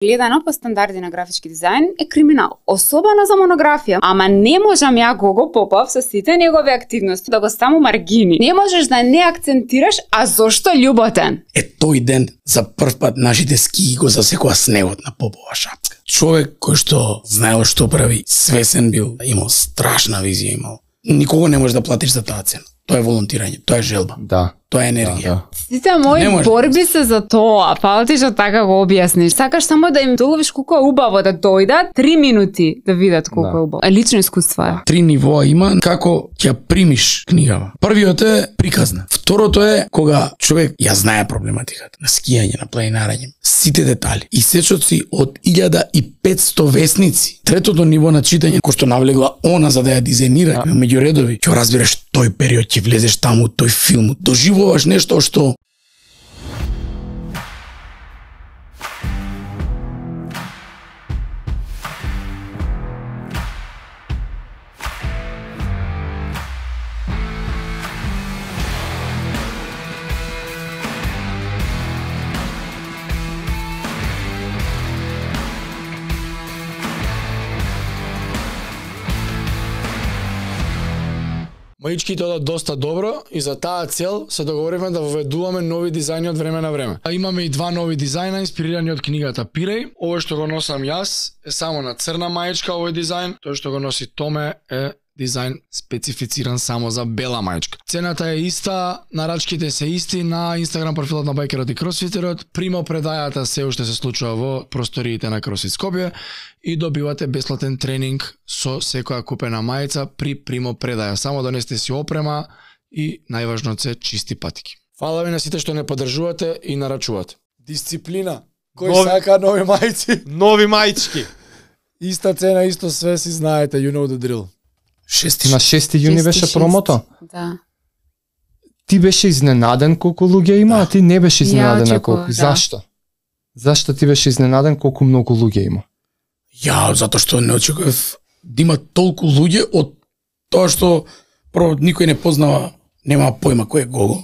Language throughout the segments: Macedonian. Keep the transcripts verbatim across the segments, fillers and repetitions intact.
Гледано по стандарди на графички дизајн е криминал, особено за монографија. Ама не можам ја Гого Попов со сите негови активности да го ставам маргини. Не можеш да не акцентираш, а зошто љуботен? Е тој ден за прв пат нашите скии го засекоа снегот на Попова шапка. Човек кој што знаел што прави, свесен бил, имал страшна визија имал. Никого не можеш да платиш за таа цена. Тоа е волонтирање, тоа е желба. Да. Тоа е енергија. Да, да. Сите мои борби се за тоа, фалти што така го објасниш. Сакаш само да им доловиш колку е убаво да дојдат три минути да видат колку Да. е убаво. Лично искуство е. Три нивоа има како ќе ја примиш книгава. Првиот е приказна. Второто е кога човек ја знае проблематиката на скијање, на планинарење, сите детали и сечоци од илјада и петсто весници. Третото ниво на читање кој што навлегла она за да ја дизајнира да. Меѓу редови, ќе разбереш тој период, ќе влезеш таму, тој филм, доживуваш нешто што Маичките одат доста добро и за таа цел се договоривме да воведуваме нови дизајни од време на време. А имаме и два нови дизајна инспирирани од книгата Пиреј. Овој што го носам јас е само на црна маичка овој дизајн, тој што го носи Томе е дизајн специфициран само за бела маичка. Цената е иста, нарачките се исти на Инстаграм профилот на Байкерот и Кросфитерот. Примо предајата се уште се случува во просториите на Кросфит Скопје и добивате бесплатен тренинг со секоја купена мајца при примо предаја. Само донесете си опрема и најважно се чисти патики. Фала ви на сите што не поддржувате и нарачувате. Дисциплина. Кој Нови- сака нови мајци? Нови маички. Иста цена, исто све си знаете, you know the drill. шести На шести јуни беше шести, промото. Да. Ти беше изненаден колку луѓе има, а ти не беше изненаден Ја на очекував, колку. да. Зашто? Зашто ти беше изненаден колку многу луѓе има? Ја, затоа што не очекував да има толку луѓе од тоа што прво никој не познава, нема појма кој е Гого.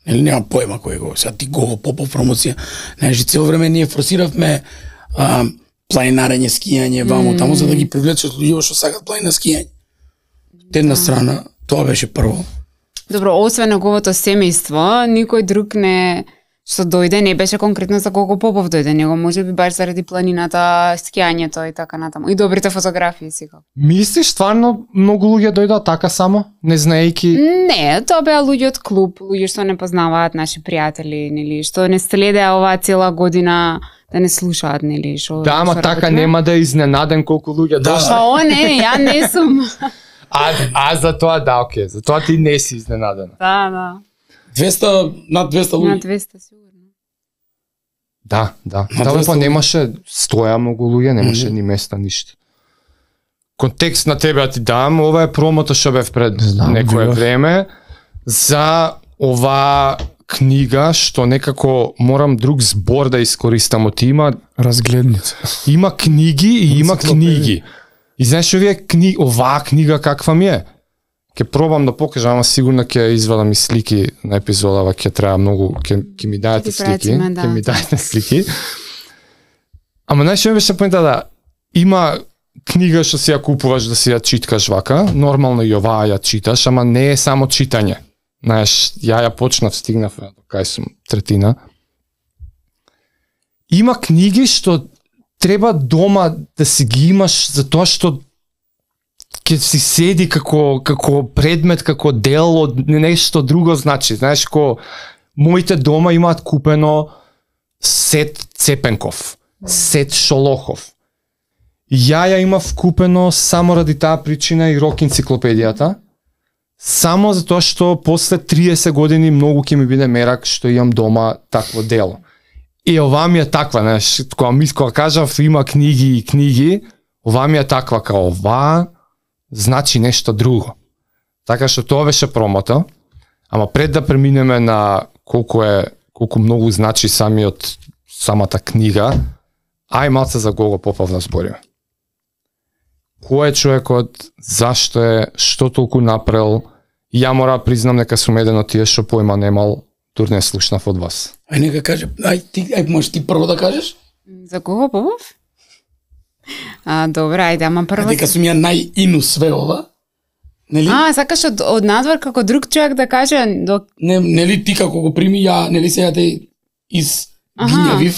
Или нема појма кој е Гого. Сега ти Гого Попов промоција. Знаеш, цело време ние форсиравме а, планинарење, скијање, ваму, таму за да ги привлечат луѓе што сакат планина скијање. Една страна, тоа беше прво. Добро, освен неговото семејство, никој друг не што дојде не беше конкретно за Гого Попов дојде, него можеби баш заради планината, скијањето и така натаму. И добрите фотографии сега. Мислиш стварно многу луѓе дојдоа така само, не знаејќи? Не, тоа беа луѓе од клуб, луѓе што не познаваат наши пријатели, нели, што не следеа оваа цела година да не слушаат, нели, што Да, ама што така работиме. нема да е изненаден колку луѓе Да. дошли. Па о, не, ја не сум. А, а за тоа да, окей, за тоа ти не си изненадена. Да, да. двеста, над двеста На луѓе. двеста сигурно. Да, да. На Тоа двеста па луѓе. немаше стоја многу луѓе, немаше Мгм. ни места, ништо. Контекст на тебе да ти дам, ова е промото што бев пред Знам, некое видов. време за ова книга што некако морам друг збор да искористам од има Разгледница. има книги и има Енциклопедија. книги. И знаеш овие книги, оваа книга каква ми е? Ќе пробам да покажам, ама сигурно ќе извадам и слики на епизодава, ќе треба многу, ќе ќе ми дајете Ќе ти слики, прациме, да. ќе ми дајете слики. Ама знаеш што ми беше поинта да има книга што си ја купуваш да си ја читкаш вака, нормално и оваа ја читаш, ама не е само читање. Знаеш, ја ја почнав, стигнав до кај сум третина. Има книги што треба дома да си ги имаш затоа што ќе си седи како како предмет, како дел од нешто друго, значи, знаеш, ко моите дома имаат купено сет Цепенков, сет Шолохов. Ја ја имав купено само ради таа причина и рок енциклопедијата, само затоа што после триесет години многу ќе ми биде мерак што имам дома такво дело. И ова ми е таква, знаеш, кога ми кога кажав има книги и книги, ова ми е таква као ова значи нешто друго. Така што тоа беше промото, ама пред да преминеме на колку е колку многу значи самиот самата книга, ај малце за Гого Попов да збориме. Кој е човекот, зашто е, што толку направил? Ја мора да признам дека сум еден од тие што појма немал, тур не слушнав од вас. Ај нека каже, ај ти, ај можеш ти прво да кажеш? За Гого Попов? А, добра, ајде, ама прво... Дека сум ја најину све ова. Нели? А, сакаш од, од надвор како друг човек да каже... До... Не, нели ти како го прими, ја, нели сега те изгинјавив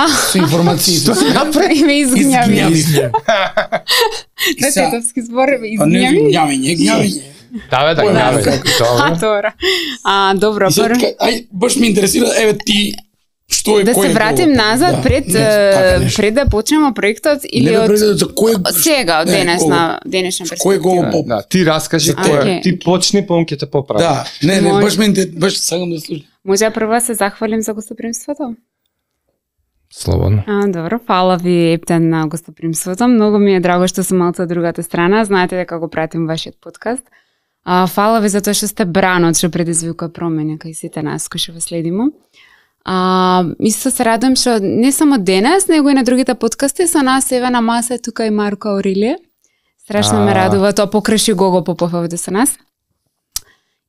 со информации. Што се направи? Ме изгнјави. Изгинјавив. На тетовски збор, А не, изгнјави. гњавење, гњавење. Да, бе, да, Ој, да, бе. како- А, добро. А, добро, И сега, прво... ка- ај, баш ме интересира, еве ти, што е, Да кој се е вратим Гого? назад Да, пред не, така е, нешто. пред да почнеме проектот или Не, бе, од пред да- за кој е- сега, од не, денес Гого. на денешна Кој е Гого перспектива. Поп? Да, ти раскажи А, кој е. окей. Ти почни, па он ќе те поправи. Да, не, не, Може. баш ме интер- баш сакам да слушам. Може прво да се захвалим за гостопримството? Слободно. А, добро, фала ви Ептен на гостопримството. Многу ми е драго што сум малку од другата страна. Знаете дека го пратим вашиот подкаст. А, фала ви за тоа што сте бранот што предизвикува промени кај сите нас кои што ве следиме. А, исто се радувам што не само денес, него и на другите подкасти со нас еве на маса е тука и Марко Аурелие. Страшно ме А. радува, тоа покрши Гого Попов овде со нас.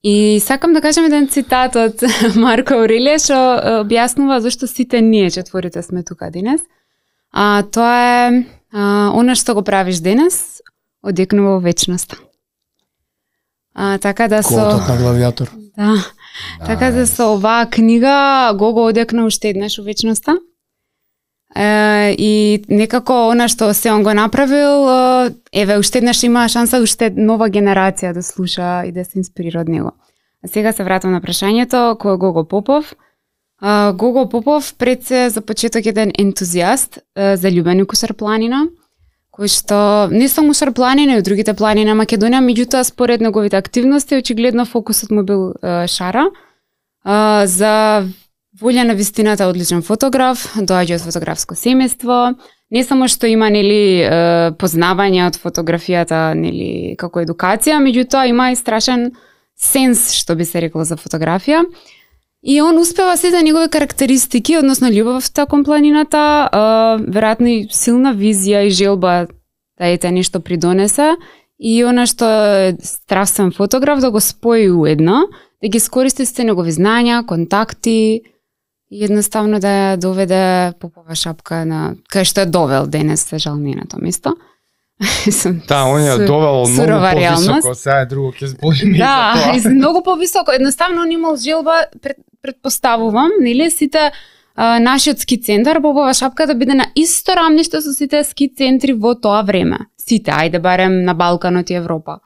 И сакам да кажам еден цитат од Марко Аурелие што е, објаснува зашто сите ние четворите сме тука денес. А тоа е а, она што го правиш денес одекнува во вечноста. А, така да со Котот на главијатор. да, така да со оваа книга Гого одекна уште еднаш во вечноста. Е, и некако она што се он го направил, е, еве уште еднаш има шанса уште нова генерација да слуша и да се инспирира од него. А сега се вратам на прашањето, кој е Гого Попов? А, Гого Попов пред се за почеток еден ентузијаст е, за љубени кусар планина, кој што не само Шар планина и од другите планини на Македонија, меѓутоа според неговите активности очигледно фокусот му бил е, Шара. Е, за волја на вистината одличен фотограф, доаѓа од фотографско семејство, не само што има нели е, познавање од фотографијата нели како едукација, меѓутоа има и страшен сенс, што би се рекло за фотографија. И он успева сите негови карактеристики, односно љубовта кон планината, е, веројатно и силна визија и желба да ете нешто придонесе, и она што е страстен фотограф да го спои уедно, да ги искористи сите негови знања, контакти, и едноставно да ја доведе Попова шапка на кај што е довел денес, се жал не е на тоа место. Да, он ја довел многу сурова реалност. повисоко, сега е друго, ќе збориме Да, и за тоа. и многу повисоко. Едноставно он имал желба, пред, предпоставувам, нели, сите а, нашиот ски центар, Попова шапка да биде на исто рамниште со сите ски центри во тоа време. Сите, ајде барем на Балканот и Европа.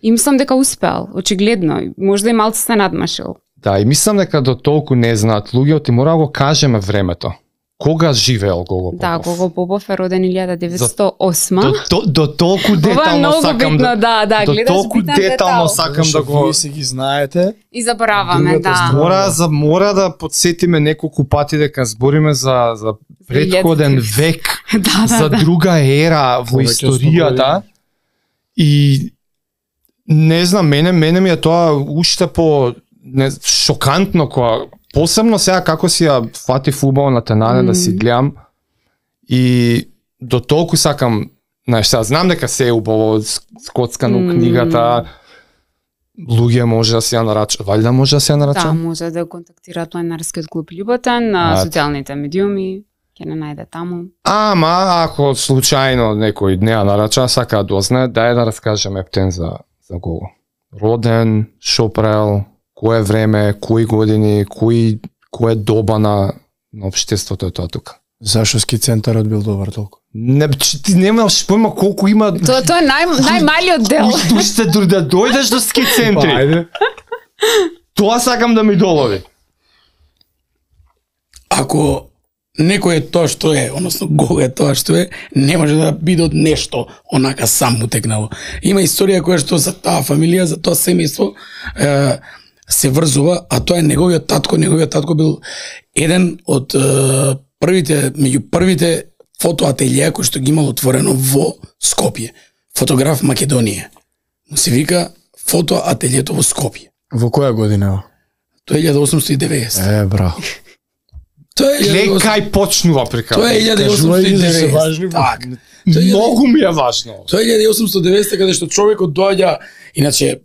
И мислам дека успеал, очигледно, можда и малку се надмашил. Да, и мислам дека до толку не знаат луѓето и мора да го кажеме времето. Кога живеел Гого Попов? Да, Гого Попов е роден илјада деветстотини и осма. До, до, до толку Ова е детално многу сакам битно, да... да, да, до гледаш толку битен детално детал. сакам да го... Вие си ги знаете. И забораваме, Другата да. страна. Мора, за, мора да подсетиме неколку пати дека збориме за, за предходен илјадски. век, Да, да, за да. друга ера во Повеќе од сто историјата. И не знам, мене мене ми е тоа уште по не, шокантно кога посебно сега како си ја фати фудбал на Тенане Mm. да си гледам и до толку сакам, знаеш, сега знам дека се е убаво скоцкано Mm. книгата, луѓе може да се ја нарачат, валјда може да се ја нарачат? Да, може да контактираат планинарскиот клуб Љуботен на А, социјалните медиуми, ќе не најде таму. Ама, ако случајно некој не ја нарача, сака да дознае, дај да раскажем Ептен за, за Гого. Роден, шо правил, кое време, кои години, кои, кое доба на, на општеството е тоа тука. Зашо ски центарот бил добар толку? Не, че ти немаш појма колку има... Тоа тоа е нај, најмалиот дел. Уште дури да дојдеш до ски центри. Па, ајде. Тоа сакам да ми долови. Ако некој е тоа што е, односно Гого е тоа што е, не може да биде од нешто онака сам му текнало. Има историја која што за таа фамилија, за тоа семејство е, се врзува, а тоа е неговиот татко. Неговиот татко бил еден од е, првите, меѓу првите фотоателија кои што ги имал отворено во Скопје. Фотограф Македонија. Му се вика фотоателието во Скопје. Во која година? Тоа е илјада осумстотини и деветдесета. Е, браво. Тоа е Глеј илјада осумстотини- кај почнува приказ. Тоа е илјада Кажувај ги за се важни. осумстотини и деветдесета. Так. Тоа е Многу ми е важно. Тоа е илјада осумстотини и деветдесета каде што човекот доаѓа, иначе е,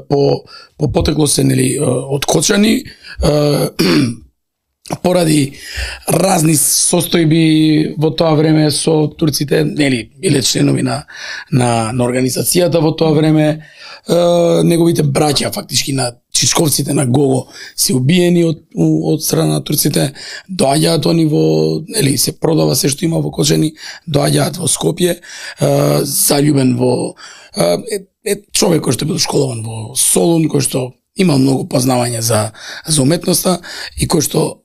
по по потекло се нели е, од Кочани, е, поради разни состојби во тоа време со турците, нели, биле членови на на на организацијата во тоа време, е, неговите браќа фактички на чичковците на Гого се убиени од од страна на турците, доаѓаат они во, нели, се продава се што има во Кочани, доаѓаат во Скопје, е, заљубен во е, е човек кој што бил школован во Солун, кој што имал многу познавање за за уметноста и кој што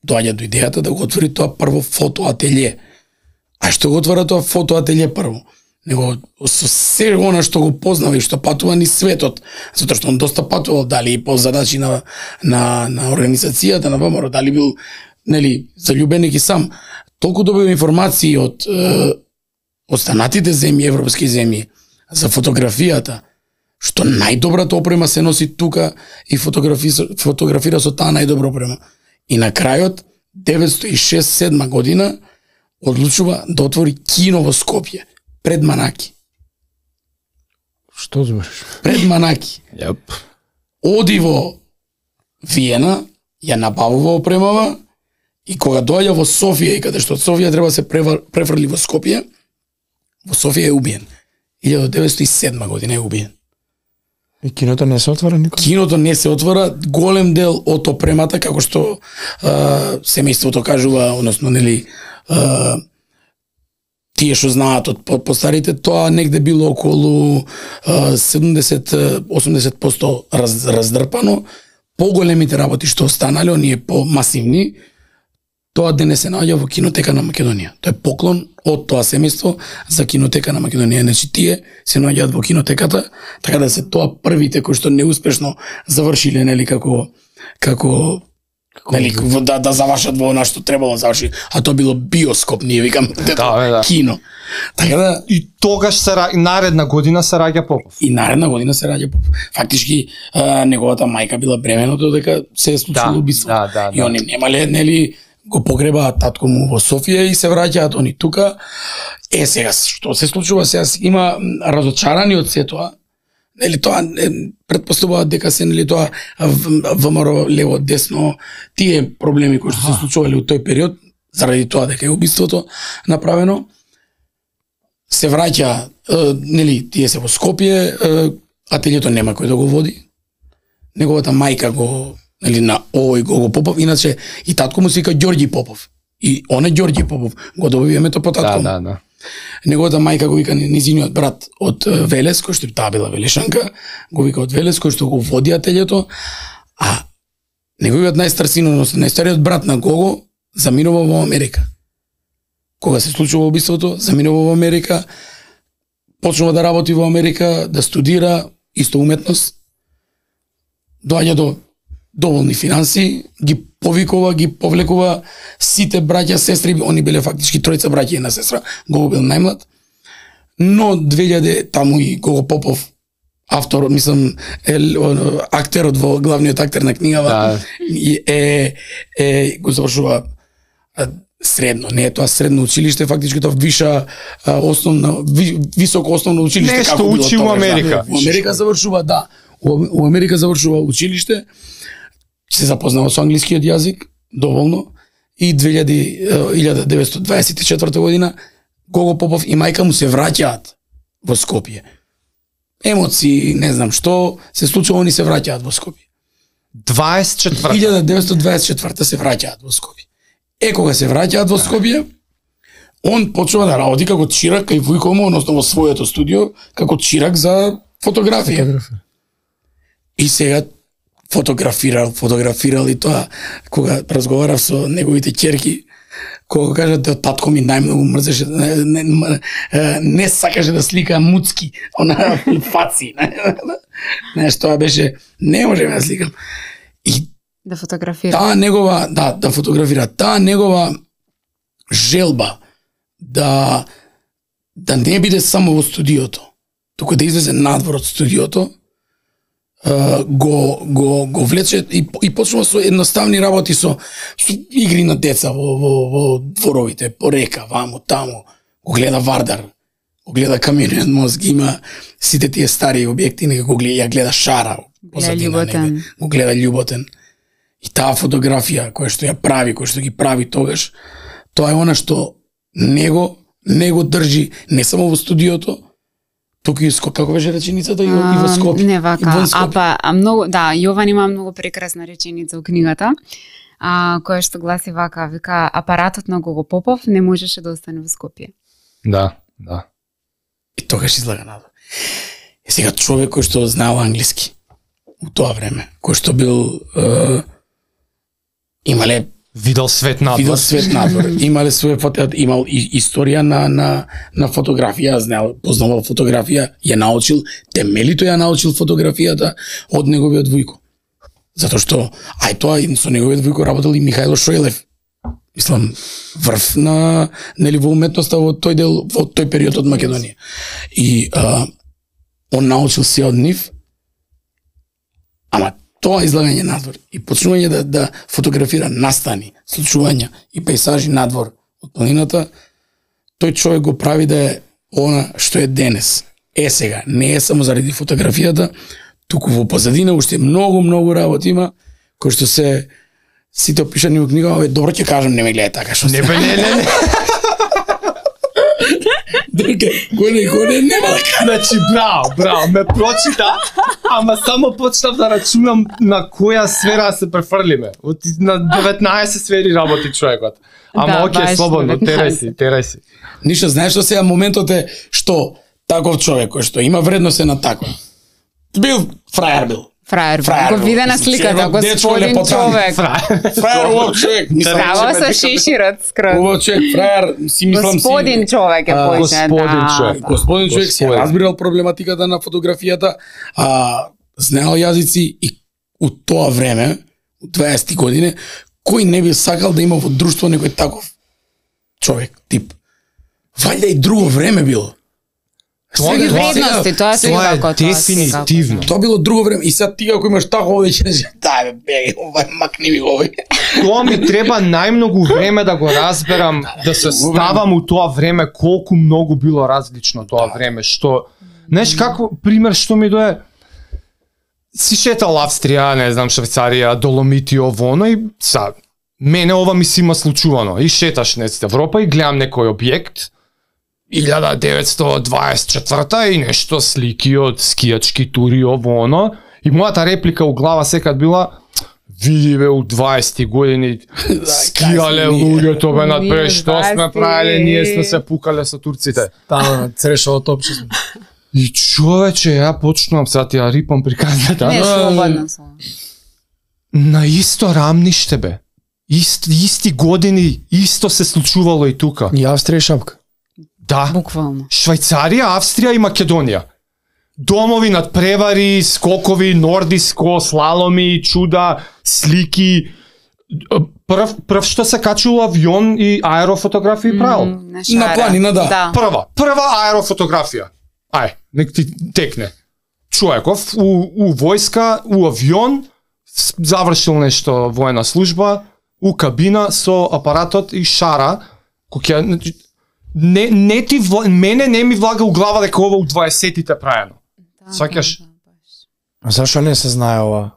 доаѓа до идејата да го отвори тоа прво фотоателје. А што го отвора тоа фотоателје прво? Него со се она што го познава и што патува ни светот, затоа што он доста патувал, дали и по задачи на на на организацијата на ВМРО, дали бил, нели, заљубен и сам, толку добива информации од е, останатите земји, европски земји, за фотографијата, што најдобрата опрема се носи тука и фотографи, фотографира со таа најдобра опрема. И на крајот, деветстотини и шесте седма година, одлучува да отвори кино во Скопје, пред Манаки. Што збориш? Пред Манаки. Јап. Оди во Виена, ја набавува опремава, и кога доаѓа во Софија, и каде што од Софија треба да се префрли во Скопје, во Софија е убиен. илјада деветстотини и седма година е убиен. И киното не се отвора никога? Киното не се отвора, голем дел од опремата, како што а, семејството кажува, односно, нели, а, тие што знаат од постарите, тоа негде било околу а, седумдесет до осумдесет проценти раз, раздрпано. Поголемите работи што останале, оние помасивни, тоа денес се наоѓа во Кинотека на Македонија. Тоа е поклон од тоа семејство за Кинотека на Македонија. Значи тие се наоѓаат во Кинотеката, така да се тоа првите кои што неуспешно завршиле, нели, како како нели, да да завршат во она што требало да заврши, а тоа било биоскоп, ние викам, Да, да. кино. Така да И тогаш се ра... наредна година се раѓа Попов. и наредна година се раѓа Попов. Фактички а, неговата мајка била бремена додека се е случило Да, убиство. да, да, И да. они немале, нели, го погребаат татко му во Софија и се враќаат они тука. Е, сега, што се случува сега? Има разочарани од се тоа. Нели, тоа е, предпоставуваат дека се, нели, тоа ВМРО лево, десно, тие проблеми кои што се случувале во тој период, заради тоа дека е убиството направено, се враќа, е, нели, тие се во Скопје, е, ателјето нема кој да го води. Неговата мајка го, нели, на овој Гого Попов, иначе и татко му се вика Ѓорѓи Попов. И он е Ѓорѓи Попов, го доби името по татко. Да, му. да, да. Неговата мајка го вика низиниот брат од е, Велес, кој што таа била велешанка, го вика од Велес, кој што го води ателјето, а неговиот најстар син, односно најстариот брат на Гого, заминува во Америка. Кога се случува убиството, заминува во Америка, почнува да работи во Америка, да студира исто уметност, доаѓа до доволни финанси, ги повикува, ги повлекува сите браќа, сестри, они биле фактички тројца браќа и една сестра, Гого бил најмлад, но две илјади таму и Гого Попов, автор, мислам, е, актерот во главниот актер на книгава, Да. и е, е, го завршува а, средно, не е тоа средно училиште, фактички тоа виша а, основна, ви, високо основно училиште. Нешто како било учи тогаш, во Америка. Да. Во Америка завршува, да. Во, во Америка завршува училиште, се запознава со англискиот јазик, доволно, и две илјади, илјада деветстотини дваесет и четврта година Гого Попов и мајка му се враќаат во Скопје. Емоции, не знам што, се случува, они се враќаат во Скопје. дваесет и четврта. илјада деветстотини дваесет и четврта се враќаат во Скопје. Е, кога се враќаат во Скопје, он почнува да работи како чирак кај Вујко му, односно во своето студио, како чирак за фотографија. И сега фотографирал, фотографирал и тоа, кога разговарав со неговите ќерки, кога кажат да татко ми најмногу мрзеше, не, не, не, не сакаше да слика муцки, она фаци. Знаеш, тоа беше, не можеме да сликам. И Да фотографира. таа негова, да, да фотографира, таа негова желба да да не биде само во студиото, туку да излезе надвор од студиото, Uh, го го го влече и и почнува со едноставни работи, со, со игри на деца во во во дворовите, по река, ваму таму, го гледа Вардар, го гледа Камениот мост, ги има сите тие стари објекти, нека го гледа, ја гледа Шара, позадина, Љуботен. него, го гледа Љуботен. И таа фотографија која што ја прави, која што ги прави тогаш, тоа е она што него него држи не само во студиото, туку и ско, како беше реченицата, и, и во Скопје. Не вака, а па а многу, да, Јован има многу прекрасна реченица во книгата, а, која што гласи вака, вика, апаратот на Гого Попов не можеше да остане во Скопје. Да, да. И тогаш излага надвор. И сега човек кој што знаел англиски во тоа време, кој што бил е, имале Видел свет надвор. Видел свет надвор. Имале своје фото, имал и историја на на на фотографија, знаел, познавал фотографија, ја научил, темелито ја научил фотографијата од неговиот вујко. Затоа што ај тоа и со неговиот вујко работел и Михајло Шојлев. Мислам, врв на нели во уметноста во тој дел, во тој период од Македонија. И а, он научил се од нив. Ама тоа излагање надвор и почнување да, да фотографира настани, случувања и пейзажи надвор од планината, тој човек го прави да е она што е денес. Е сега, не е само заради фотографијата, туку во позадина уште многу, многу работи има, кои што се сите опишани во книга, ове добро ќе кажам, не ме гледај така, што Не, бе, не, не, не. Дека, гоне, гоне, нема да кажам. Значи, браво, браво, ме прочита, ама само почнав да рачунам на која сфера се префрлиме. Од на деветнаесет сфери работи човекот. Ама Да, окей, баш, слободно, терај деветнаесет. си, терај си. Ништо, знаеш што сега моментот е што таков човек кој што има вредност е на таква. Бил фраер бил. Фраер, Фраер, го виде на мислам, сликата, че дечко господин лепотан. човек. Фраер убав човек. Мислам, Право че со ме- шиширот скроз. Убав човек, фраер, си мислам си. Господин човек е А, појше, господин да. човек. да. Господин човек се Господин. разбирал проблематиката на фотографијата, а знаел јазици и у тоа време, у дваесетти години, кој не би сакал да има во друштво некој таков човек, тип. Вајда и друго време било. Тоа Други тоа- вредности, тоа се тоа е како тоа. дефинитивно. секако, Тоа било друго време и сега ти ако имаш тако овде ќе кажеш, дај бе, беги, овај макни ми го овој. Тоа ми треба најмногу време да го разберам, да се ставам у тоа време, колку многу било различно тоа време, што, знаеш како, пример што ми дое, си шетал Австрија, не знам, Швајцарија, Доломити, ово, оно и са, мене ова ми си има случувано, и шеташ неците Европа и гледам некој објект, илјада деветстотини дваесет и четврта и нешто слики од скијачки тури, ово, оно, и мојата реплика у глава секад била, види бе, у дваесетти години скијале кај сме ние. луѓето бе надпред, Ние што сме дваесетти. правеле, ние сме се пукале со турците. Таму на Црешово топче сме. И човече, ја почнувам сега ти ја рипам приказната. Не, слободно со. На исто рамниште бе. Ист, исти години, исто се случувало и тука. И Австрија и шапка. Да. Буквално. Швајцарија, Австрија и Македонија. Домови над превари, скокови, нордиско, слаломи, чуда, слики. Прв, прв што се качува авион и аерофотографии правил. М, На, На шара. планина, да. Да. Прва, прва аерофотографија. Ај, нек ти текне. Човеков у, у војска, у авион, с- завршил нешто воена служба, у кабина со апаратот и шара, кој ќе значи, не не ти вла- мене не ми влага у глава дека ова у дваесеттите праено. Да, Сваќаш? да, да, баш. А зашо не се знае ова?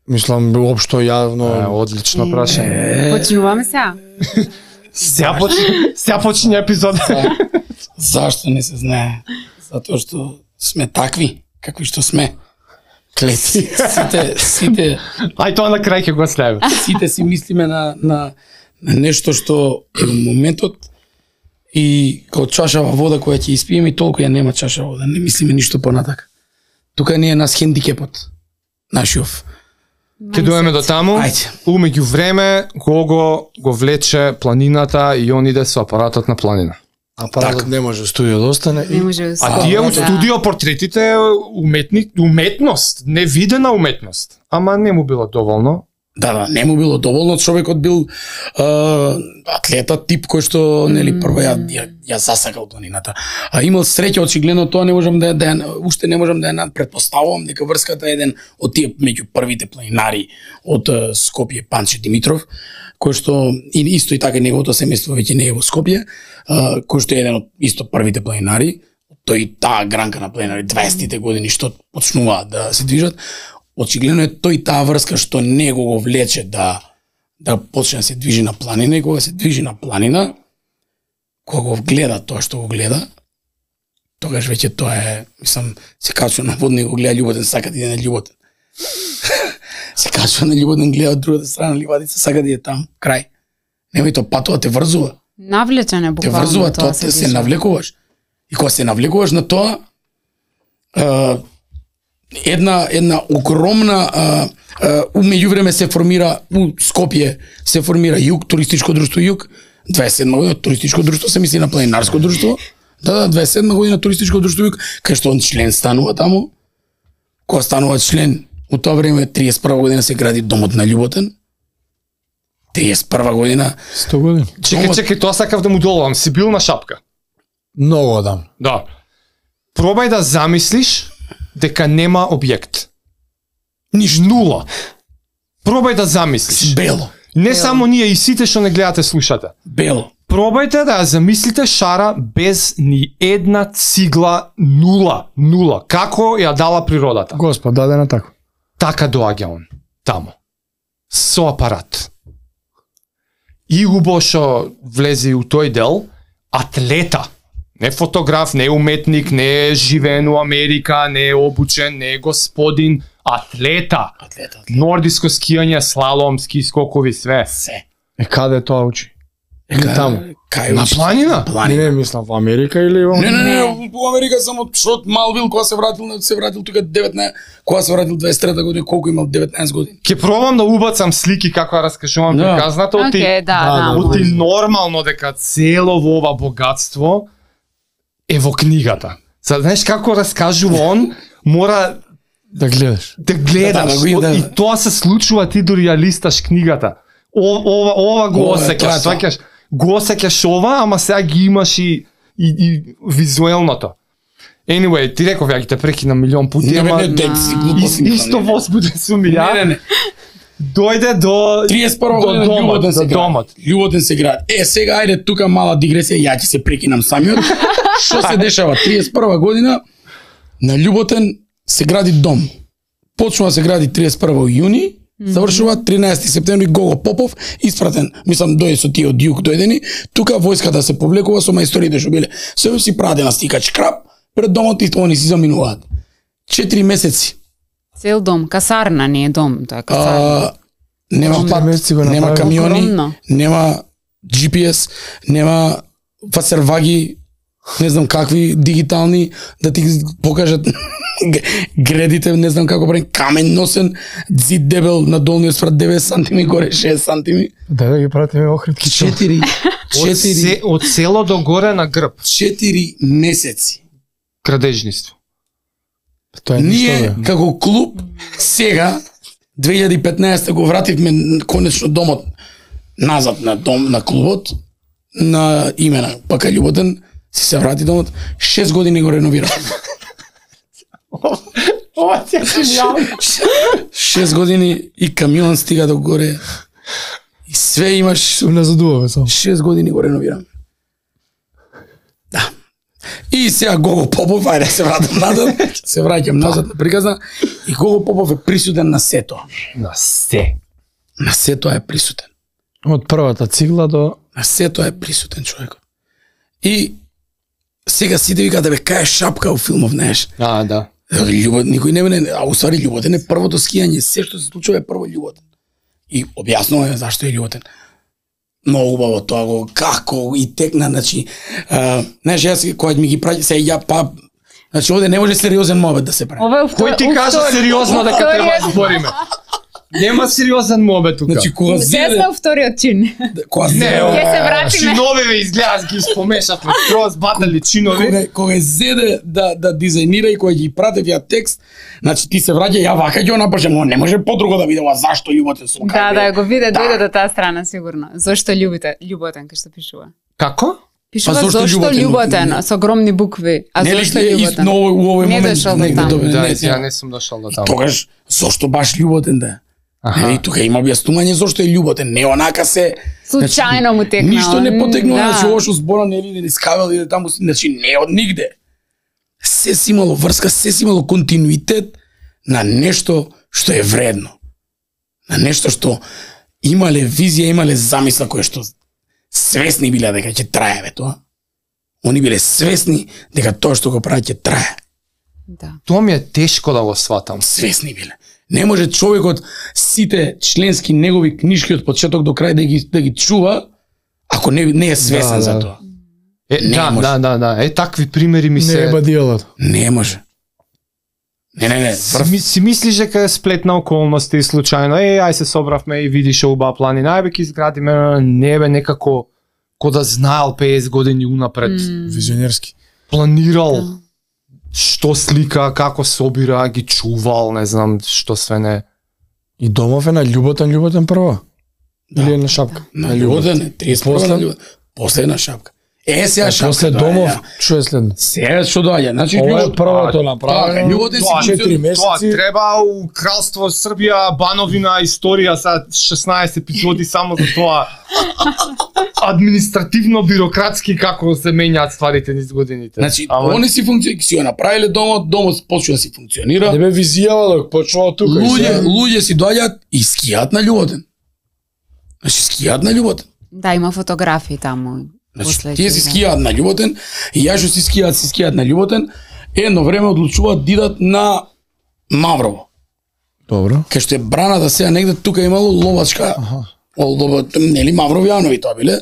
Мислам, уопшто јавно. Е, одлично прашање. Почнуваме сега. Сега почне, сега почне епизод. Зашто не се знае? Затоа што сме такви, какви што сме. Клети. Сите, сите, Ај тоа на крај ќе го оставиме. сите си мислиме на, на, на нешто што е во моментот и као чашава вода која ќе испиеме и толку ја нема чаша вода. Не мислиме ништо понатака. Тука не е нас хендикепот. Нашиов. Ќе доеме до таму. Ајде. Умеѓу време Гого го влече планината и он иде со апаратот на планина. Апаратот Така. не може студио да остане. Не И може да А се- тие у да. студио портретите е уметни, уметност, невидена уметност. Ама не му било доволно. Да, да, не му било доволно, човекот бил е, атлета тип кој што нели прво ја, ја, ја засакал планината. А имал среќа очигледно тоа не можам да ја- да ја- уште не можам да ја надпретпоставувам дека врската е еден од тие меѓу првите планинари од е, Скопје, Панче Димитров, кој што и исто и така неговото семејство веќе не е во Скопје, е, кој што е еден од исто првите планинари, тој таа гранка на планинари дваесеттите години што почнуваат да се движат. очигледно е тој таа врска што него го влече да да почне да се движи на планина, и кога се движи на планина, кога го гледа тоа што го гледа, тогаш веќе тоа е, мислам, се качува на водно и го гледа љуботен, сака да иде на љуботен. Се качува на љуботен, гледа од другата страна ливадица, сака да иде там, крај. Немој тоа патува, те врзува. Навлечен е Те буквално врзува, тоа тоа се те се диша. навлекуваш. И кога се навлекуваш на тоа, е, една една огромна е, е, у меѓувреме се формира у Скопје се формира Југ, туристичко друштво Југ, дваесет и седма година туристичко друштво, се мисли на планинарско друштво. Да, да, дваесет и седма година туристичко друштво Југ, кај што он член станува таму. Кога станува член, у тоа време триесет и прва година се гради домот на Љуботен. триесет и прва година. сто години. Чекај, чекај, тоа сакав да му доловам. Си бил на шапка. Многу одам. Да. Пробај да замислиш дека нема објект. Ниш нула. Пробај да замислиш. Бело. Не само ние, и сите што не гледате, слушате. Бело. Пробајте да ја замислите шара без ни една цигла, нула, нула. Како ја дала природата? Господ, дадена така. Така доаѓа он, таму. Со апарат. И убаво што влезе у тој дел, атлета. Не фотограф, не уметник, не живеен у Америка, не е обучен, не е господин, атлета. Атлета. Нордиско скијање, слалом, ски скокови, све. Се. Е, каде тоа учи? Или таму? Кај На учи? планина? Не, Планина. не, мислам, во Америка или во... Не, не, не, во Америка само што мал бил кога се вратил, се вратил тука деветнаесет, кога се вратил дваесет и трета година, колку имал деветнаесет години. Ке пробам да убацам слики како ја раскажувам Да. приказната, оти, Океј, да, Да, да. да, оти може. нормално дека цело во ова богатство е во книгата. Сега, знаеш како раскажува он, мора Да гледаш. да гледаш. Да, да, го иде. И тоа се случува ти дори ја листаш книгата. О, ова, ова го Ова е осеќаш, тоа, тоа. сваќаш. Го осеќаш ова, ама сега ги имаш и, и, и визуелното. Anyway, ти реков ја ги те прекинам милион пути, Не, ама не, не, дет си ис- глупости. исто возбуден сум и Не, ја. не, не. Дојде до триесет и прва до година домот, Љуботен до се гради. домот. Љуботен се гради. Е, сега ајде тука мала дигресија, ја ќе се прекинам самиот. Што се дешава? триесет и прва година на Љуботен се гради дом. Почнува да се гради триесет и прва јуни, завршува тринаесети септември Гого Попов, испратен, мислам дојде со тие од југ дојдени, тука војската се повлекува со мајсториите што биле. Се си праде на стикач крап, пред домот и они си заминуваат. Четири месеци. Цел дом, касарна не е дом, тоа е касарна. А, нема Огромно. пат, Месеци го нема направи. камиони, Огромно. нема Джи Пи Ес, нема фасерваги, не знам какви дигитални да ти покажат гредите, не знам како правим, камен носен, зид дебел на долниот спрат деветдесет сантими, горе шест сантими. Да, да ги пратиме охритки. Четири, Од, четири, се, од село до горе на грб. четири месеци. Крадежниство. Тоа е ништо, Ние бе. како клуб сега две илјади и петнаесета го вративме конечно домот назад на дом на клубот на имена Пака Љуботен, си се врати домот, шест години го реновирав. Ова ти е гениално. шест години и камион стига до горе. И све имаш, Се уназадуваме само. шест години го реновирам. Да. И сега Гого Попов, ајде се вратам назад, се враќам назад на приказна, и Гого Попов е присутен на сето. На се. На сето е присутен. Од првата цигла до... На сето е присутен човекот. И сега сите викаат да бе кај е шапка у филмов, знаеш. А, да. Љубот, никој не мене, а уствари Љуботен е првото скијање, се што се случува е прво Љуботен. И објаснува е зашто е Љуботен. Многу убаво тоа го како и текна, значи, а, знаеш, јас кога ми ги праќа се ја па, значи овде не може сериозен мобет да се прави. Ова е Кој ти кажа сериозно дека треба да збориме? Нема сериозен мобет тука. Значи кога Се зеде, сме вториот чин. кога Не, зеде, Ќе се вратиме. Чиновиве изгледат ги спомешавме, скроз батали чинови. кога кога зеде да да дизајнира и кога ги пратев ја текст, значи ти се враќа, ја вака ќе напишам, но не може подруго да биде ова зашто Љуботен сум. Да, да, го виде, Да. дојде до таа страна сигурно. Зошто љубите, љуботен кај што пишува. Како? Пишува Па зошто зошто љуботен? љуботен со огромни букви, а Нели зошто е и љуботен? но у овој Не момент дошол до негде таму. добре, Да, не, ја не. не сум дошол до таму. Тогаш зошто баш Љуботен да е? Аха. Нели тука има објаснување зошто е Љуботен, не онака се Случајно му текнало. Ништо не потекнува, Да. значи ова што збора нели не искавел или таму, значи не од нигде. Се си имало врска, се си имало континуитет на нешто што е вредно. На нешто што имале визија, имале замисла која што свесни биле дека ќе трае бе тоа. Они биле свесни дека тоа што го прават ќе трае. Да. Тоа ми е тешко да го сватам. Свесни биле. Не може човекот сите членски негови книжки од почеток до крај да ги да ги чува ако не не е свесен Да, за да. тоа. Е, Не да, може. да, да, да. Е, такви примери ми Не се... е бадијалот. Не може. Не, не, не. Си, ми, си мислиш дека е сплет на околности и случајно, е, ај се собравме и видиш убава планина, ај бе ќе изградиме, не бе некако ко да знаел петдесет години унапред, М. Визионерски. планирал Да. што слика, како собира, ги чувал, не знам што све не. И Домов е на љуботен, љуботен прво. Или е на шапка? На Љуботен, триесет После? на Љуботен. После на шапка. Е, сега А шапка. после доаѓа, Домов, ја. што е следно? Сега што доаѓа? Значи Ова е Љубот првото направено. Љуботен си Тоа, четири Тоа месеци. треба у Кралство Србија, Бановина, историја, са шеснаесет епизоди само за тоа. Административно, бирократски како се менјаат стварите низ годините. Значи, Ама- они си функција, си го направиле домот, домот почна да си функционира. Не бе визијава док почнува тука. и Луѓе, сега- луѓе си доаѓаат и скијаат на Љуботен. Значи скијаат на Љуботен. Да, има фотографии таму. Значи, После тие си ќе, да. скијаат на Љуботен, и ја што си скијаат, си скијаат на Љуботен, едно време одлучуваат да идат на Маврово. Добро. Кај што е браната сега негде тука имало ловачка, Аха. о, лова, нели Мавровјанови тоа биле,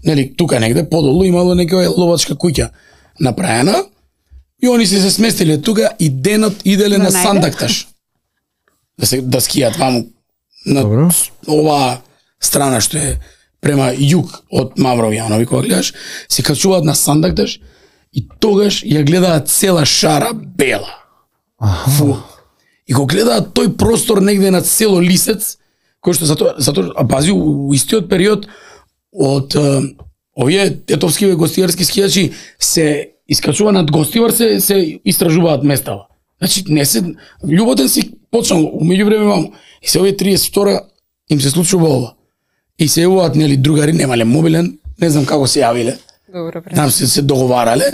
нели тука негде подолу имало некоја ловачка куќа направена, и они се се сместиле тука и денот иделе На на најде? Сандакташ. Да се да скијат ваму на Добро. оваа страна што е према југ од Мавровјанови, кога гледаш, се качуваат на Сандакташ и тогаш ја гледаат цела шара бела. Фу. И го гледаат тој простор негде над село Лисец, кој што затоа, затоа, а пази, у, у истиот период од е, овие тетовски гостијарски скијачи се искачува над Гостивар, се, се истражуваат местава. Значи, не се, Љуботен си почнал, умеѓу време ваму, и се овие триесет и втора им се случува ова. И се јавуваат, нели, другари, немале мобилен, не знам како се јавиле, Добро, пре. там се, се договарале,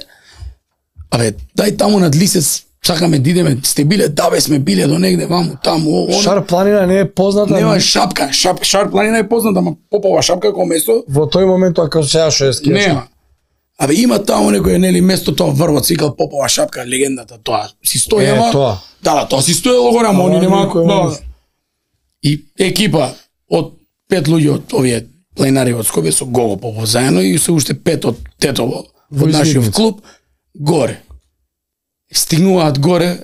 абе, дај таму над Лисец, сакаме да идеме, сте биле, да бе, сме биле до негде, ваму, таму, о, оно. Шар планина не е позната. Нема шапка, шап, Шар планина е позната, ама Попова шапка како место, Во тој момент ако сега што е скијачка. нема. Абе, има таму некој, нели, место тоа врвот, се викал Попова шапка, легендата, тоа. Си стои, Е, ама... тоа. Да, да, тоа си стоело горе, ама Ама они нема... никој Да. не- И екипа од пет луѓе од овие планинари од Скопје со Гого Попов заедно и се уште пет од Тетово, Во од нашиот Измирница. клуб, горе. Стигнуваат горе,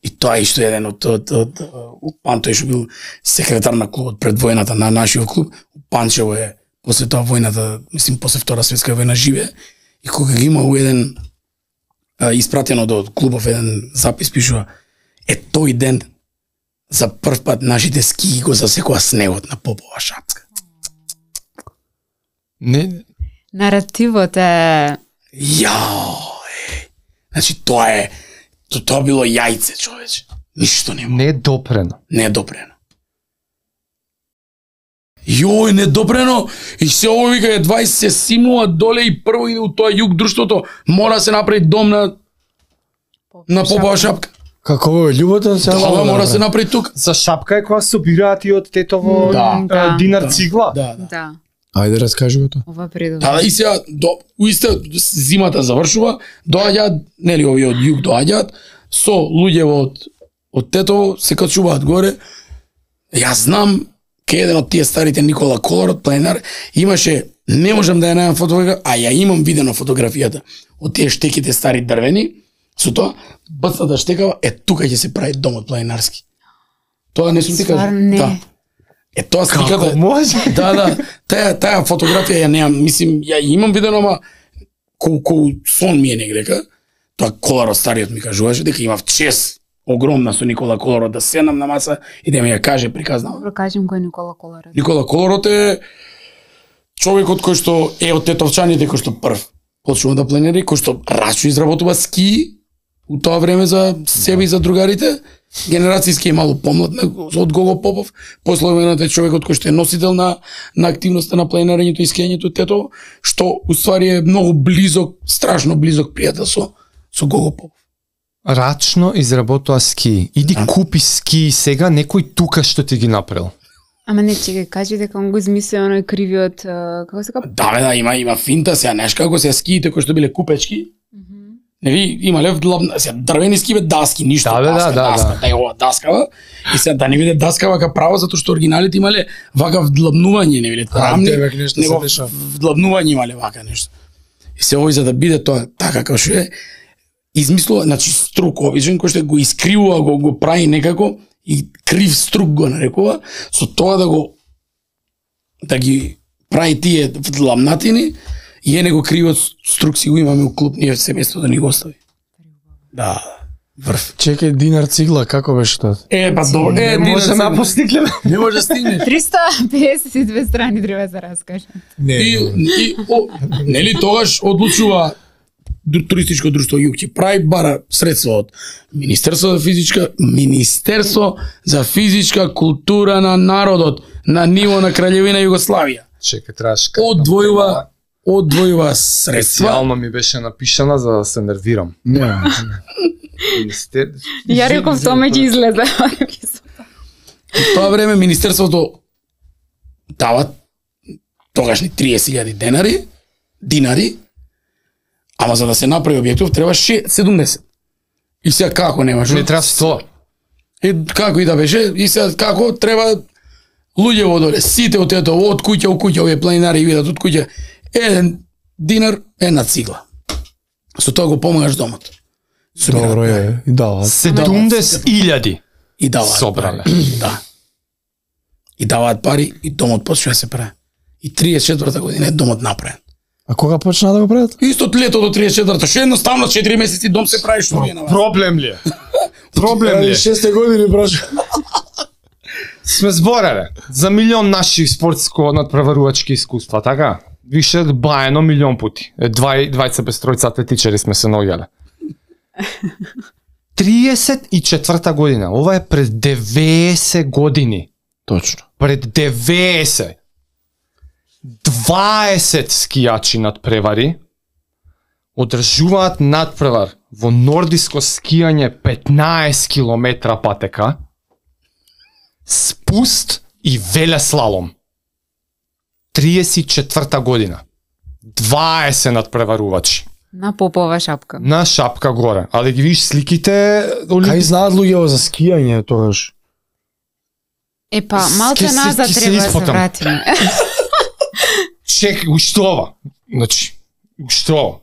и тоа е што еден од, од, од, од Пантој што бил секретар на клубот пред војната на нашиот клуб, Панчево е после тоа војната, мислим после Втора светска војна живе, и кога ги има у еден а, испратено до клубов еден запис пишува, е тој ден за прв пат нашите ски го засекоа снегот на Попова шапка. Не, Наративот е Јао, е. Значи тоа е, то, тоа било јајце, човече. Ништо нема. не е допрено. Недопрено. Јој, недопрено. И се ово вика е двајсет се симнува доле и прво иде у тоа југ друштвото, мора да се направи дом на на Попова шапка. Како во Љуботен сега? Да, да мора да се направи. направи тука. За шапка е кога собираат и од Тетово Да, а, да, динар да, цигла. Да, да. да, Ајде раскажи го тоа. ова предобро. Да, да, и сега, до, у исто, зимата завршува, доаѓаат, нели, овие од југ доаѓаат, со луѓе од, од Тетово, се качуваат горе. Јас знам, ке еден од тие старите Никола Колор од планинар, имаше, не можам да ја најдам фотографија, а ја имам видено фотографијата од тие штеките стари дрвени, со тоа, бцната штекава, е тука ќе се прави домот планинарски. Тоа не сум ти кажа. Стварно не. Да. Е тоа сликата. Како може? Да, да. Таа таа фотографија ја немам, мислим, ја имам видено, ама колку сон ми е негдека. Тоа Коларот стариот ми кажуваше дека имав чест огромна со Никола Коларот да седнам на маса и да ми ја каже приказна. Добро кажем кој е Никола Колорот. Никола Коларот е човекот кој што е од тетовчаните, кој што прв почнува да планира, кој што рачно изработува ски у тоа време за себе и за другарите. Генерацијски е малку помлад од Гого Попов, после војната е човекот кој што е носител на на активноста на планирањето и скијањето Тетово, што уствари е многу близок, страшно близок пријател со со Гого Попов. рачно изработува ски. Иди Да. купи ски сега, некој тука што ти ги направил. Ама не, чекај, кажи дека он го измислил оној кривиот, а, како се капа? Да, бе, да, има има финта, сега знаеш како се скиите кои што биле купечки. Нели, имале вдлабна, сега дрвени ски бе даски, ништо, Да, бе, да, даска, да, даска, да. да, ова даскава. И сега да не биде даскава ка право затоа што оригиналите имале вака вдлабнување, не биле рамни, тебе нешто се него дешава. вдлабнување имале вака нешто. И се овој за да биде тоа така како што е, измислува, значи струк обичен кој што го искривува, го го прави некако и крив струк го нарекува, со тоа да го да ги прави тие вдлабнатини и е него кривот струк си го имаме у клуб, ние семејство да ни го остави. Да, врв. Чекај, динар цигла, како беше тоа? Е, па добро, е, Не ти може да постигнеме. Не може да стигнеш. триста педесет и две страни треба да раскажам. Не, И, и о, нели тогаш одлучува ду- туристичко друштво Југ ќе прави бара средства од Министерство за физичка Министерство за физичка култура на народот на ниво на Краљевина Југославија. Чекај, требаш. Одвојува одвојува средства. Специјално ми беше напишана за да се нервирам. не. Министер... Ја реков Томе ќе излезе. Во тоа време Министерството дава тогашни триесет илјади денари, динари, ама за да се направи објектов треба ше- седумдесет. И сега како немаш? Не треба сто. И како и да беше, и сега како треба луѓе во доле, сите од ето, од куќа у куќа, овие планинари видат од куќа, еден динар, една цигла. Со тоа го помагаш домот. Сумираат Добро пари. е, и дава. седумдесет илјади. И даваат Собрале. пари. Да. И даваат пари и домот почна да се прави. И триесет и четврта година е домот направен. А кога почна да го прават? Исто лето до триесет и четврта, што едноставно четири месеци дом се прави што вие на вас. Проблем ли е? Проблем ли е? шесте години прошла. Сме збореле за милион наши спортско надпреварувачки искуства, така? Више баено милион пути. Е, Двај, двајца без тројца атлетичари сме се наоѓале. триесет и четврта година, ова е пред деветдесет години. Точно. Пред деветдесет. дваесет скијачи надпревари одржуваат надпревар во нордиско скијање петнаесет километра патека, спуст и велеслалом. триесет и четврта година. дваесет надпреварувачи. На попова шапка. На шапка горе. А да ги видиш сликите... Кај знаат луѓе за скијање тогаш? Е па, малце Ке се- назад ке се треба да се испотам. вратиме. Чек, уштова. Значи, уштова.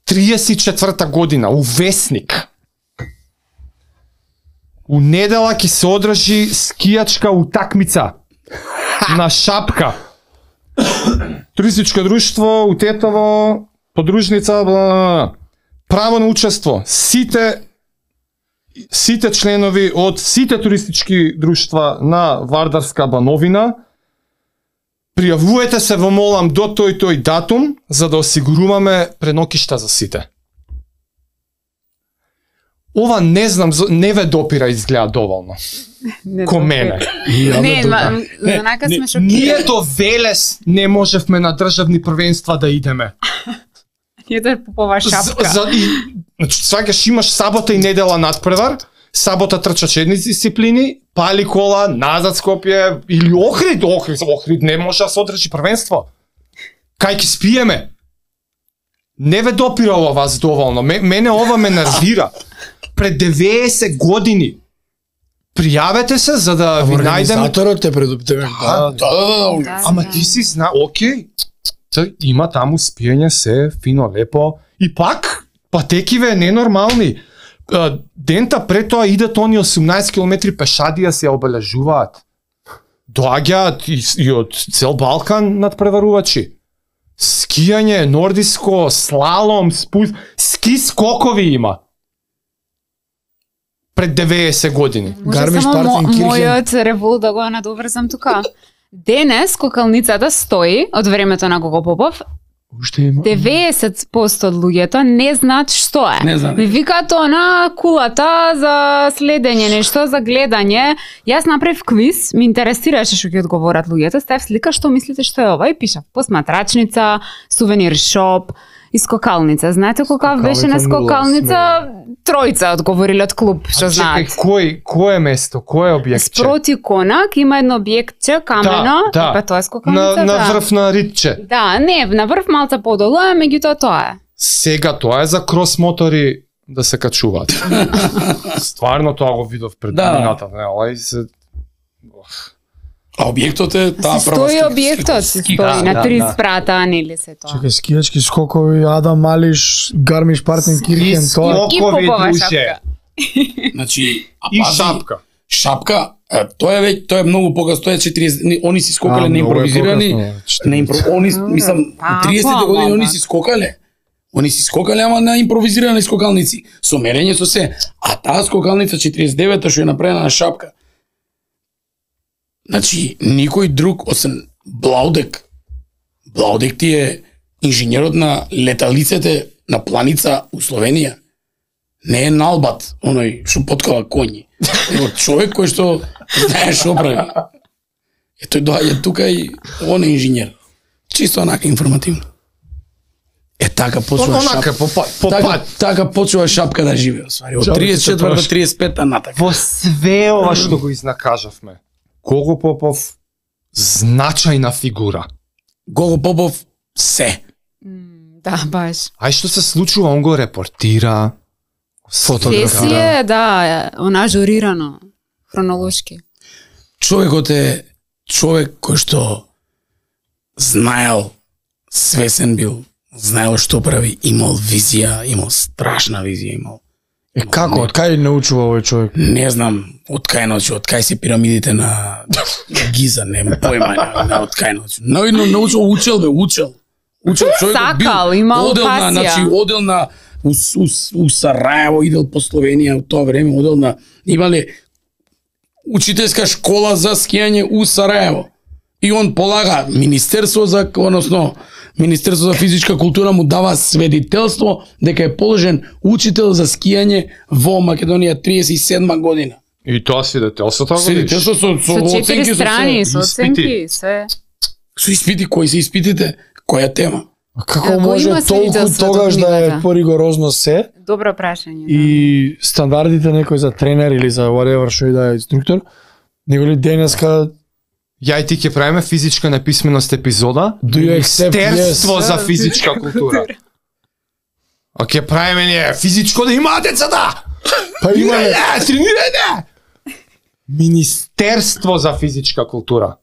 триесет и четврта година, у Весник. У недела ќе се одржи скијачка утакмица. На шапка. Туристичко друштво, у Тетово, подружница, бла, бла, бла. Право на учество. Сите сите членови од сите туристички друштва на Вардарска бановина пријавувајте се во молам до тој тој датум за да осигуруваме пренокишта за сите. Ова не знам, зо- не ве допира изгледа доволно. Не Ко допира. мене. Не, ма, знака сме шокирани. Ние до Велес не можевме на државни првенства да идеме. Ние да попова шапка. За, за, и, значи, сваќаш, имаш сабота и недела надпревар, сабота трчаш едни дисциплини, пали кола, назад Скопје, или Охрид, Охрид, Охрид не може да се одржи првенство. Кај ќе спиеме? Не ве допира ова вас доволно, Ме, мене ова ме нервира. Пред деветдесет години. Пријавете се за да ви најдеме. Организаторот те предупредува. Да, да, да, да. Да, Ама да. ти си зна, окей, т- има таму спиење се, фино, лепо, и пак, патекиве ненормални. А, Дента пред тоа идат они осумнаесет километри пешадија се ја обележуваат. Доаѓаат и, и од цел Балкан надпреварувачи. Скијање, нордиско, слалом, спуст, ски скокови има. Пред деветдесет години. Може Гармиш само мо, Партенкирхен. мојот револ да го надоврзам тука. Денес скокалницата стои од времето на Гого Попов. Уште има. деветдесет проценти од луѓето не знаат што е. Не знаат. Ми викаат она кулата за следење, нешто за гледање. Јас направив квиз, ми интересираше што ќе одговорат луѓето. Ставив слика што мислите што е ова и пишав посматрачница, сувенир шоп И скокалница. Знаете кој беше на Скокалница нула, скокалница? Тројца одговориле од клуб, што А чекај, знаат. кој кое место, кое објектче? Спроти Конак има едно објектче камено, Да, да. па тоа е скокалница. На, на да. врв на Ритче. Да, не, на врв малце подолу, а меѓутоа тоа е. Сега тоа е за крос мотори да се качуваат. Стварно тоа го видов пред Да. мината, не, ова и се А објектот е таа Си прва стои ски- објектот, ски- си ски- стои да, на да, три да. спрата, нели се тоа. Чекај, скијачки скокови, Адам Малиш, Гармиш Партен Кирхен, тоа. И Скокови, попова друже. шапка. Значи, а И пази, шапка. Шапка, е, тоа е веќе, тоа е многу покасно, тоа е четириесет, не, они си скокале А, на многу е импровизирани, покасно, на импро, они, мислам, Па, триесетте па, години па, они па. си скокале. Они си скокале, ама на импровизирани скокалници, со мерење со се. А таа скокалница четириесет и девета што е направена на Шапка. Значи, никој друг освен Блаудек. Блаудек ти е инженерот на леталиците на планица у Словенија. Не е Налбат, оној што поткава коњи. Него човек кој што знае што прави. Е тој доаѓа тука и он е инженер. Чисто онака информативно. Е така почува Онака Шапка. по па- по Така, пат. така почува Шапка да живее, освари. Од Шапка тридесет и четврта до се тридесет и пета натака. Во све ова што го изнакажавме, Гого Попов значајна фигура. Гого Попов се. М, Да, баш. Ај што се случува, он го репортира, Се си е, да, она журирано, хронолошки. Човекот е човек кој што знаел, свесен бил, знаел што прави, имал визија, имал страшна визија, имал. Е, како, од кај научува овој човек? Не знам од кај научи, од кај се пирамидите на, на Гиза, нема појма, не, не од кај научи. Но, но научил, учел бе, учел. Учел човекот Сакал, бил, имал одел на, пасија. значи, одел на у, у, у Сараево, идел по Словенија у тоа време, одел на, имале учителска школа за скијање у Сараево. И он полага Министерство за, односно, Министерство за физичка култура му дава сведителство дека е положен учител за скијање во Македонија тридесет и седма година. И тоа свидетелството го видиш. Свидетелство со, со, Со четири оценки, страни, со, со испити. оценки, све. со испити, кои се испитите, која тема. А како Ако може има толку свидетелството тогаш да е книгата? поригорозно се Добро прашање. да. и стандардите некој за тренер или за whatever што и да е инструктор, него ли денеска Ја и ти ќе правиме физичка неписменост епизода, Do you accept Министерство yes? за физичка култура. А ќе правиме ние физичко да имаат децата. па има Тренирајте, тренирајте. Министерство за физичка култура.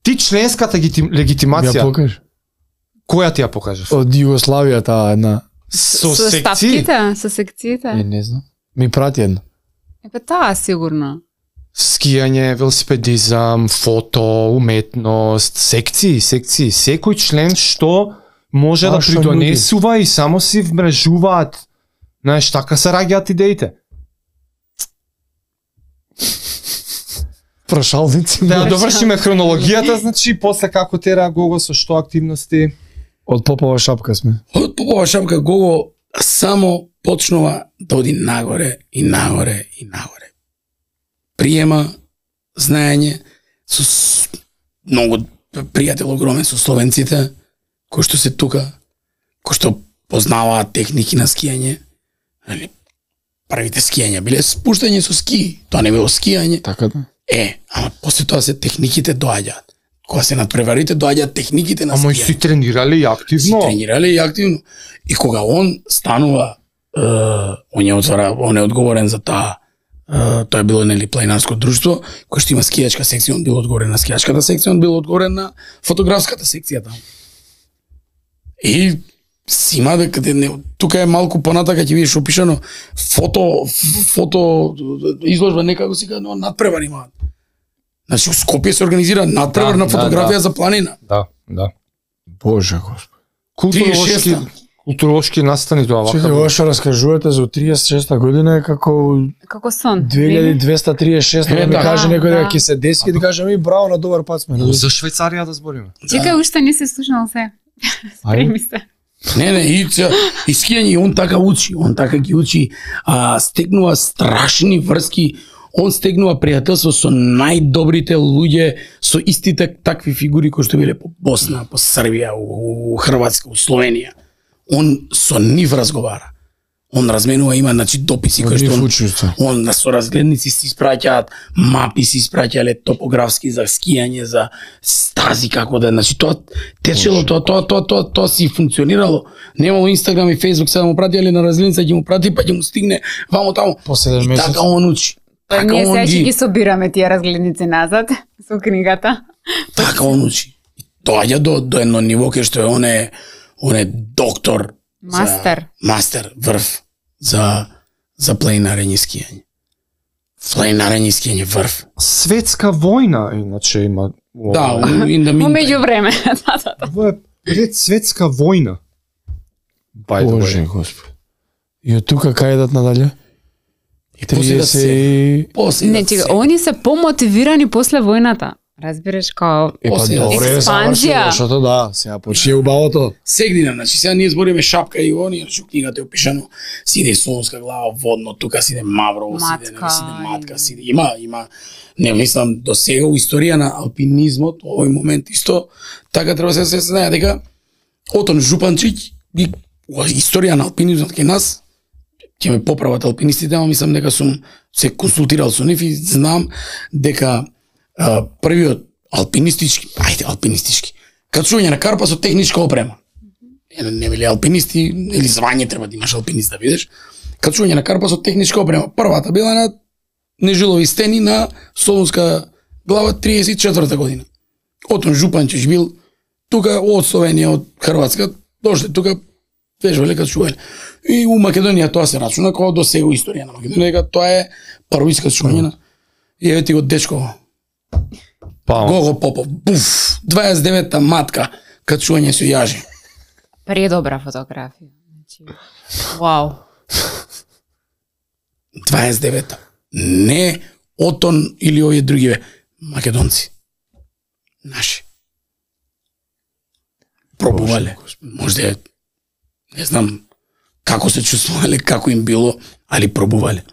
Ти членската легитим, ја легитимација, покаж. која ти ја покажеш? Од Југославија таа една. Со Со секции? ставките, со секциите. Е, не знам. Ми прати една. Епа таа сигурно. Скијање, велосипедизам, фото, уметност, секции, секции, секој член што може да Баш придонесува и само си вмрежуваат. Знаеш, така се раѓаат идеите. Прашалници. Да ја довршиме хронологијата, значи после како тера Гого со што активности. Од Попова шапка сме. Од Попова Шапка Гого само почнува да оди нагоре и нагоре и нагоре. Приема знаење со с- многу пријател огромен со словенците, кои што се тука, кои што познаваат техники на скијање. Нали, првите скијања биле спуштање со ски, тоа не било скијање. Така да. Е, ама после тоа се техниките доаѓаат. Кога се надпреварите, доаѓаат техниките на Ама и скијање. си тренирали и Си активно. тренирале и активно. И кога он станува, е, он е отвора, он е одговорен за таа, е, тоа е било нели планинарско друштво, кој што има скијачка секција, он бил одговорен на скијачката секција, он бил одговорен на фотографската секција таму. И си има дека не, тука е малку понатака ќе видиш опишано фото фото изложба некако си кажа, но надпревар имаат. Значи у Скопје се организира надпревар Да, на да, фотографија да. за планина. Да, да. Боже Господ. Културолошки, тридесет и шеста. културолошки настани тоа вака. Чекај, ова што раскажувате за тридесет и шеста година е како Како сон. две илјади двеста триесет и шеста, Е, да ми да. каже некој дека Да. ќе се деси, ќе ти каже ми браво, на добар пат сме. За Швајцарија да збориме. Чекај, уште не се слушнал се. Спреми се. Не, не, и, ца- и скијање, и он така учи, он така ги учи, а, стегнува страшни врски, он стегнува пријателство со најдобрите луѓе, со истите такви фигури кои што биле по Босна, по Србија, у, у Хрватска, у Словенија. Он со нив разговара. Он разменува, има значи дописи кои што он, он на соразгледници си испраќаат, мапи си испраќале топографски за скијање, за стази како да, значи тоа течело, тоа тоа тоа тоа тоа си функционирало. Немало Инстаграм и Фејсбук, сега му пратиле на разгледница, ќе му прати па ќе му стигне вамо таму. После и така он учи. Па Така ние он сега ќе ги ги собираме тие разгледници назад со книгата. така он учи. И доаѓа до до едно ниво кај што е он е он е доктор. Мастер. За, мастер, врв за за планинарење и скијање. Планинарење и скијање врв. Светска војна, иначе има. Да, in the Во meantime. меѓувреме. Да, да, да. Ова е пред светска војна. By the Боже way. Господи. И од тука кај идат надале? И после да се триесет и... после Не, да чека, се они се помотивирани после војната. Разбираш као Е, па После добре, експанзија. завршило, Зашто да, сега почне убавото. сегнина, значи сега ние збориме шапка и они, значи книгата е опишано, си иде Солунска глава водно, тука си иде Маврово, си иде, Матка, нели, си иде Матка, си иде, има, има, не мислам, до сега у историја на алпинизмот, во овој момент исто, така треба се се знае дека Отон Жупанчиќ, ги, историја на алпинизмот кај нас, ќе ме поправат алпинистите, ама мислам дека сум се консултирал со нив и знам дека а, првиот алпинистички, ајде алпинистички, качување на карпа со техничка опрема. Не, не били алпинисти, или звање треба да имаш алпинист да видиш. Качување на карпа со техничка опрема. Првата била на Нежилови стени на Солунска глава триесет и четврта година. Отон Жупанчиќ бил тука од Словенија, од Хрватска, дошле тука вежбале качувале. И у Македонија тоа се рачуна како до сега историја на Македонија, дека тоа е прво искачување на. И еве ти го дечко Па, Гого Попов, буф, дваесет и девета матка, качување со јажи. предобра фотографија. Значи, вау. дваесет и девета. Не Отон или овие другиве македонци. Наши. Пробувале. Можда не знам како се чувствувале, како им било, али пробувале.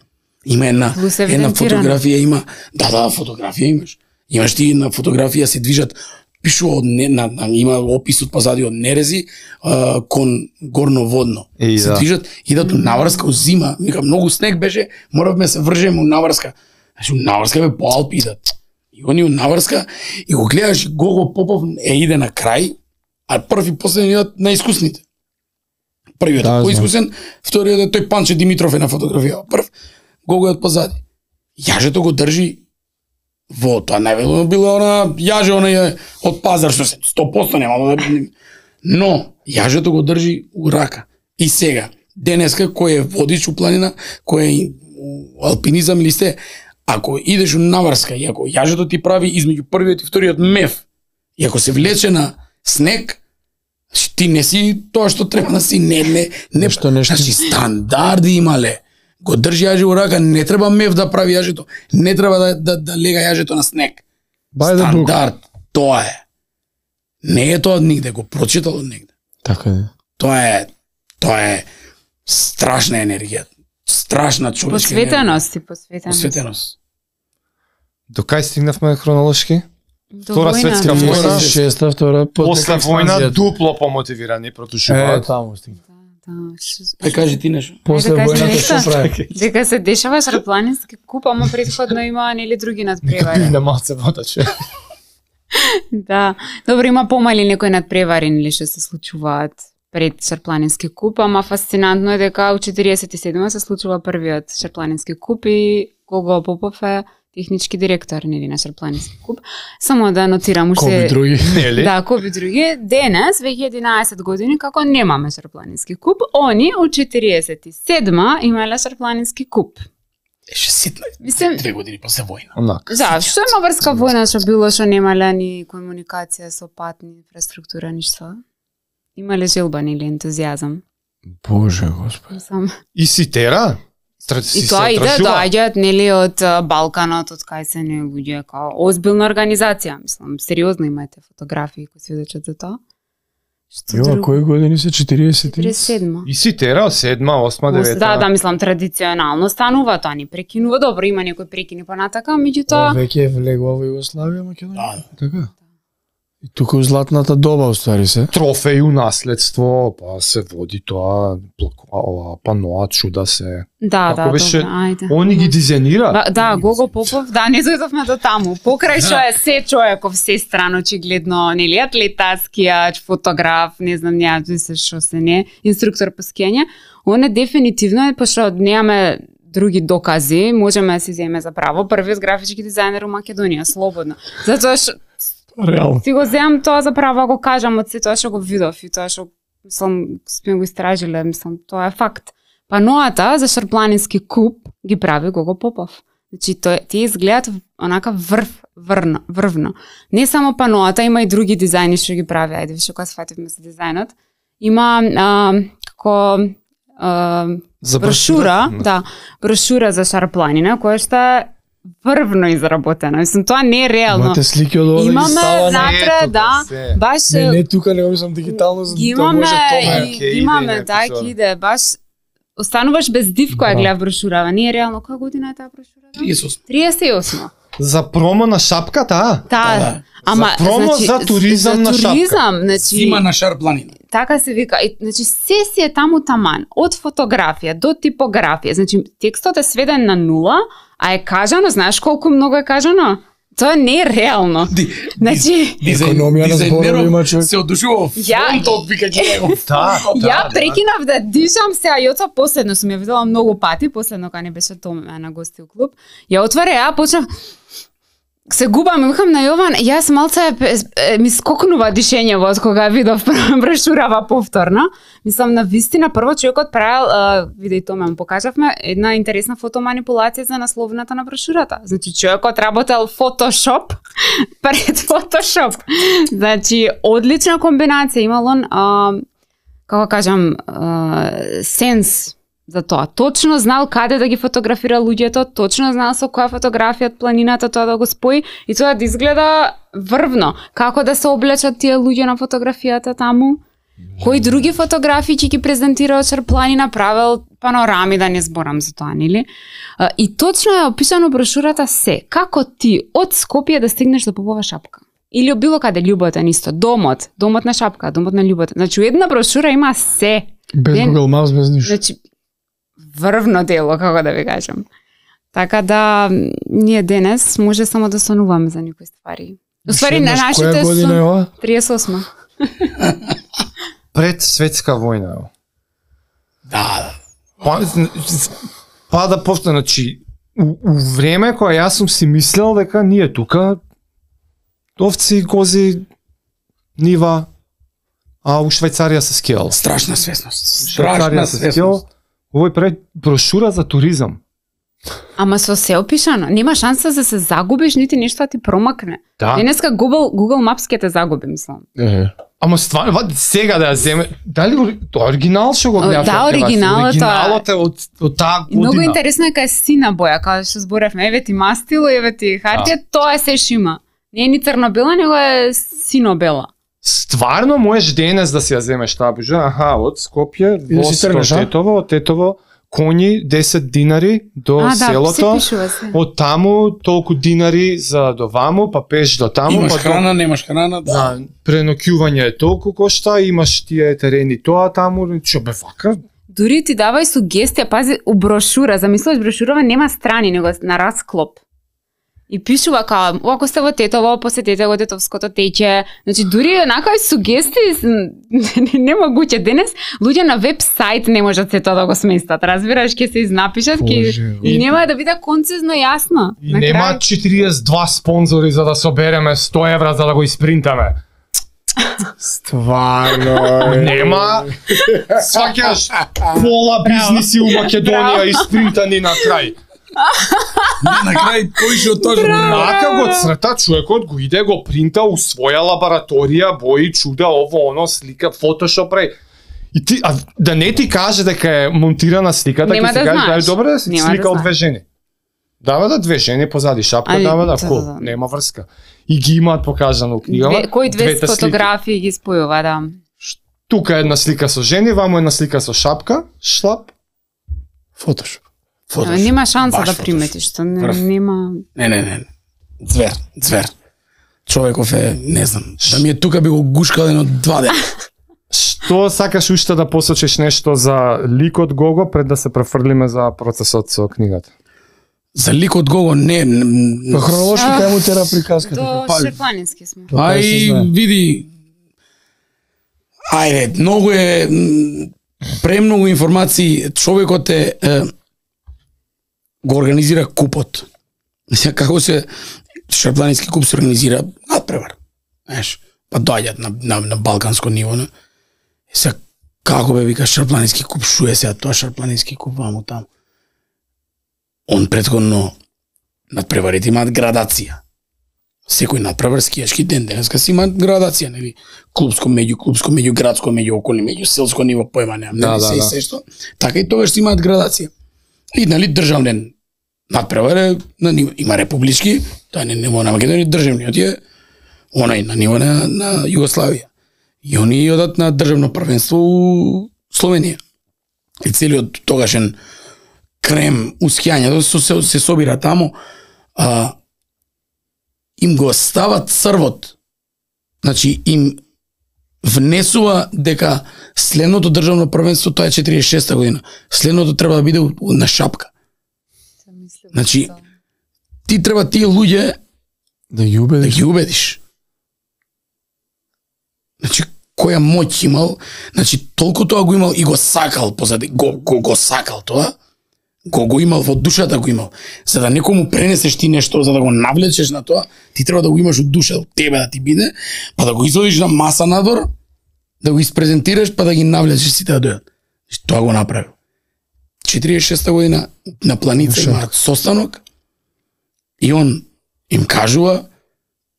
Има една Плюс една евидентирано. фотографија има. Да, да, фотографија имаш. Имаш ти на фотографија се движат пишува од не, на, на, има опис од позади од нерези а, кон горноводно. И се да. движат, идат у наврска у зима, вика многу снег беше, моравме се вржеме у наврска. Значи у наврска бе по Алпи идат. И они у наврска и го гледаш Гого Попов е иде на крај, а прв и последен идат на искусните. Првиот Да, е знам. поискусен, вториот е тој Панче Димитров е на фотографија. Прв Гого е од позади. Јажето го држи во тоа најверојатно било она јаже она е од пазар што се сто проценти нема да. Но јажето го држи у рака. И сега денеска кој е водич у планина, кој е у алпинизам или сте, ако идеш у наврска и ако јажето ти прави измеѓу првиот и вториот мев, и ако се влече на снег, значи ти не си тоа што треба да си, не, не, не, Нешто, нешто. значи стандарди имале. Го држи јаже у рака, не треба мев да прави јажето, не треба да, да, да лега јажето на снег. By the book. Стандард, тоа е. Не е тоа од нигде, го прочитал од негде. Така е. Тоа е, тоа е страшна енергија, страшна човечка енергија. Посветеност и посветеност. Посветеност. до кај стигнавме хронолошки? До Втора војна. светска Втора, војна. шеста, втора, После нека војна експанзијата. дупло помотивирани Е, протушуваат. таму стигна. Да, ш- Ај кажи ти нешто. После Ајде, кажи војната нешто. што прави? Дека се дешава шарпланински куп, ама претходно има нели други надпревари. Пивне малце вода, че. Да. Добро, има помали некои надпревари нели што се случуваат пред Шарпланински куп, ама фасцинантно е дека у четириесет и седма се случува првиот Шарпланински куп и Гого Попов е технички директор нели на Шарпланински куп. Само да нотирам уште Коби други. Нели? Да, коби други. Денес, веќе единаесет години, како немаме Шарпланински куп, они у четириесет и седма имале Шарпланински куп. Еше ситна. Мислам, Две години после војна. Онак. да, што има врска војна што било што немале ни комуникација со патни инфраструктура, ништо? Имале желба или ентузијазам? Боже Господи. Сам. И си тера? Тра- си И се тоа иде, отражува? доаѓаат нели од а, Балканот, од кај се не луѓе, као озбилна организација, мислам, сериозно имате фотографии кои сведочат за тоа. Што Јо, а друго? кои години се четириесет? четириесет и седма. И си тера, седма, осма, девета. Да, да, мислам традиционално станува тоа, ни прекинува. Добро, има некои прекини понатака, меѓутоа Веќе е влегла во Југославија, Македонија. Да. Така. И тука у златната доба уствари се. Трофеи у наследство, па се води тоа, плак- ова, паноа, чуда се. Да, Како да, беше? добро, ајде. Они ги дизајнира. Ба, да, Гого Попов, да, не дојдовме до таму. Покрај што е се човеков, се страно, очигледно, нели, атлета, скијач, фотограф, не знам, ја се што се не, инструктор по скијање, он е дефинитивно, пошто немаме други докази, можеме да си земеме за право, првиот графички дизајнер у Македонија, слободно. Затоа што Реално. си го земам тоа за право, го кажам од се тоа што го видов и тоа што мислам сме го истражиле, мислам тоа е факт. Паноата за Шарпланински куп ги прави Гого Попов. Значи тоа тие изгледаат онака врв, врно, врвно. Не само паноата, има и други дизајни што ги прави. Ајде више кога сфативме за дизајнот. Има а, како а, За брошура, да, брошура за Шарпланина која што е врвно изработена. Мислам тоа не е реално. Имате слики од ова да ги Имаме става на... внатре, Ето, да, се. баш Не, не тука, него мислам дигитално, за ги да имаме, може тоа. и, Ке иде имаме, и на да, епизода. ќе иде, баш остануваш без див која Да. гледа брошурава. Не е реално, која година е таа брошура? триесет и осма. триесет и осма. За промо на шапката, а? Таа, да. ама, За промо за туризам за на шапка. туризам, значи, Зима на Шарпланина. така се вика, и, значи се си е таму таман, од фотографија до типографија, значи текстот е сведен на нула, а е кажано, знаеш колку многу е кажано? Тоа не е реално. Ди- Значи, Економија на зборови има човек. се одушува Ја- фронтот, вика ги него. Да, ја прекинав да дишам сега, Јоца последно сум ја видела многу пати, последно кога не беше Томе на гости у клуб. Ја отваря, ја почнав се губам и викам на Јован, јас малце е, е, ми скокнува дишењево од кога видов брошурава повторно. Мислам на вистина прво човекот правил, а, виде и Томе му покажавме, една интересна фотоманипулација за насловната на брошурата. Значи човекот работел Photoshop пред Photoshop. Значи одлична комбинација имал он, а, како кажам, а, сенс за тоа. Точно знал каде да ги фотографира луѓето, точно знал со која фотографија од планината тоа да го спои и тоа да изгледа врвно. Како да се облечат тие луѓе на фотографијата таму? Кои други фотографии ќе ги презентира од Шарпланина, правел панорами, да не зборам за тоа, нели? А, И точно е опишано брошурата се. Како ти од Скопје да стигнеш до Попова шапка? Или од било каде љубовта исто, домот, домот на шапка, домот на љубовта. Значи, у една брошура има се. Без Ден- Google Maps, без ништо. Значи, врвно дело, како да ви кажам. Така да, ние денес може само да сонуваме за некои ствари. Уствари, на Шеднаш, нашите која година е су ова? триесет и осма. пред светска војна. Ево. Да, Па, па да повторам, значи, у, у време кога јас сум си мислел дека ние тука овци, кози, нива, а у Швајцарија се скијал. страшна свесност. Швајцарија Страшна се скијал. свесност. Овој пред брошура за туризам. Ама со се опишано, нема шанса да се загубиш, нити нешто да ти промакне. Да. Денеска Google, Google Maps ќе те загуби, мислам. Е. Ама стварно, ва, сега да ја земе, дали ори- тоа оригинал што го О, гледаш? да, оригиналот, оригиналот е од од таа И многу година. интересно е кај е сина боја, као што зборевме, еве ти мастило, еве ти хартија, тоа е се шима. Не е ни црно-бела, него е сино-бела. Стварно можеш денес да си ја земеш таа бужа, аха, од Скопје, И да си воз до тргнеш, а? Тетово, од Тетово, коњи десет динари до А, да, се селото, пишува се. од таму толку динари за до ваму, па пеш до таму, Имаш па до... храна, немаш храна, да. Да, преноќување е толку кошта, имаш тие терени тоа таму, што бе вака, Дури ти давај сугестија, пази, у брошура, замислуваш брошурава нема страни, него на расклоп. И пишува као, ако сте во Тетово, посетете го Тетовското тече. Значи, дури онакави сугестии, с- немогуќе. Денес, луѓе на веб-сайт не можат се тоа да го сместат. Разбираш, ќе се изнапишат, ќе... Боже, И нема да биде концизно јасно. и На нема крај- четириесет и два спонзори за да собереме сто евра за да го испринтаме. Стварно. е. Нема, сваќаш пола бизниси у Македонија испринтани на крај. На крај поише од тоа што Нака го црта човекот, го иде, го принта у своја лабораторија, бои, чуда, ово, оно, слика, фотошоп, рај. И ти, а да не ти каже дека е монтирана сликата, Нема ќе да си каже, знаеш. да добре да си Нема да слика од знаеш. две жени. Дава да две жени позади шапка, Али, дава да да, ко, да, да. нема врска. И ги имаат покажано у книгава. Две, кои две двете слики. фотографии ги спојува, да. Тука е една слика со жени, вамо една слика со шапка, шлап. Фотошоп. Ама нема шанса Баш да фотошоп. приметиш, што не, Врв. нема... Не, не, не. Звер, звер. човеков е, не знам, да ми е тука би го гушкал едно два дена. Што сакаш уште да посочиш нешто за ликот Гого пред да се префрлиме за процесот со книгата? За ликот Гого не... Па хронолошки кај му тера приказката. До па- Шерпланински сме. Ај, види, ајде, многу е, м, премногу информации, човекот е, е го организира купот. Сега, како се Шерпланински куп се организира надпревар. Знаеш, па доаѓат на, на, на балканско ниво, не? Сега, како бе вика Шерпланински куп, шо е сега тоа Шерпланински куп ваму таму? Он претходно надпреварите имаат градација. Секој надпревар скијашки ден денеска си имаат градација, нели? Клубско, меѓуклубско, меѓуградско, меѓуоколни, меѓуселско ниво, појма немам, Да, нели да, се и да. се што. Така и тогаш си имаат градација. И нели државен надпревар е на ниво, има републички, тоа не ниво на Македонија, државниот е онај на ниво на, на Југославија. И они одат на државно првенство у Словенија. И целиот тогашен крем ускијањето се, се, се собира таму, а, им го стават црвот. Значи им внесува дека следното државно првенство тоа е четириесет и шеста година. Следното треба да биде на Шапка. Значи ти треба тие луѓе Да ги да убедиш. ги убедиш. Значи која моќ имал, значи толку тоа го имал и го сакал позади, го, го, го сакал тоа, го го имал во душата го имал. За да некому пренесеш ти нешто, за да го навлечеш на тоа, ти треба да го имаш од душа, од тебе да ти биде, па да го изводиш на маса надвор, да го испрезентираш, па да ги навлечеш сите да дојдат. Значи, тоа го направил. четириесет и шеста година на Планица имаат состанок и он им кажува,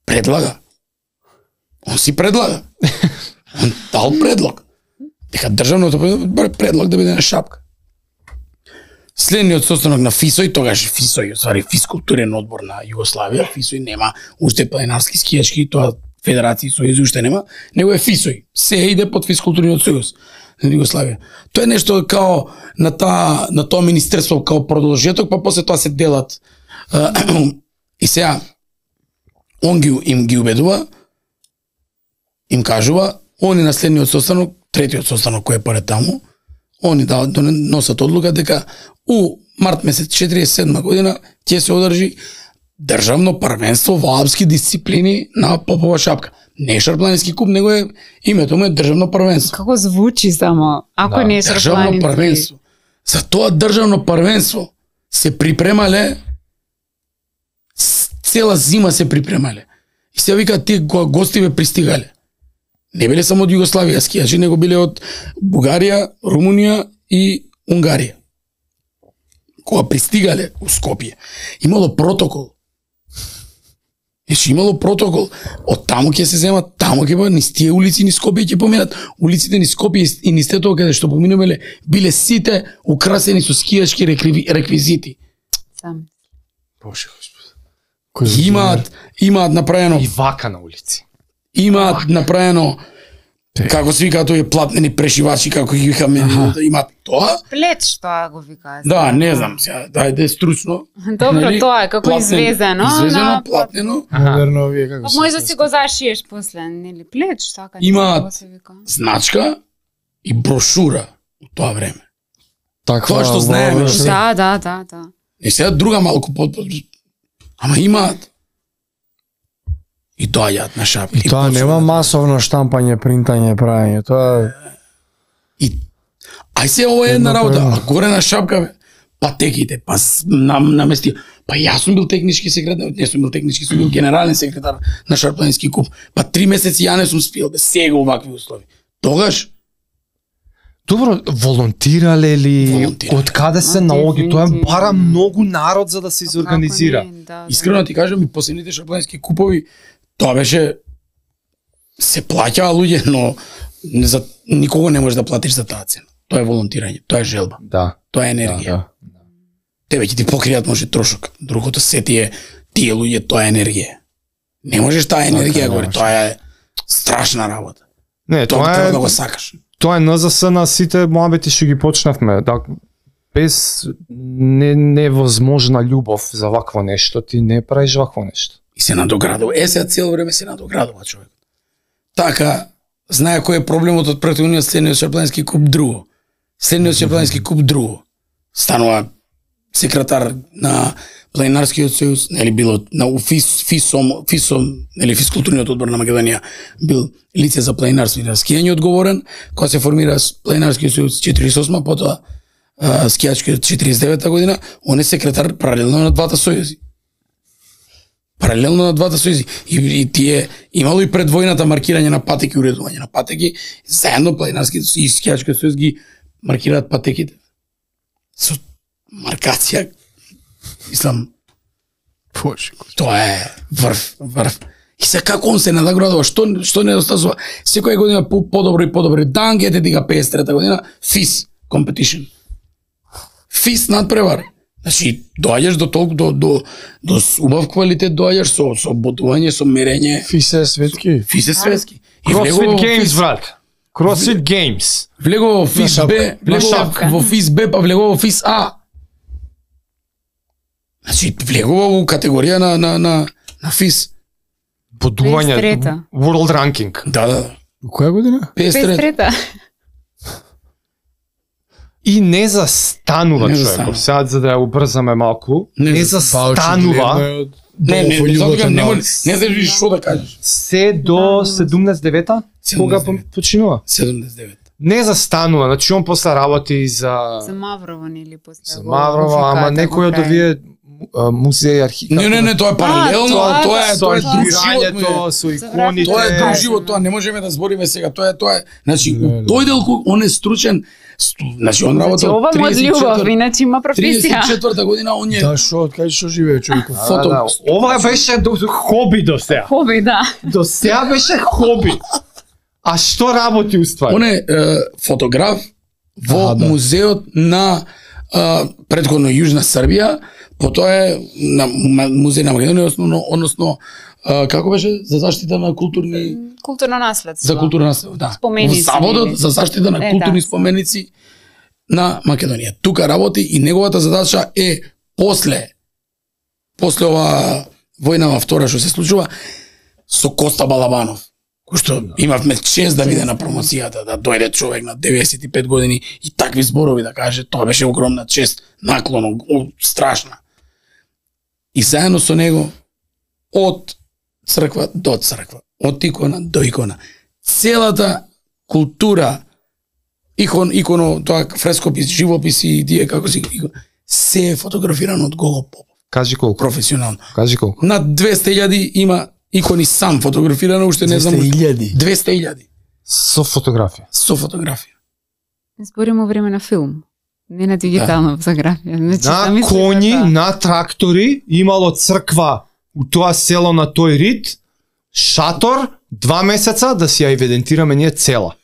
предлага. Он си предлага. Он дал предлог. Дека државното предлог да биде на Шапка. Следниот состанок на ФИСОј, тогаш ФИСОј, свари физкултурен одбор на Југославија, ФИСОј нема уште планинарски скијачки, тоа федерации сојузи уште нема, него е ФИСОј. Се иде под физкултурниот сојуз на Југославија. Тоа е нешто као на таа на тоа министерство као продолжеток, па после тоа се делат. И сега он ги им ги убедува, им кажува, они на следниот состанок, третиот состанок кој е поред таму, они да носат одлука дека у март месец четириесет и седма година ќе се одржи државно првенство во алпски дисциплини на Попова Шапка. Не е Шерпланински куп, него е името му е државно првенство. Како звучи само, ако Да, не е Државно Шерпланински. првенство. За тоа државно првенство се припремале с- цела зима се припремале. И се вика тие кога гостиве пристигале. Не биле само од Југославија скијачи, него биле од Бугарија, Румунија и Унгарија. Кога пристигале у Скопје, имало протокол. Значи имало протокол. Од таму ќе се земат, таму ќе бъдат, низ тие улици низ Скопје ќе поминат. Улиците низ Скопје и низ тето каде што поминувале биле сите украсени со скијачки рекви- реквизити. Сам. Боже Господи. Кој Имаат имаат направено И вака на улици. имаат направено како се вика тој платнени прешивачи како ги викаме, имаат тоа. Плеч, тоа го викаа. Да, не знам сега, дајде стручно. Добро, Нели? тоа е како Платнен- извезено. Извезено, на- платнено. Модерно овие како Па се. може да си го зашиеш после, нели плеч, така Имаат како се вика. Значка и брошура у тоа време. Таква Тоа што знаеме, во- што се- Да, да, да, да. И сега друга малку под, под ама имаат. И доаѓаат на Шапка. И тоа почнуваат. нема масовно штампање, принтање, правење. Тоа И ај се ова е една Едно по работа, едно. а горе на Шапка, патеките, па с- на, намести. Па јас сум бил технички секретар, не сум бил технички, сум бил генерален секретар на Шерпланински куп. Па три месеци ја не сум спил, бе, сега овакви услови. Тогаш Добро, волонтирале ли? Волонтирале. Од каде се А, наоѓа? Тоа е дефинитивно. бара многу народ за да се изорганизира. Како не, да, да. искрено ти кажам, и последните Шерпланински купови, тоа беше се плаќаа луѓе, но не за никого не можеш да платиш за таа цена. Тоа е волонтирање, тоа е желба, Да. тоа е Да, енергија. да. Тебе ќе ти покријат може трошок. Другото се тие тие луѓе тоа е енергија. Не можеш таа енергија не горе, можеш. тоа е страшна работа. Не, Тоа тоа треба е да го сакаш. тоа е Н З С на сите моабети што ги почнавме. Да, без не, невозможна љубов за вакво нешто, ти не правиш вакво нешто. и се надоградува. Е, сега цело време се надоградува човек. Така, знае кој е проблемот од претходниот следниот Шарпланински куп друго. Следниот Шарпланински куп друго. Станува секретар на Планинарскиот сојуз, нели било на ФИС, ФИСом, ФИСом, нели физкултурниот одбор на Македонија бил лице за планинарство и на скијање одговорен, кога се формира Планинарскиот сојуз четириесет и осма, потоа скијачкиот четириесет и девета година, он е секретар паралелно на двата сојузи. Паралелно на двата сојузи. И, и тие имало и пред војната маркирање на патеки, уредување на патеки, заедно Планинарскиот и скијачкиот сојуз ги маркираат патеките. Со маркација, мислам, Боже, тоа е врв, врв. И се како он се надоградува, што што не достасува. Секоја година по подобро и подобро. Дан ете дига педесет и трета година ФИС competition. ФИС надпревар. Значи, доаѓаш до толку до до до убав квалитет, доаѓаш со со бодување, со мерење. ФИС е светски. ФИС е светски. И CrossFit Games, брат. CrossFit Games. Влегува во ФИС Б, влегува во ФИС Б, па влегува во ФИС А. Значи, влегува во категорија на на на на ФИС. Бодување, педесет и трета. World Ranking. Да, да. Која година? педесет и трета. педесет и трета. И не застанува Не човеков. застанува. Сега за да ја убрзаме малку, Не не застанува. застанува Не, не, не, затоа не може, не знаеш што да кажеш. се до седумнаесет и девета, кога седумнаесет и девета. починува. седумнаесет и девета. Не застанува, значи он после работи за За Маврова или после за го- Маврова, го ама фиката, некој го од прави. овие а, музеи, архиви. Не, не, не, тоа е паралелно, тоа- тоа е со тоа е друг живот. архивирањето, ме. со За иконите. Тоа е друг Е, живот, тоа не можеме да збориме сега, тоа е тоа е. Значи, Не, не. тој делку он е стручен, сту- значи он Значи, работел ова му од љубов, тридесет и иначе има професија. тридесет и четврта година он е Да, шо, од кај што живее човекот? фото. Да, да. Ова беше до хоби до сега. Хоби, да. До сега беше хоби. А што работи уствари? Он е е, фотограф во Аха, да. музеот на е, предходно Јужна Србија, потоа е на м- музеј на Македонија, односно, односно е, како беше за заштита на културни Културно наследство. за културна наследство, да. Споменици, Во Заводот нели? за заштита на Е, културни да. споменици на Македонија. Тука работи и неговата задача е после после ова војнава втора што се случува со Коста Балабанов, кој што имавме чест да биде на промоцијата, да дојде човек на деветдесет и пет години и такви зборови да каже, тоа беше огромна чест, наклон, о, страшна. И заедно со него од црква до црква, од икона до икона, целата култура, икон, иконо, тоа фрескопис, живописи и тие како си, икон, се е фотографирано од Гого Попов, Кажи колку. професионално. Кажи колку. Над двесте илјади има икони сам фотографирано, уште не знам. двесте илјади. двесте илјади Со фотографија. со фотографија. Збориме време на филм, не на дигитална фотографија. Значи, На замисли коњи, за тоа. на трактори, имало црква у тоа село на тој рид, шатор, два месеца да си ја евидентираме ние цела.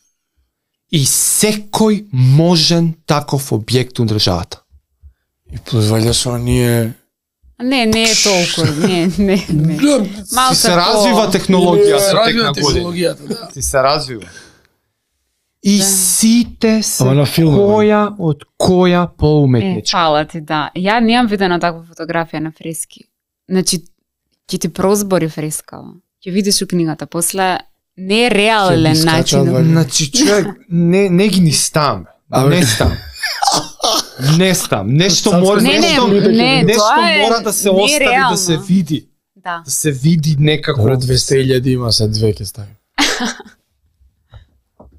И секој можен таков објект у државата. И плюс валја со ние Не, не е толку, не, не, не. Малку Ти се развива Се технологијата тек развива на години. технологијата, да. Ти се развива. И Да. сите се Ама на филм, која од која Е, поуметничка. фала ти, да. Ја немам видена таква фотографија на фрески. Значи, ќе ти прозбори фрескава. Ќе видиш у книгата. После не е Ќе реален ги скачаат начин. вака. Значи, човек, не, не ги ни стам. Абе. Не стам. Не стам. Нешто Сад мора, сам Не, не, нешто, не, нешто тоа е мора да се остави, да нереално. се види. Да. Да се види некако. Добре, двесте илјади има, се две ќе стави.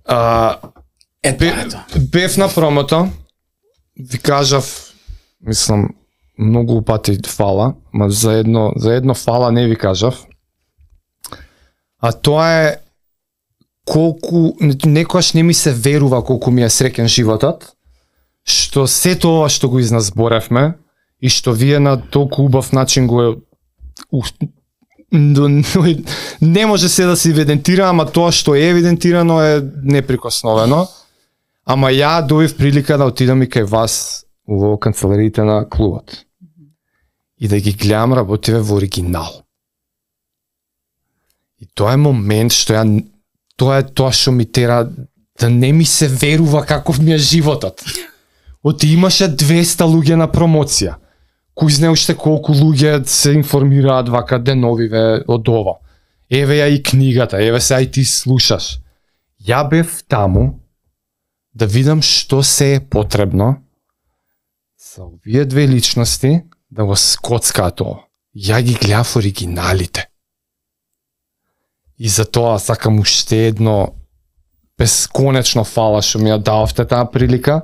А, Е, бе, тоа е тоа. бев на промото, ви кажав, мислам, многу пати фала, ма за едно, за едно фала не ви кажав. А тоа е колку, некојаш не ми се верува колку ми е среќен животот, што сето ова што го изназборевме и што вие на толку убав начин го е у- до- не може се да се евидентира, ама тоа што е евидентирано е неприкосновено. Ама ја добив прилика да отидам и кај вас во канцелариите на клубот. И да ги гледам работиве во оригинал. И тоа е момент што ја тоа е тоа што ми тера да не ми се верува каков ми е животот. Оти имаше двесте луѓе на промоција, кој знае уште колку луѓе се информираат вака деновиве од ова. Еве ја и книгата, еве се ај ти слушаш. Ја бев таму да видам што се е потребно за овие две личности да го скоцкаат тоа. Ја ги гледав оригиналите. И за тоа сакам уште едно бесконечно фала што ми ја дававте таа прилика.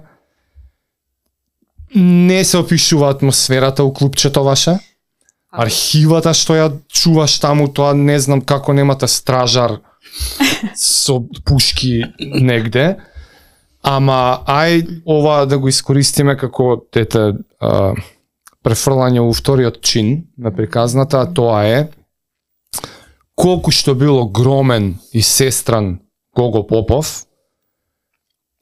Не се опишува атмосферата у клубчето ваше. Архивата што ја чуваш таму, тоа не знам како немате стражар со пушки негде. Ама ај ова да го искористиме како тете а, префрлање у вториот чин на приказната, а тоа е колку што бил огромен и сестран Гого Попов,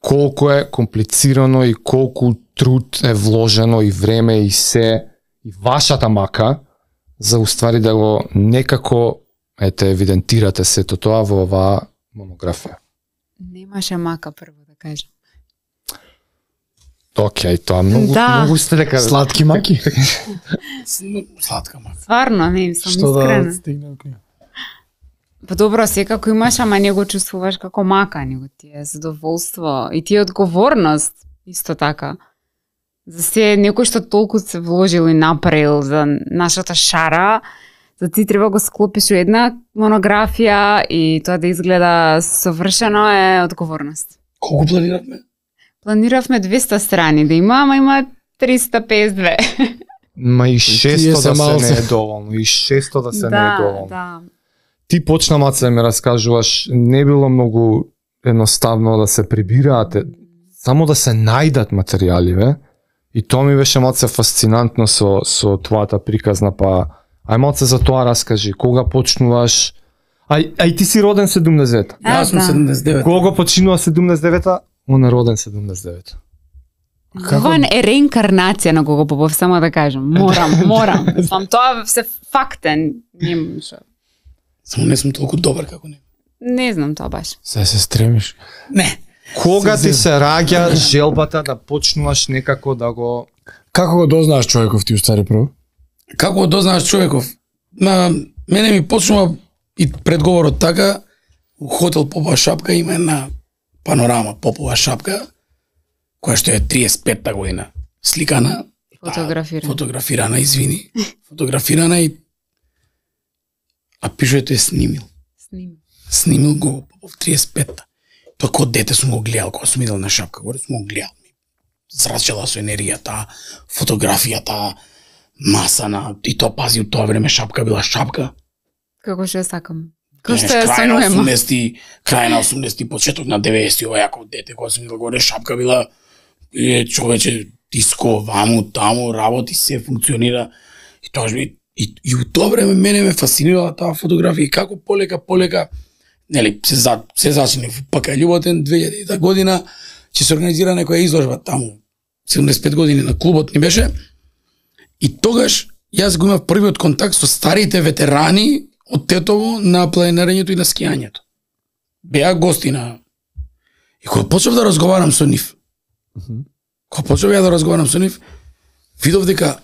колку е комплицирано и колку труд е вложено и време и се и вашата мака за уствари да го некако ете евидентирате сето тоа во оваа монографија. Немаше мака прво да кажам. Океј, тоа многу Да. многу сте дека Сладки маки. Сладка мака. Стварно, не сум Што искрена. да стигне до книга. Па добро, секако имаш, ама не го чувствуваш како мака, него ти е задоволство и ти е одговорност исто така. За се некој што толку се вложил и направил за нашата шара, за ти треба го склопиш у една монографија и тоа да изгледа совршено е одговорност. Колку планиравме? Планиравме двеста страни да има, ама има триста песет две. ма и шесто се да се малце. не е доволно, и шесто да се не е Да, доволно. да. Ти почна маце да ми раскажуваш, не било многу едноставно да се прибираат, само да се најдат материјали, ве. И тоа ми беше маце фасцинантно со со твојата приказна, па ај маце за тоа раскажи, кога почнуваш? Ај ај ти си роден седумдесет девета. А, Јас сум да. седумдесет и девет. Кога починува седумдесет и девета? Он е роден седумдесет и девета. Ова е реинкарнација на Гого Попов, само да кажам. Морам, морам. Сам тоа се фактен. Не, шо. Само не сум толку добар како него. Не знам тоа баш. Се се стремиш. Не. Кога ти се раѓа желбата да почнуваш некако да го Како го дознаеш човеков ти устари прво? Како го дознаеш човеков? На мене ми почнува и предговорот така, у хотел Попова шапка има една панорама Попова шапка, која што е триесет и петта година сликана, Фотографирана. фотографирана, извини, фотографирана и а пишете снимил. Сним. Снимил го Попов триесет и петта. Тоа кога дете сум го гледал, кога сум идел на шапка, горе сум го гледал. Зрачела со енергијата, фотографијата, масана, и тоа пази, у тоа време шапка била шапка. Како што ја сакам. Како што Знаеш, ја крај на сонуема. осумдесети, крај на осумдесети, почеток на деветдесети, ова јако дете, кога сум идел горе, шапка била е, човече, диско, ваму, таму, работи, се функционира. И тоа би и, и у тоа време мене ме фасцинирала таа фотографија и како полека, полека, нели, се, за, се зачинив, пака љуботен, две илјадета година, ќе се организира некоја изложба таму, седумдесет и пет години на клубот ни беше, и тогаш јас го имав првиот контакт со старите ветерани од Тетово на планирањето и на скијањето. Беа гости на... И кога почнав да разговарам со нив, кога почнав ја да разговарам со нив, видов дека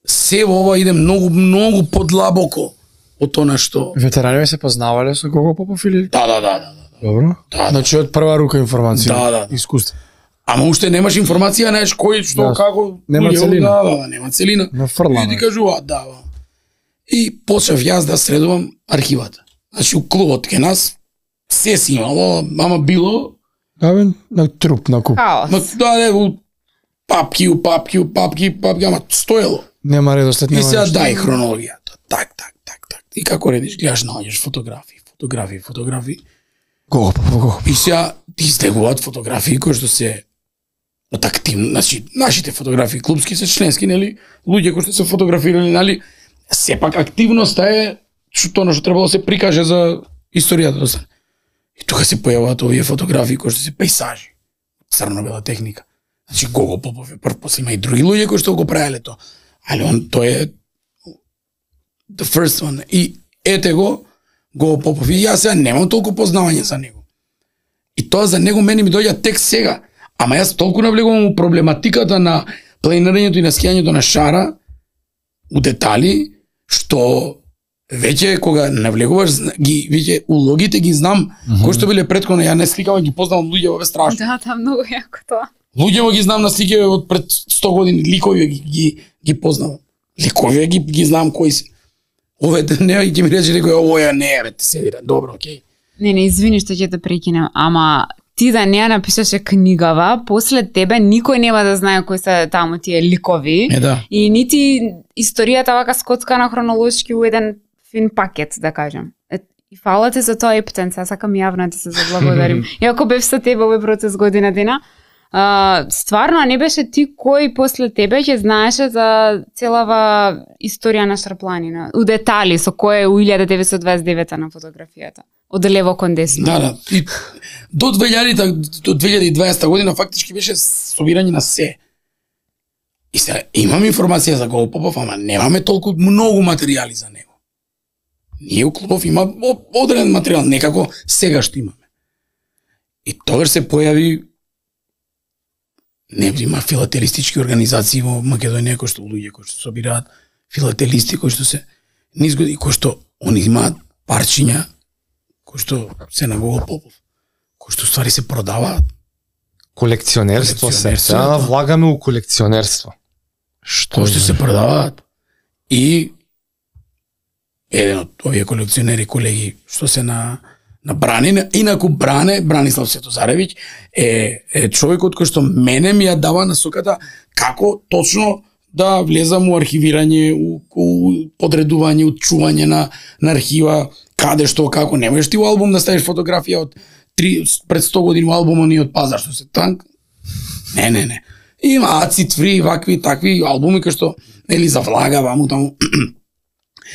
се во ова иде многу, многу подлабоко од тоа што... Ветерани се познавале со Гого Попов или? Да, да, да, да. да. Добро. Да, да. Значи од прва рука информација. Да, да. Искуство. Ама уште немаш информација, знаеш кој, што, Да. како... Нема луѓе, целина. Да, да, да, нема целина. На фрлана. И ти кажуваат, да, да. И почнав јас да средувам архивата. Значи, у клубот ке нас се си имало, ама било, Да, бе, на труп, на куп. ма, Хаос. да, не, у папки, у папки, у папки, папки, ама стоело. Нема редослед, И нема сега ништо. дај хронологијата. Так, так, так, так. И како редиш, гледаш, наоѓаш фотографии, фотографии, фотографии. Гого Попов, Гого Попов. И сега ти стегуваат фотографии кои што се од активно, значи нашите фотографии клубски се членски, нели, луѓе кои што се фотографирали, нели, сепак активноста е што тоа што требало да се прикаже за историјата да стане. И тука се појавуваат овие фотографии кои што се пейсажи, црно-бела техника. Значи Гого Попов е прв, после има и други луѓе кои што го правеле тоа. Али он тој е the first one. И ете го Гого Попов. И јас сега немам толку познавање за него. И тоа за него мене ми доаѓа тек сега. Ама јас толку навлегувам у проблематиката на планирањето и наскијањето на шара у детали, што веќе кога навлегуваш ги веќе улогите ги знам, mm -hmm. кои што биле претходно, ја не сликава, ги познавам луѓе, ове страшно. Да, да, многу јако тоа. Луѓе ги знам на слике од пред сто години, ликови ги ги, ги познавам. Ликови ги ги знам кои се. Ове не ќе ми рече некој, овоја не е, те седира. Добро, окей. Не, не, извини што ќе те прекинем, ама ти да не ја напишеше книгава, после тебе никој нема да знае кои се таму тие ликови. Е, да. И нити историјата вака скоцкана хронолошки у еден фин пакет, да кажем. Е, и фала ти за тоа, Ептен, сега сакам јавно ти се заблагодарим. Иако бев со тебе овој процес година дена, а, стварно не беше ти кој после тебе ќе знаеше за целава историја на Шарпланина, у детали, со кој е у илјада деветстотини дваесет и девета на фотографијата. Од лево кон десно. Да, да. И до две илјади до две илјади и дваесета година фактички беше собирање на се. И сега имам информација за Гого Попов, ама немаме толку многу материјали за него. Ние у клубов има одреден материјал, некако сега што имаме. И тогаш се појави, не има филателистички организации во Македонија кои што луѓе кои што собираат филателисти кои што се низ години кои што они имаат парчиња кои што се на Гого Попов, кои што ствари се продаваат. Колекционерство се, Колекционерство, сега да. влагаме у колекционерство. Кои што се продаваат. И еден од овие колекционери колеги што се на на Брани, инаку Бране, Бранислав Светозаревиќ е, е човекот кој што мене ми ја дава насоката како точно да влезам у архивирање, у, у подредување, у чување на, на архива, каде што, како, не можеш ти у албум да ставиш фотографија од три, пред сто години у албумот ни од Пазар, што се танк. Не, не, не. Има Acid Free, вакви, такви албуми кои што, нели, за влага, ваму таму.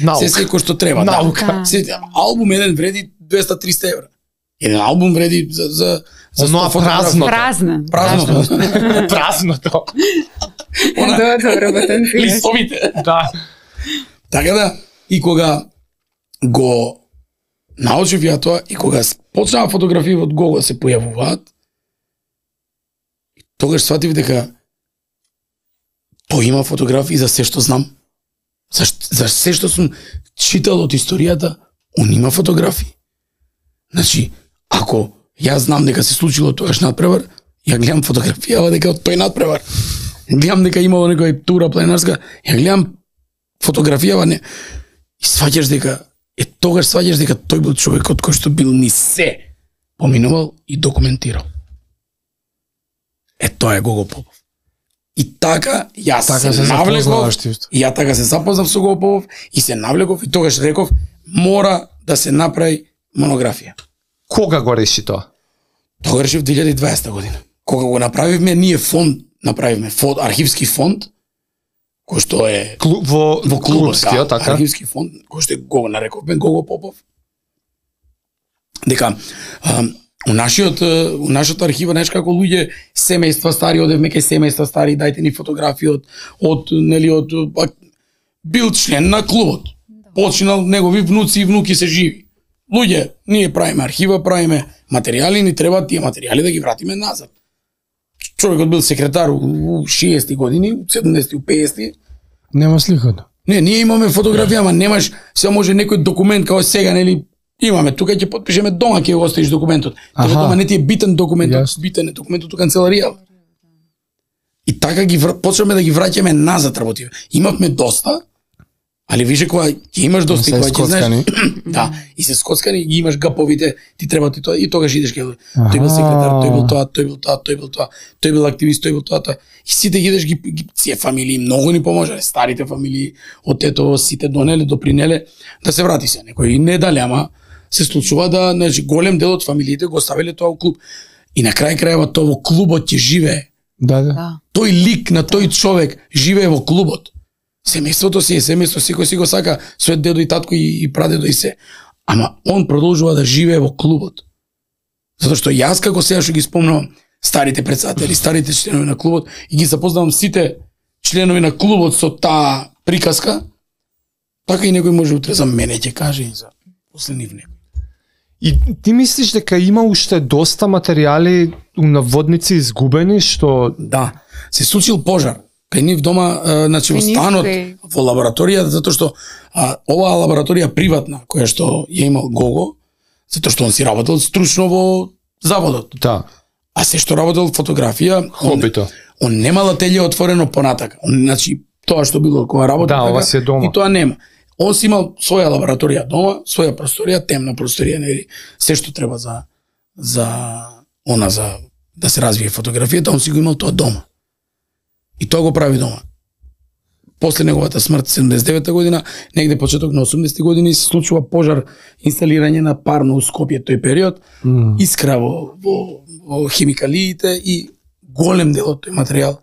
Наука. Се секој што треба. Наука. Да. Се, албум еден вреди двеста до триста евра. Еден албум вреди за за за Оноа сто фотографии. празно. Празна. Празно. Празното. Она- Добро, работен си. Листовите. Да. Така да, и кога го научив ја тоа, и кога почнаа фотографии од Гого да се појавуваат, тогаш сватив дека тој има фотографии за се што знам. За, за се што сум читал од историјата, он има фотографии. Значи, ако јас знам дека се случило тогаш надпревар, ја гледам фотографија дека од тој надпревар. Гледам дека имало некоја тура пленарска, ја гледам фотографија, не. И сваќаш дека, е тогаш сваќаш дека тој бил човекот кој што бил ни се поминувал и документирал. Е, тоа е Гого Попов. И така, јас Така се, се навлеков, запознаваш ти исто. и ја така се запознав со Гого Попов, и се навлеков, и тогаш реков, мора да се направи монографија. Кога го реши тоа? Тоа решив две илјади и дваесета година. Кога го направивме, ние фонд, направивме фонд, архивски фонд, кој што е Клу, во во клубот, клубскиот, да, така? архивски фонд, кој што го нарековме Гого Попов. Дека а, у нашиот у нашата архива, знаеш како луѓе семејства стари, одевме кај семејства стари, дајте ни фотографии од од нели од а, бил член на клубот. Починал, негови внуци и внуки се живи. Луѓе, ние правиме архива, правиме материјали, ни треба тие материјали да ги вратиме назад. Човекот бил секретар у шеести години, у седумдесети, у педесети. Нема сликата. Не, ние имаме фотографија, ама немаш, се може некој документ као сега, нели, имаме, тука ќе потпишеме дома, ќе го оставиш документот. Тебе Аха. дома не ти е битен документот, Јасно. битен е документот у канцеларија. И така ги вр... почнеме да ги враќаме назад работи. Имавме доста, али више кога ќе имаш доста и Се кога ќе знаеш, скоцкани. да, и се скоцкани, ги имаш гаповите, ти треба ти тоа и тогаш идеш кај тој бил секретар, тој бил тоа, тој бил тоа, тој бил тоа, тој бил активист, тој бил тоа, тоа. И сите ги идеш ги, ги сие фамилии многу ни поможале, старите фамилии од тето сите донеле, допринеле да се врати се. Некои не дали, ама се случува да, значи, голем дел од фамилиите го оставиле тоа во клуб. И на крај крајава тоа во клубот ќе живее. Да, да. Да. Тој лик на тој човек живее во клубот. Семејството си е семејство, секој си го сака, својот дедо и татко и, и прадедо и се. Ама он продолжува да живее во клубот. Затоа што јас како сега што ги спомнувам старите председатели, старите членови на клубот и ги запознавам сите членови на клубот со таа приказка, така и некој може утре за мене ќе каже и за после нив некој. И ти мислиш дека има уште доста материјали у наводници изгубени што Да, се случил пожар. кај нив дома, а, значи во Кај нив, станот, кај- во лабораторија, затоа што а, оваа лабораторија приватна, која што ја имал Гого, затоа што он си работел стручно во заводот. Да. А се што работел фотографија, он, Хобито. он немал ателје отворено понатака. Он, значи, тоа што било кога работел, Да, ова си е дома. и тоа нема. Он си имал своја лабораторија дома, своја просторија, темна просторија, нели, се што треба за за она за да се развие фотографијата, он си го имал тоа дома. И тоа го прави дома. После неговата смрт седумдесет и девета година, негде почеток на осумдесетти години се случува пожар, инсталирање на парно у Скопје тој период, Mm. искра во, во, во химикалиите и голем дел од тој материјал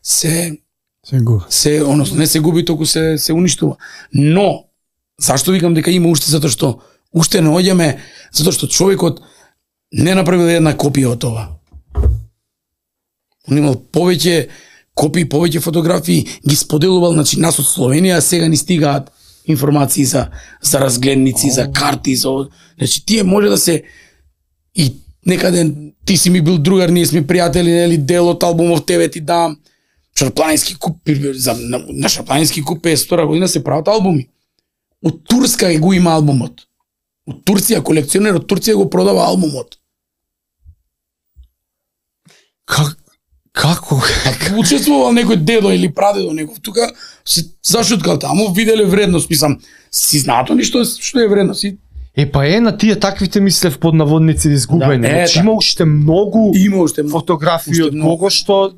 се Се го. се односно не се губи, току се се уништува. Но зашто викам дека има уште, затоа што уште наоѓаме, затоа што човекот не направил една копија од тоа. Он имал повеќе копии, повеќе фотографии, ги споделувал, значи нас од Словенија сега ни стигаат информации за за разгледници, за карти, за значи тие може да се и некаде ти си ми бил другар, ние сме пријатели, нели, дел од албумов тебе ти дам. Шарпланински куп, за, на, на Шарпланински куп педесет и втора година се прават албуми. Од Турска го има албумот. Од Турција, колекционер од Турција го продава албумот. Как, како? А учествувал некој дедо или прадедо некој тука, се зашуткал таму, виделе вредност, мислам, си знаато ни што, што е вредност. И Е, па е, на тие таквите мислев под наводници изгубени. Да, е, Значи да. има уште многу има уште многу. фотографии уште од многу. кого што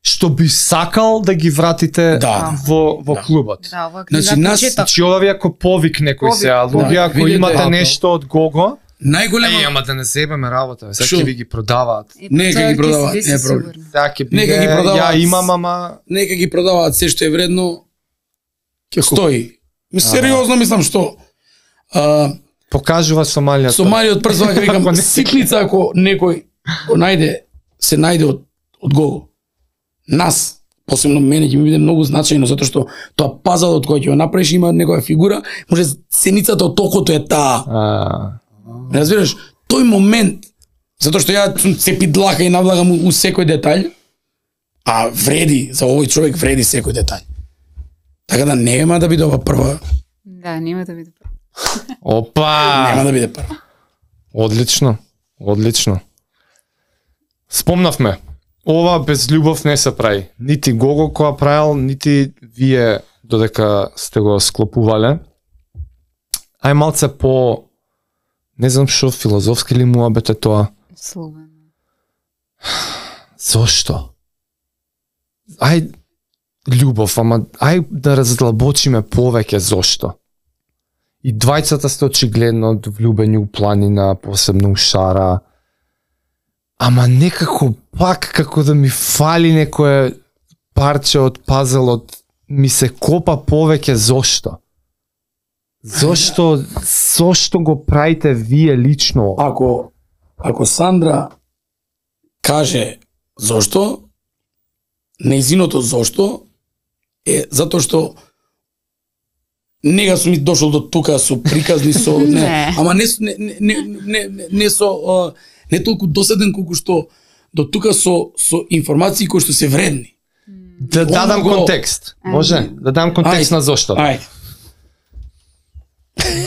што би сакал да ги вратите Да. во во Да. клубот. Да, ова книга Значи, нас- почеток. Значи ова ви ако повик некој Повик. се, а луѓе Да, ако видите, имате апел. нешто од Гого, Најголема е, ама да не зебеме работа, сега Шо? ќе ви ги продаваат. Е, Не, тоа ќе ги ќе продаваат, си не е си проблем. сигурна. Сега ќе Нека ги биде, продаваат. ја имам, ама нека ги продаваат се што е вредно, ќе стои. Ми сериозно мислам што а, покажува Сомалија. Сомалија од прв вака викам Ако не- ситница ако некој го најде, се најде од од Гого. Нас посебно мене ќе ми биде многу значајно затоа што тоа пазал од кој ќе го направиш има некоја фигура, може сеницата од токото е таа. А, Разбираш, тој момент, затоа што ја сум цепи длака и навлагам у секој детаљ, а вреди, за овој човек вреди секој детаљ. Така да нема да биде ова прва, Да, нема да биде прво. опа! нема да биде прва. Одлично, одлично. Спомнавме, ова без љубов не се прави. Нити Гого која правил, нити вие додека сте го склопувале. Ај малце по, не знам што, филозофски ли муабет е тоа? Словено. Зошто? Ај, љубов, ама ај да раздлабочиме повеќе зошто. И двајцата сте очигледно влюбени у планина, посебно у Шара. Ама некако пак како да ми фали некое парче од пазелот, ми се копа повеќе зошто. Зошто, зошто го правите вие лично? Ако ако Сандра каже зошто, нејзиното зошто е затоа што нега сум и дошол до тука со приказни со не, Не. ама не не не не не, не со а, не толку досаден колку што до тука со со информации кои што се вредни. Да дадам Оно го- контекст. Може? Да дам контекст Ајде. на зошто. Ајде.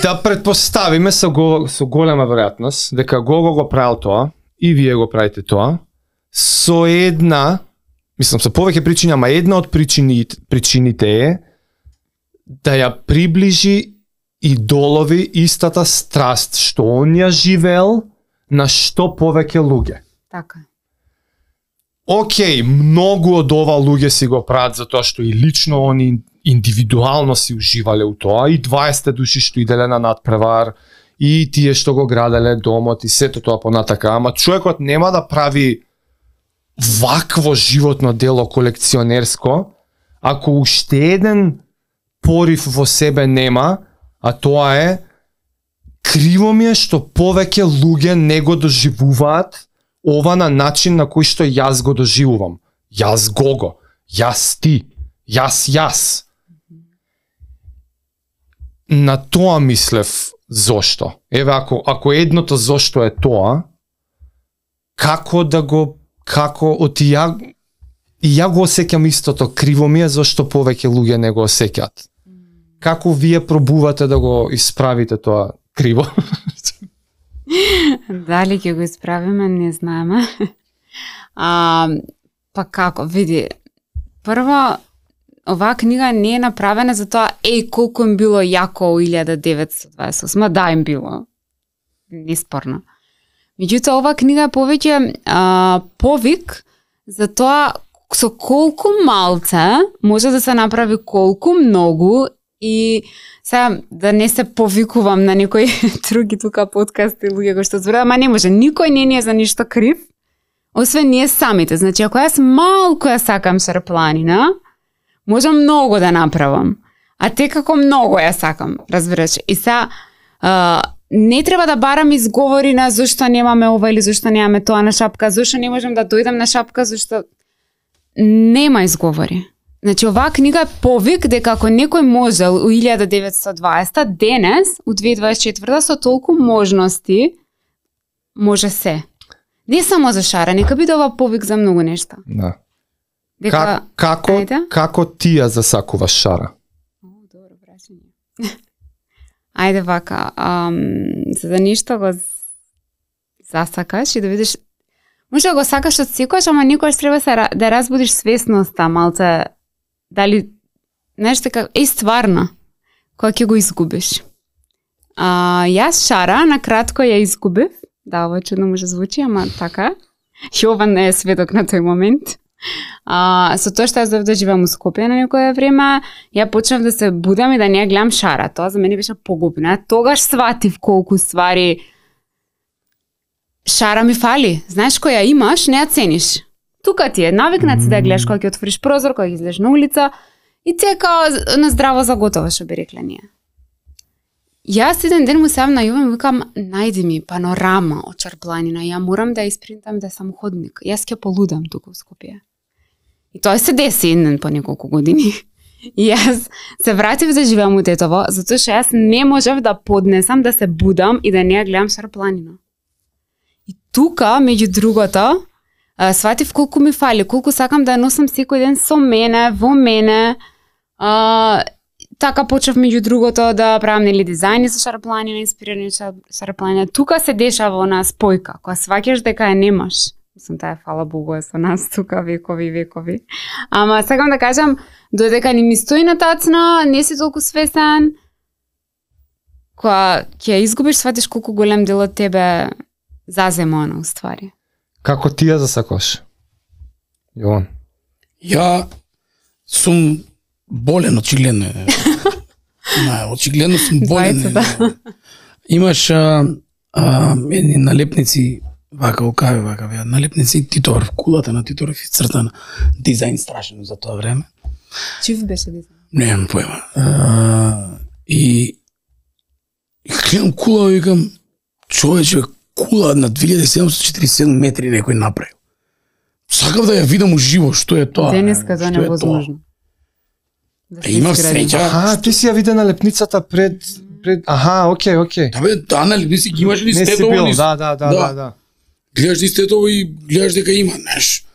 Да предпоставиме со, го, со голема веројатност дека Гого го правил тоа и вие го правите тоа со една, мислам со повеќе причини, ама една од причини, причините е да ја приближи идолови истата страст што он ја живеел на што повеќе луѓе. Така. Океј, многу од ова луѓе си го прават затоа што и лично они индивидуално си уживале у тоа, и дваесет души што иделе на надпревар, и тие што го граделе домот и сето тоа понатака, ама човекот нема да прави вакво животно дело колекционерско ако уште еден порив во себе нема, а тоа е криво ми е што повеќе луѓе не го доживуваат ова на начин на кој што јас го доживувам. Јас Гого, јас ти, јас јас. На тоа мислев зошто. Еве ако ако едното зошто е тоа, како да го како оти ја И ја го осеќам истото, криво ми е зашто повеќе луѓе не го осеќаат. Како вие пробувате да го исправите тоа криво? Дали ќе го исправиме, не знаеме. А, па како, види, прво, оваа книга не е направена за тоа, еј, колку им било јако во илјада деветстотини дваесет и осма, да им било. Неспорно. Меѓутоа, оваа книга е повеќе а, повик за тоа со колку малце може да се направи колку многу. И сега да не се повикувам на некои други тука подкасти луѓе кои што зборат, ама не може, никој не ни е за ништо крив, освен ние самите. Значи, ако јас малку ја сакам шарпланина, можам многу да направам. А те како многу ја сакам, разбираш. И сега а, не треба да барам изговори на зашто немаме ова или зашто немаме тоа на шапка, зашто не можам да дојдам на шапка, зашто нема изговори. Значи, оваа книга е повик дека ако некој можел у илјада деветстотини и дваесета, денес, у две илјади дваесет и четврта, со толку можности, може се. Не само за шара, нека биде ова повик за многу нешта. Да. Дека... Как, како, Ајде? како ти ја засакуваш шара? О, добро прашање. Ајде вака, ам, за да ништо го засакаш и да видиш, може да го сакаш од секојаш, ама никогаш треба се, да разбудиш свесноста, малце, дали, знаеш така, е стварно, кога ќе го изгубиш. А, јас шара, на кратко ја изгубив, да, ова чудно може звучи, ама така, Јован не е сведок на тој момент. А, со тоа што јас дојдов да живеам у Скопје на некое време, ја почнав да се будам и да не ја гледам шара. Тоа за мене беше погубно. Тогаш сватив колку ствари шара ми фали. Знаеш, која имаш, не ја цениш. Тука ти е, навикнат си да ја гледаш кога ќе отвориш прозор, кога ќе излезеш на улица и ти е као на здраво заготово, што би рекле ние. Јас еден ден му се јавам на Јован и викам, најди ми панорама од шарпланина, ја морам да ја испринтам да е самоходник. Јас ќе полудам тука во Скопје. И тоа се деси еден по неколку години. И јас се вратив да живеам у Тетово, затоа што јас не можев да поднесам да се будам и да не ја гледам шарпланина. И тука, меѓу другото, сватив колку ми фали, колку сакам да ја носам секој ден со мене, во мене. А, така почнав меѓу другото да правам нели дизајни за шарпланина, инспирирани од шарпланина. Тука се дешава она спојка, кога сваќаш дека ја немаш. Мислам, таа фала Богу е со нас тука векови и векови. Ама сакам да кажам, додека ни ми стои на тацна, не си толку свесен, кога ќе ја изгубиш, сватиш колку голем дел од тебе зазема она уствари. Како ти ја засакуваш? Јован. Ја сум болен, очигледно е. На, очигледно сум болен. Двајца, Имаш а, а, едни налепници, вака окави, вака веа, налепници Титор, кулата на Титор исцртана. Дизајн страшен за тоа време. Чив беше дизајн? Немам појма. А, и и гледам кула и викам, човече, кула на две илјади седумстотини и четиридесет и седум метри некој направил. Сакав да ја видам уживо што е тоа. Денеска тоа што е невозможно. Да Е, имав среќа. Аха, ти си ја виде налепницата пред пред Аха, окей, окей. Да бе, да, нали, не си ги имаш ли Не си стетово? бил, ни- да, да, да, да, да. Гледаш ли стетово и гледаш дека има, знаеш.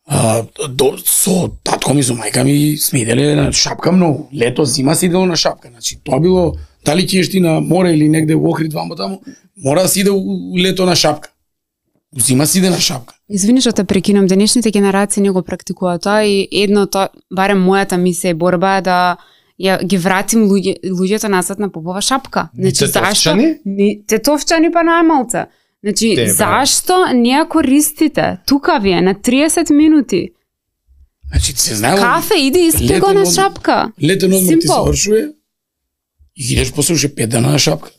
А, до, со татко ми, со мајка ми сме иделе на шапка многу. Лето, зима си идело на шапка. Значи, тоа било, дали ќе ти на море или негде во Охрид ваму таму, мора да си иде у лето на шапка. У зима си иде на шапка. Извини што те прекинам, денешните генерации не го практикуваат тоа и едно тоа, барем мојата мисија и борба е да ја ги вратим луѓе, луѓето назад на попова шапка. Значи Тетовчани? Не, тетовчани па најмалца. Значи Те, бе. зашто не ја користите? Тука ви е на триесет минути. Значи, се знае. Кафе иди испи го Летен на одмор. шапка. Летен одмор ти Simple. завршува и идеш после уште пет дена на шапка.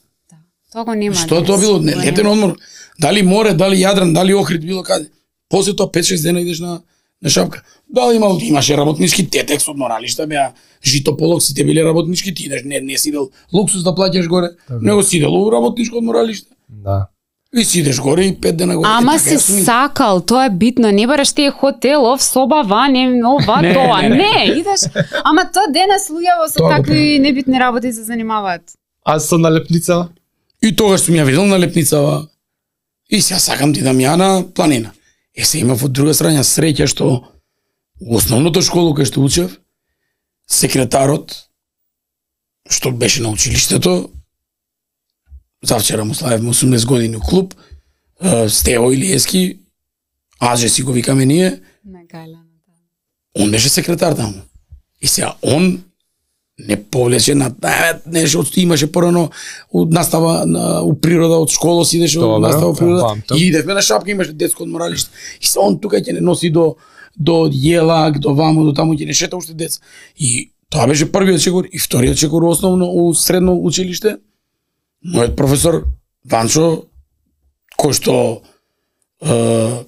Тоа го нема. Што денес. тоа било? Не, Го летен нема. одмор. Дали море, дали Јадран, дали Охрид, било каде. После тоа пет-шест дена идеш на на шапка. Дали имал, имаше работнички, тетекс одморалишта беа, житополок, сите биле работнички, ти идеш, не, не си идел луксус да плаќаш горе, него си идел у работничко одморалиште. Да. И си идеш горе и пет дена горе. Ама Е, така си јас сум и- сакал, тоа е битно, не бараш тие хотелов, соба ване, ова, Не, тоа, не, не, не. идеш, ама тоа денес луѓето со Тоа го такви правим. небитни работи се занимаваат. А со налепница? И тогаш сум ја видел на лепницава. И сега сакам ти да ми ја на планина. Е, се има од друга страна среќа што у основното школу кај што учев, секретарот, што беше на училиштето, завчера му славевме осумдесет години у клуб, Стево Илиевски, Аже си го викаме ние, он беше секретар таму. И сега он не повлече на нешто, имаше порано настава на, у природа од школа, си идеше од настава у природа, и идевме на шапка, имаше детско одморалиште. И се он тука ќе не носи до до Јелак, до вамо, до таму ќе не шета уште деца. И тоа беше првиот чекор, и вториот чекор основно у средно училиште. Мојот професор Ванчо, кој што е,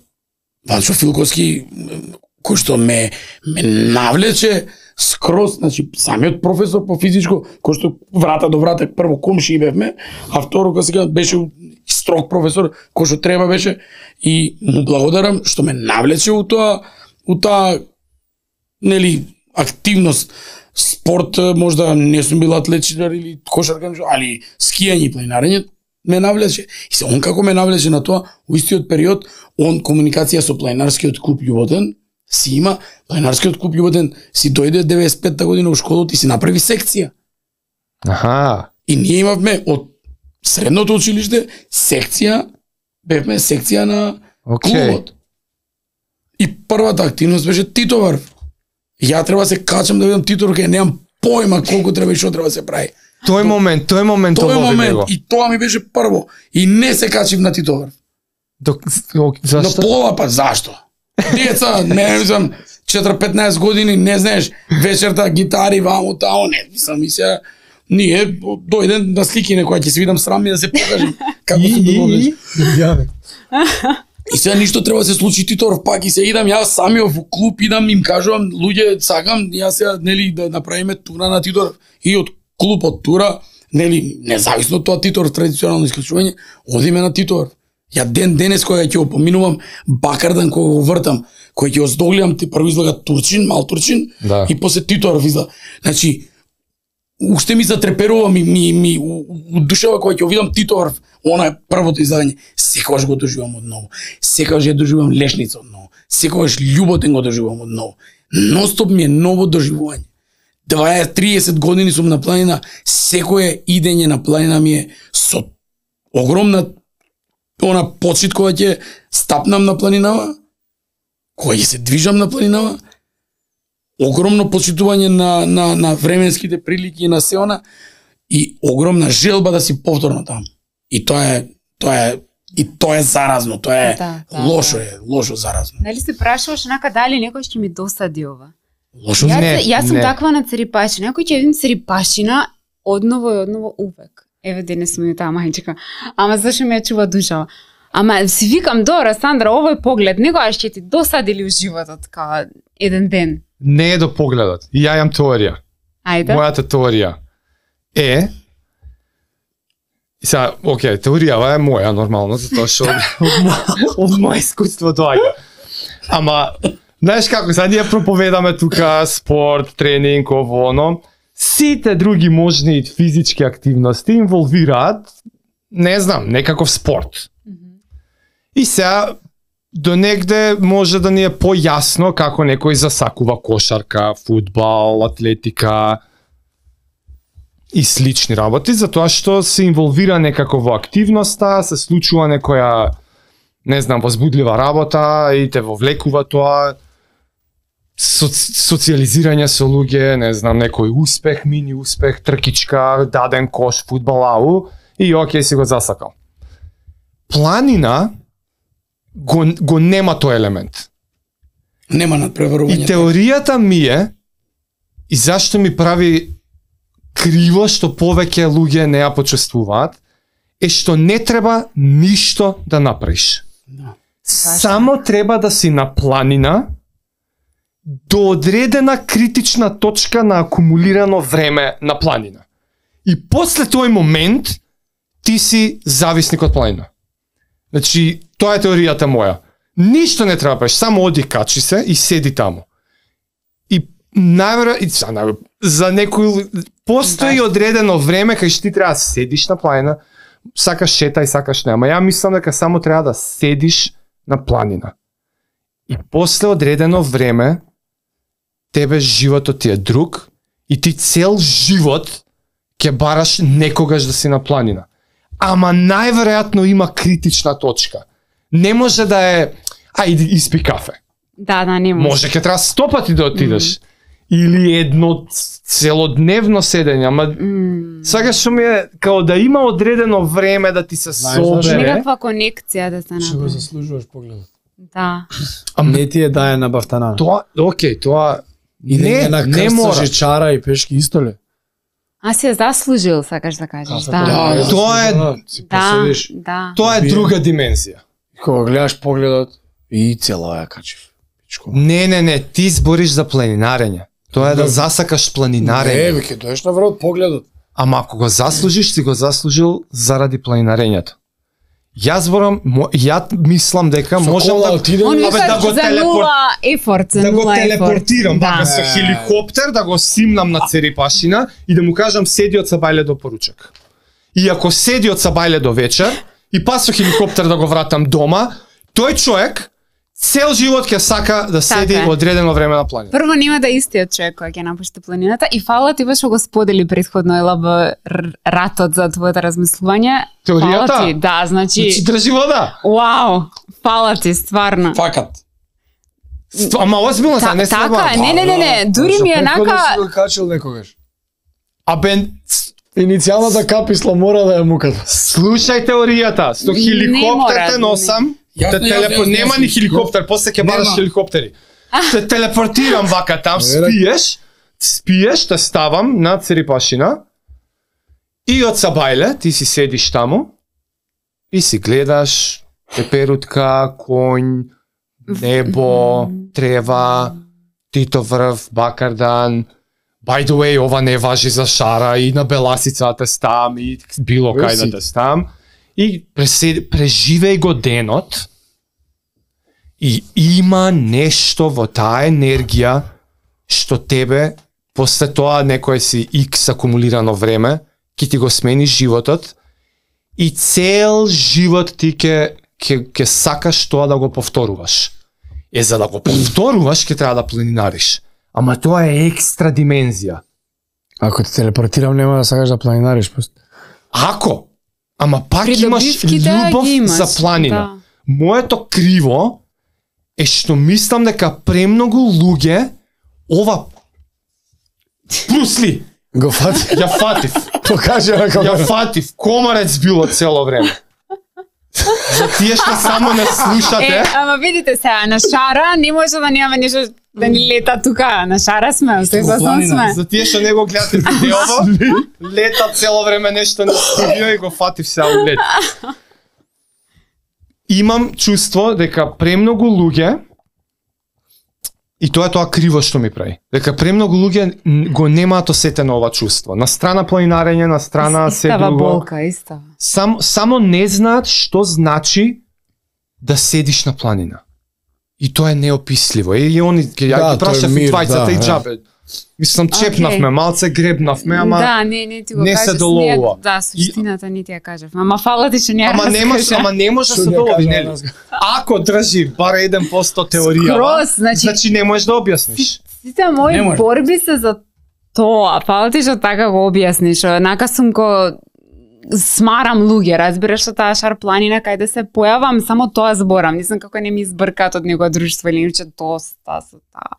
Ванчо Филковски, кој што ме ме навлече скроз, значи самиот професор по физичко, кој што врата до врата прво комши бевме, а второ кога сега беше строг професор, кој што треба беше, и му благодарам што ме навлече у тоа, у таа нели активност. Спорт, можда не сум бил атлетичар или кошаркар, али скијање и планинарење ме навлече. И се он како ме навлече на тоа, у истиот период, он комуникација со планинарскиот клуб Љуботен си има, планинарскиот клуб Љуботен си дојде деветдесет и петта година у школата и си направи секција. Аха. И ние имавме од средното училиште секција, бевме секција на okay. клубот. И првата активност беше титовар. Ја треба се качам да видам титор, кај немам појма колку треба и што треба се прави. Тој момент, тој момент тој момент него. И тоа ми беше прво. И не се качив на титовар. Док, зашто? Но пола, па зашто? Деца, не знам, четири-петнаесет години, не знаеш, вечерта гитари, ваму, тао, не, мислам и сега, ние дојден на слики некоја ќе се видам срам и да се покажем како се договори. И сега ништо треба да се случи Титоров пак и се идам јас самиот во клуб, идам им кажувам луѓе сакам јас сега нели да направиме тура на Титоров и од клубот тура, нели независно од тоа Титоров традиционално исклучување, одиме на Титоров. Ја ден денес кога ќе го поминувам Бакардан кога го вртам, кој ќе оздогледам ти прво излага Турчин, мал Турчин да. И после Титоров излага. Значи уште ми затреперува ми ми ми удушева кога ќе видам Титоров, она е првото излагање. Секогаш го доживам одново. Секогаш ја доживам Лешница одново. Секогаш Љуботен го доживам одново. Ностоп ми е ново доживување. дваесет триесет години сум на планина, секое идење на планина ми е со огромна она почит кога ќе стапнам на планинава, кога ќе се движам на планинава, огромно почитување на, на, на временските прилики и на се она, и огромна желба да си повторно таму. И тоа е, тоа е, и тоа е заразно, тоа е да, да, лошо да. е, лошо заразно. Дали се прашуваш нака дали некој ќе ми досади ова? Лошо Јас, не, јас сум не. таква на церипашина, некој ќе видим церипашина одново и одново увек. Еве денес сум и таа мајчика. Ама зашо ме чува душава? Ама си викам, добра, Сандра, овој поглед, некогаш ќе ти досади ли у животот као еден ден? Не е до погледот. И ја имам теорија. Ајде. Мојата теорија е и сега, окей, теоријава е моја нормално, затоа што од, од моје искуство доаѓа. Ама знаеш како, сега ние проповедаме тука спорт, тренинг, ово, оно. Сите други можни физички активности инволвираат, не знам, некаков спорт. Mm-hmm. И сега, до негде може да ни е појасно како некој засакува кошарка, фудбал, атлетика и слични работи, затоа што се инволвира некако во активноста, се случува некоја, не знам, возбудлива работа и те вовлекува тоа, Соци, социализирање со луѓе, не знам, некој успех, мини успех, тркичка, даден кош, фудбал, ау, и окей, си го засакал. Планина го, го нема тој елемент. Нема надпреварување. И теоријата ми е, и зашто ми прави криво што повеќе луѓе не ја почувствуваат, е што не треба ништо да направиш. Да. Само треба да си на планина, до одредена критична точка на акумулирано време на планина. И после тој момент ти си зависник од планина. Значи, тоа е теоријата моја. Ништо не треба правиш, само оди качи се и седи таму. И најверојатно за некој постои одредено време кај што ти треба да седиш на планина, сакаш шетај, сакаш не, ама ја мислам дека само треба да седиш на планина. И после одредено време тебе животот ти е друг и ти цел живот ќе бараш некогаш да си на планина. Ама најверојатно има критична точка. Не може да е, ајде испи кафе. Да, да, не може. Може ќе треба сто пати да отидеш. Mm. Или едно целодневно седење, ама mm. сега што ми е као да има одредено време да ти се собере. Некаква конекција да се Што го направи. заслужуваш погледот. Да. А не ти е дае на бафтана. Тоа, окей, тоа Идење не, на не крста, мора. жечара и пешки исто ли? А си е заслужил, сакаш да кажеш. Да. Да, тоа е си Да, поседиш, да. тоа е друга димензија. кога гледаш погледот и цела ја качив. Пичко. Не, не, не, ти збориш за планинарење. Тоа е да засакаш Не, планинарење. веќе доеш на врат погледот. Ама ако го заслужиш, си го заслужил заради планинарењето. Јас зборам, мо- ја мислам дека Со можам кола да отидем, Он Абе, вика да го за телепор- нула ефорт, за да го нула ефорт. телепортирам Да. вака со хеликоптер, да го симнам на Церипашина и да му кажам седи од Сабајле до поручак. И ако седи од Сабајле до вечер и па со хеликоптер да го вратам дома, тој човек цел живот ќе сака да седи Така е. одредено време на планина. Прво нема да е истиот човек кој ќе напушти планината и фала ти што го сподели претходно ела во р- ратот за твоето размислување. Теоријата? Фала ти, да, значи, Значи држи вода. вау, фала ти стварно. Факат. Ст- Ама озбилно Та, са, не така слаба. е, не, не, не, не, дури ми е нака Си го качил некогаш. А бен, Иницијалната каписла мора да ја муката. слушај теоријата. Со Не хеликоптер мора, те носам. Јасно, Те јасно, телепо... јасно, Нема јасно. ни хеликоптер, после ќе бараш Нема. хеликоптери. Те телепортирам вака там, Верак. спиеш, спиеш, те ставам на Церипашина и од Сабајле ти си седиш таму и си гледаш теперутка, конј, небо, трева, Тито врв, Бакардан. By the way, ова не важи за Шара и на Беласица те стам и било кај да те стам. И пресед, преживеј го денот и има нешто во таа енергија што тебе, после тоа некој си X акумулирано време, ќе ти го смени животот и цел живот ти ќе ќе ќе сакаш тоа да го повторуваш. Е, за да го повторуваш, ќе треба да планинариш. Ама тоа е екстра димензија. Ако те телепортирам, нема да сакаш да планинариш. просто. Ако, ама пак имаш Придобивките љубов ги имаш, за планина. да. Моето криво е што мислам дека премногу луѓе ова Брусли, Го фати. ја фатив, Покажи на ја камера. фатив, комарец било цело време. За тие што само не слушате, Е, ама видите сега, на Шара не може да нема нешто да ни лета тука. На Шара сме, се го сам планина. сме. за тие што не го гледате видеово, лета цело време нешто на студио и го фатив сега у лет. Имам чувство дека премногу луѓе и тоа е тоа криво што ми прави. Дека премногу луѓе н- го немаат осетено ова чувство. На страна планинарење, на страна се Истава друго. болка, истава. Сам, само не знаат што значи да седиш на планина. И тоа е неописливо. И, и они ќе ја Да, ги тоа е прашав и мир, двајцата да, и да. џабе. Мислам, чепнавме, Океј. малце гребнавме, ама Да, не, не ти го не се кажеш, доловува. не, да, суштината не ти ја кажав. Ама фала ти што не ја ама не може, раскажа. ама не може да Што се не долови, кажа нели? нас. Ако држи бар еден посто теорија, Скроз, значи- значи не можеш да објасниш. Сите мои Не може. борби се за тоа. Фала ти што така го објасниш. Онака сум ко смарам луѓе, разбираш што таа Шар планина кај да се појавам, само тоа зборам. Не знам како не ми избркаат од него друштво или иначе доста со таа.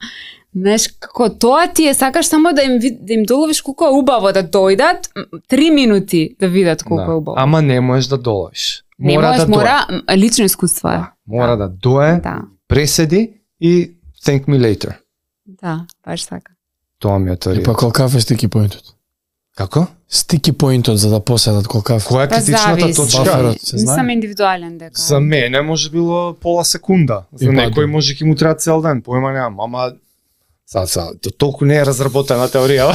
Знаеш, како тоа ти е, сакаш само да им ви- да им доловиш колку е убаво да дојдат, м, три минути да видат колку е убаво. Ама не можеш да доловиш. Не Мора можеш, да дое. мора м, лично искуство е. Мора да дое, Да, преседи и thank me later. да, баш така. Тоа ми е И теорија. па колкав е стики поинтот? Како? Стики поинтот за да поседат колкав. Која е Па критичната зависи. точка? Баферот се Не знае. сам индивидуален дека. За мене може било пола секунда. За И па, некој да. може ќе му треба цел ден, појма немам, ама Са, са, то толку не е разработена теорија.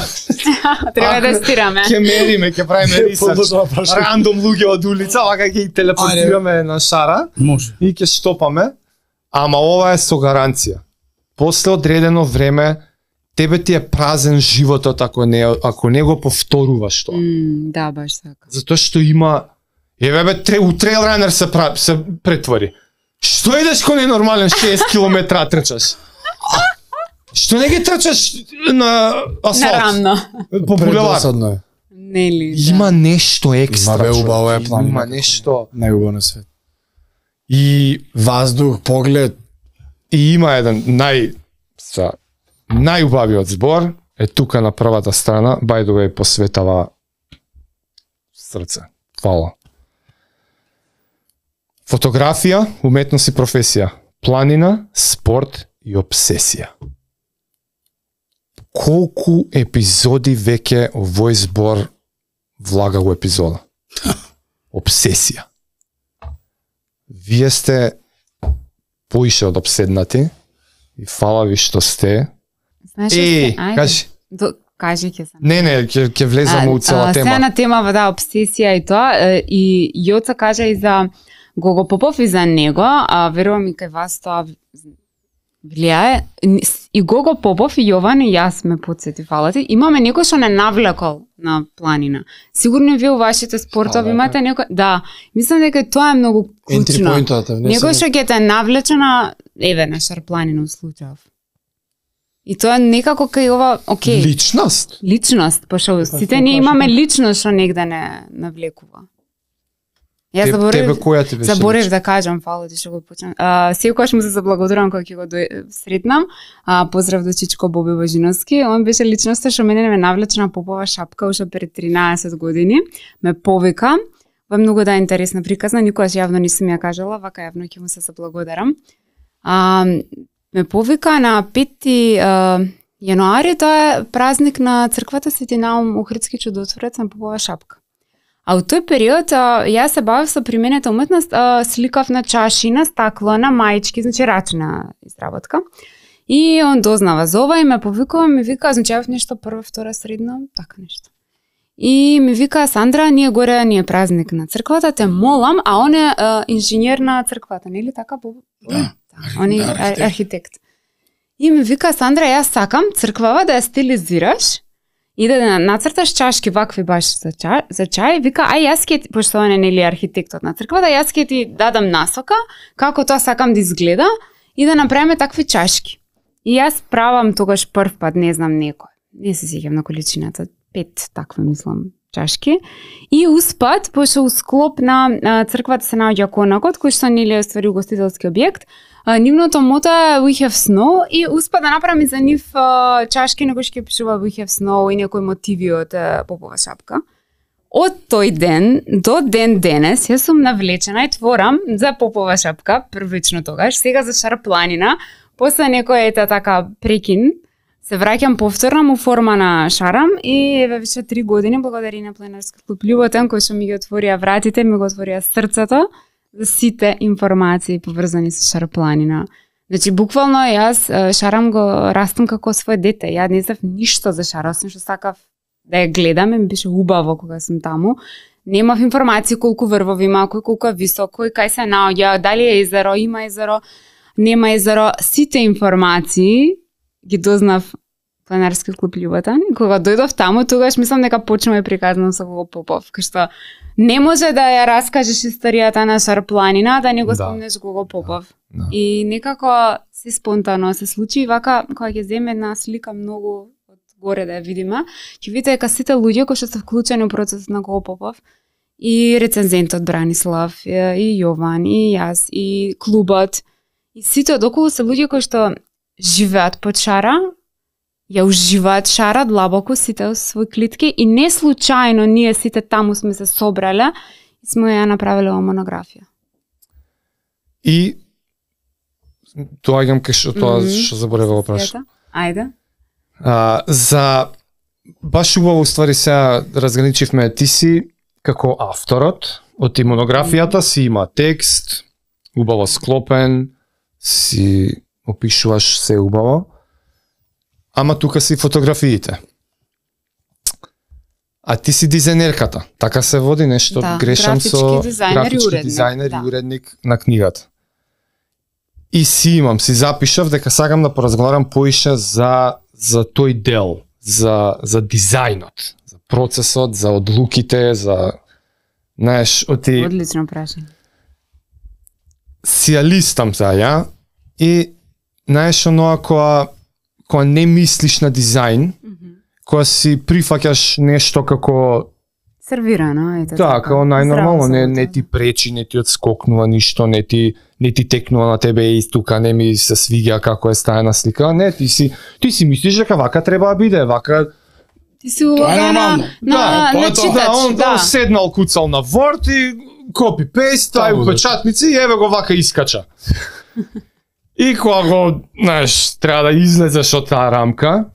Треба да Ако- стираме. Ќе мериме, ќе правиме рисерч. Подложно прашање. Рандом луѓе од улица, вака ќе ги телепортираме на Шара Може. и ќе штопаме. Ама ова е со гаранција. После одредено време тебе ти е празен животот ако не ако не го повторуваш тоа. М, да, баш така. Затоа што има еве бе тре, у трейл ранер се пра, се претвори. Што идеш кој ненормален шест километра трчаш? Што не ги трчаш на асфалт? На рамно. По булевар. Предосадно е. Нели? Да. Има нешто екстра. Има бе човек. убаво е планина. Има нешто. Најубаво на свет. И Ваздух, поглед. И има еден нај са, најубавиот збор е тука на првата страна, by the way посветава срце. Фала. Фотографија, уметност и професија. Планина, спорт и обсесија. Колку епизоди веќе овој збор влага во епизода? Обсесија. Вие сте поише од обседнати и фала ви што сте. Знаеш, Е, ајде. кажи. До, кажи ќе се. Не, не, ќе ќе влеземе у цела Сега тема. на тема, да, обсесија и тоа, е, и Јоца кажа и за Гого Попов и за него, а верувам и кај вас тоа влијае. И Гого Попов и Јован и јас ме подсети, фала ти. Имаме некој што не навлекол на планина. Сигурно вие у вашите спортови имате некој, да, мислам дека тоа е многу Entry клучно. point-ата, Некој што ќе те навлече на еве на шарпланина у случајов. И тоа некако кај ова, окей. Личност. Личност, пошто сите ние имаме личност што негде не навлекува. Јас Теб- заборев, тебе која ти беше заборев личност? да кажам, фала ти што го почнам. А, секогаш му се заблагодарам кога ќе го дој- сретнам. А, поздрав до Чичко Боби Божиновски. Он беше личноста што мене ме навлече на попова шапка уште пред тринаесет години. Ме повика. Ва многу да е интересна приказна, никогаш јавно не сум ја кажала, вака јавно ќе му се заблагодарам. А, ме повика на пети а, јануари, тоа е празник на црквата Свети Наум Охридски чудотворец на попова шапка. А у тој период а, јас се бавев со применета уметност, а, сликав на чаши, на стакло, на маички, значи рачна изработка. И он дознава за ова и ме повикува, ми вика, значи јавев нешто прва, втора, средна, така нешто. И ми вика, Сандра, ние горе ни е празник на црквата, те молам, а он е а, инженер на црквата, нели така? Да. Он е Да, ар- архитект. архитект. И ми вика, Сандра, јас сакам црквава да ја стилизираш и да да нацрташ чашки вакви баш за чај, за чај. Вика, ај јас ќе ти, пошто он е нели архитектот на црквата, јас ќе ти дадам насока како тоа сакам да изгледа и да направиме такви чашки. И јас правам тогаш прв пат, не знам некој. Не се сеќам на количината, пет такви мислам чашки. И успат, пошто у склоп на а, црквата се наоѓа конакот, кој што нели е ствари угостителски објект. А, нивното мото е We Have Snow и успа да направи за нив а, чашки на кои што ќе пишува We Have Snow и некои мотиви од а, попова шапка. Од тој ден до ден денес јас сум навлечена и творам за попова шапка, првично тогаш, сега за шарпланина, после некој ета така прекин, се враќам повторно му форма на шарам и еве више три години благодарение на Пленарски клуб Љуботен кој што ми ги отворија вратите, ми го отворија срцето за сите информации поврзани со шарпланина. Значи буквално јас е, шарам го растам како свој дете. Ја не знав ништо за шар, освен што сакав да ја гледам, ми беше убаво кога сум таму. Немав информации колку врвови има, кој колку е висок, кој кај се наоѓа, дали е езеро, има езеро, нема езеро, сите информации ги дознав Пленарски клуб Љуботен. Кога дојдов таму, тогаш мислам дека почнуваме приказнам со Гого Попов, кај што не може да ја раскажеш историјата на шарпланина, да не го Да. спомнеш Гого Попов. Да. И некако се спонтано се случи и вака кога ќе земе една слика многу од горе да ја видиме, ќе видите дека сите луѓе кои што се вклучени во процесот на Гого Попов и рецензентот Бранислав, и Јован, и јас, и клубот, и сите одоколу се луѓе кои што живеат под шара, ја уживаат шара длабоко сите во свој клетки и не случајно ние сите таму сме се собрале и сме ја направиле ова монографија. И доаѓам кај што тоа Мгм. што заборев да праш. Ајде. А, за баш убаво ствари сега разграничивме, ти си како авторот од ти монографијата, си има текст, убаво склопен, си опишуваш се убаво, ама тука си фотографиите. А ти си дизајнерката, така се води нешто, Да, грешам графички со дизајнер и графички уредник, дизајнер да. и уредник на книгата. И си имам, си запишав дека сакам да поразговарам поише за за тој дел, за за дизајнот, за процесот, за одлуките, за знаеш, оти Одлично прашање. си ја листам за ја и знаеш оноа која кога не мислиш на дизајн, кога си прифаќаш нешто како сервирано, ете да, како најнормално, Здраво не, сум, не да. ти пречи, не ти отскокнува ништо, не ти не ти текнува на тебе и тука не ми се свиѓа како е стајна слика, не, ти си ти си мислиш дека вака треба да биде, вака Ти си улога на, нормално. на, Да, тоа на е тоа. читач, да, он, да. он седнал куцал на Word и копи пейст, тај Таму, да. печатници и еве го вака искача. И кога го, знаеш, треба да излезеш од таа рамка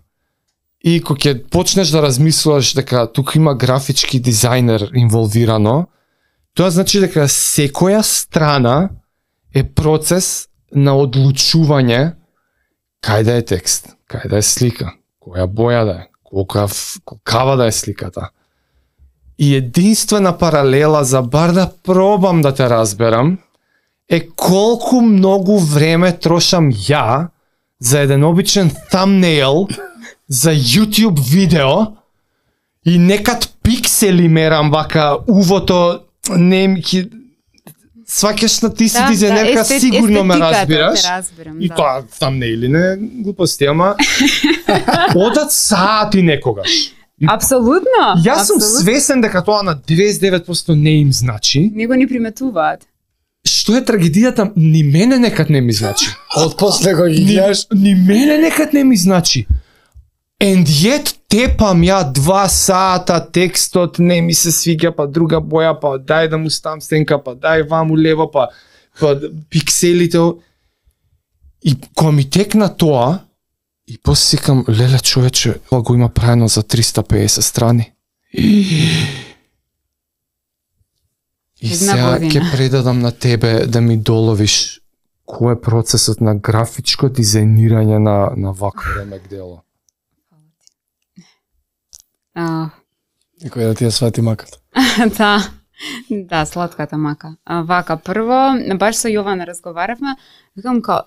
и кога ќе почнеш да размислуваш дека тука има графички дизајнер инволвирано, тоа значи дека секоја страна е процес на одлучување кај да е текст, кај да е слика, која боја да е, колка кава да е сликата. И единствена паралела за бар да пробам да те разберам е колку многу време трошам ја за еден обичен thumbnail за YouTube видео и некад пиксели мерам вака увото не ми ки сваќаш на ти си Да, дизајнерка, естет- сигурно ме естетиката, разбираш. те разбирам, И да. тоа thumbnail не глупости, ама одат сати некогаш. Апсолутно. Јас сум апсолутно. свесен дека тоа на деветдесет и девет проценти не им значи. Не го ни приметуваат. Што е трагедијата, ни мене некад не ми значи. Од после кога ги Ни, гледаш, ни мене некад не ми значи. And yet тепам ја два сата, текстот не ми се свиѓа, па друга боја, па дај да му ставам стенка, па дај ваму лево, па, па пикселите. И кога ми текна тоа, и после сикам, леле човече, ова го има правено за триста и педесет страни. И Една сега година. ќе предадам на тебе да ми доловиш кој е процесот на графичко дизајнирање на, на вакво ремек дело. А, некој да ти ја свати маката. да. Да, сладката мака. А, вака, прво, баш со Јована разговаравме, викам као,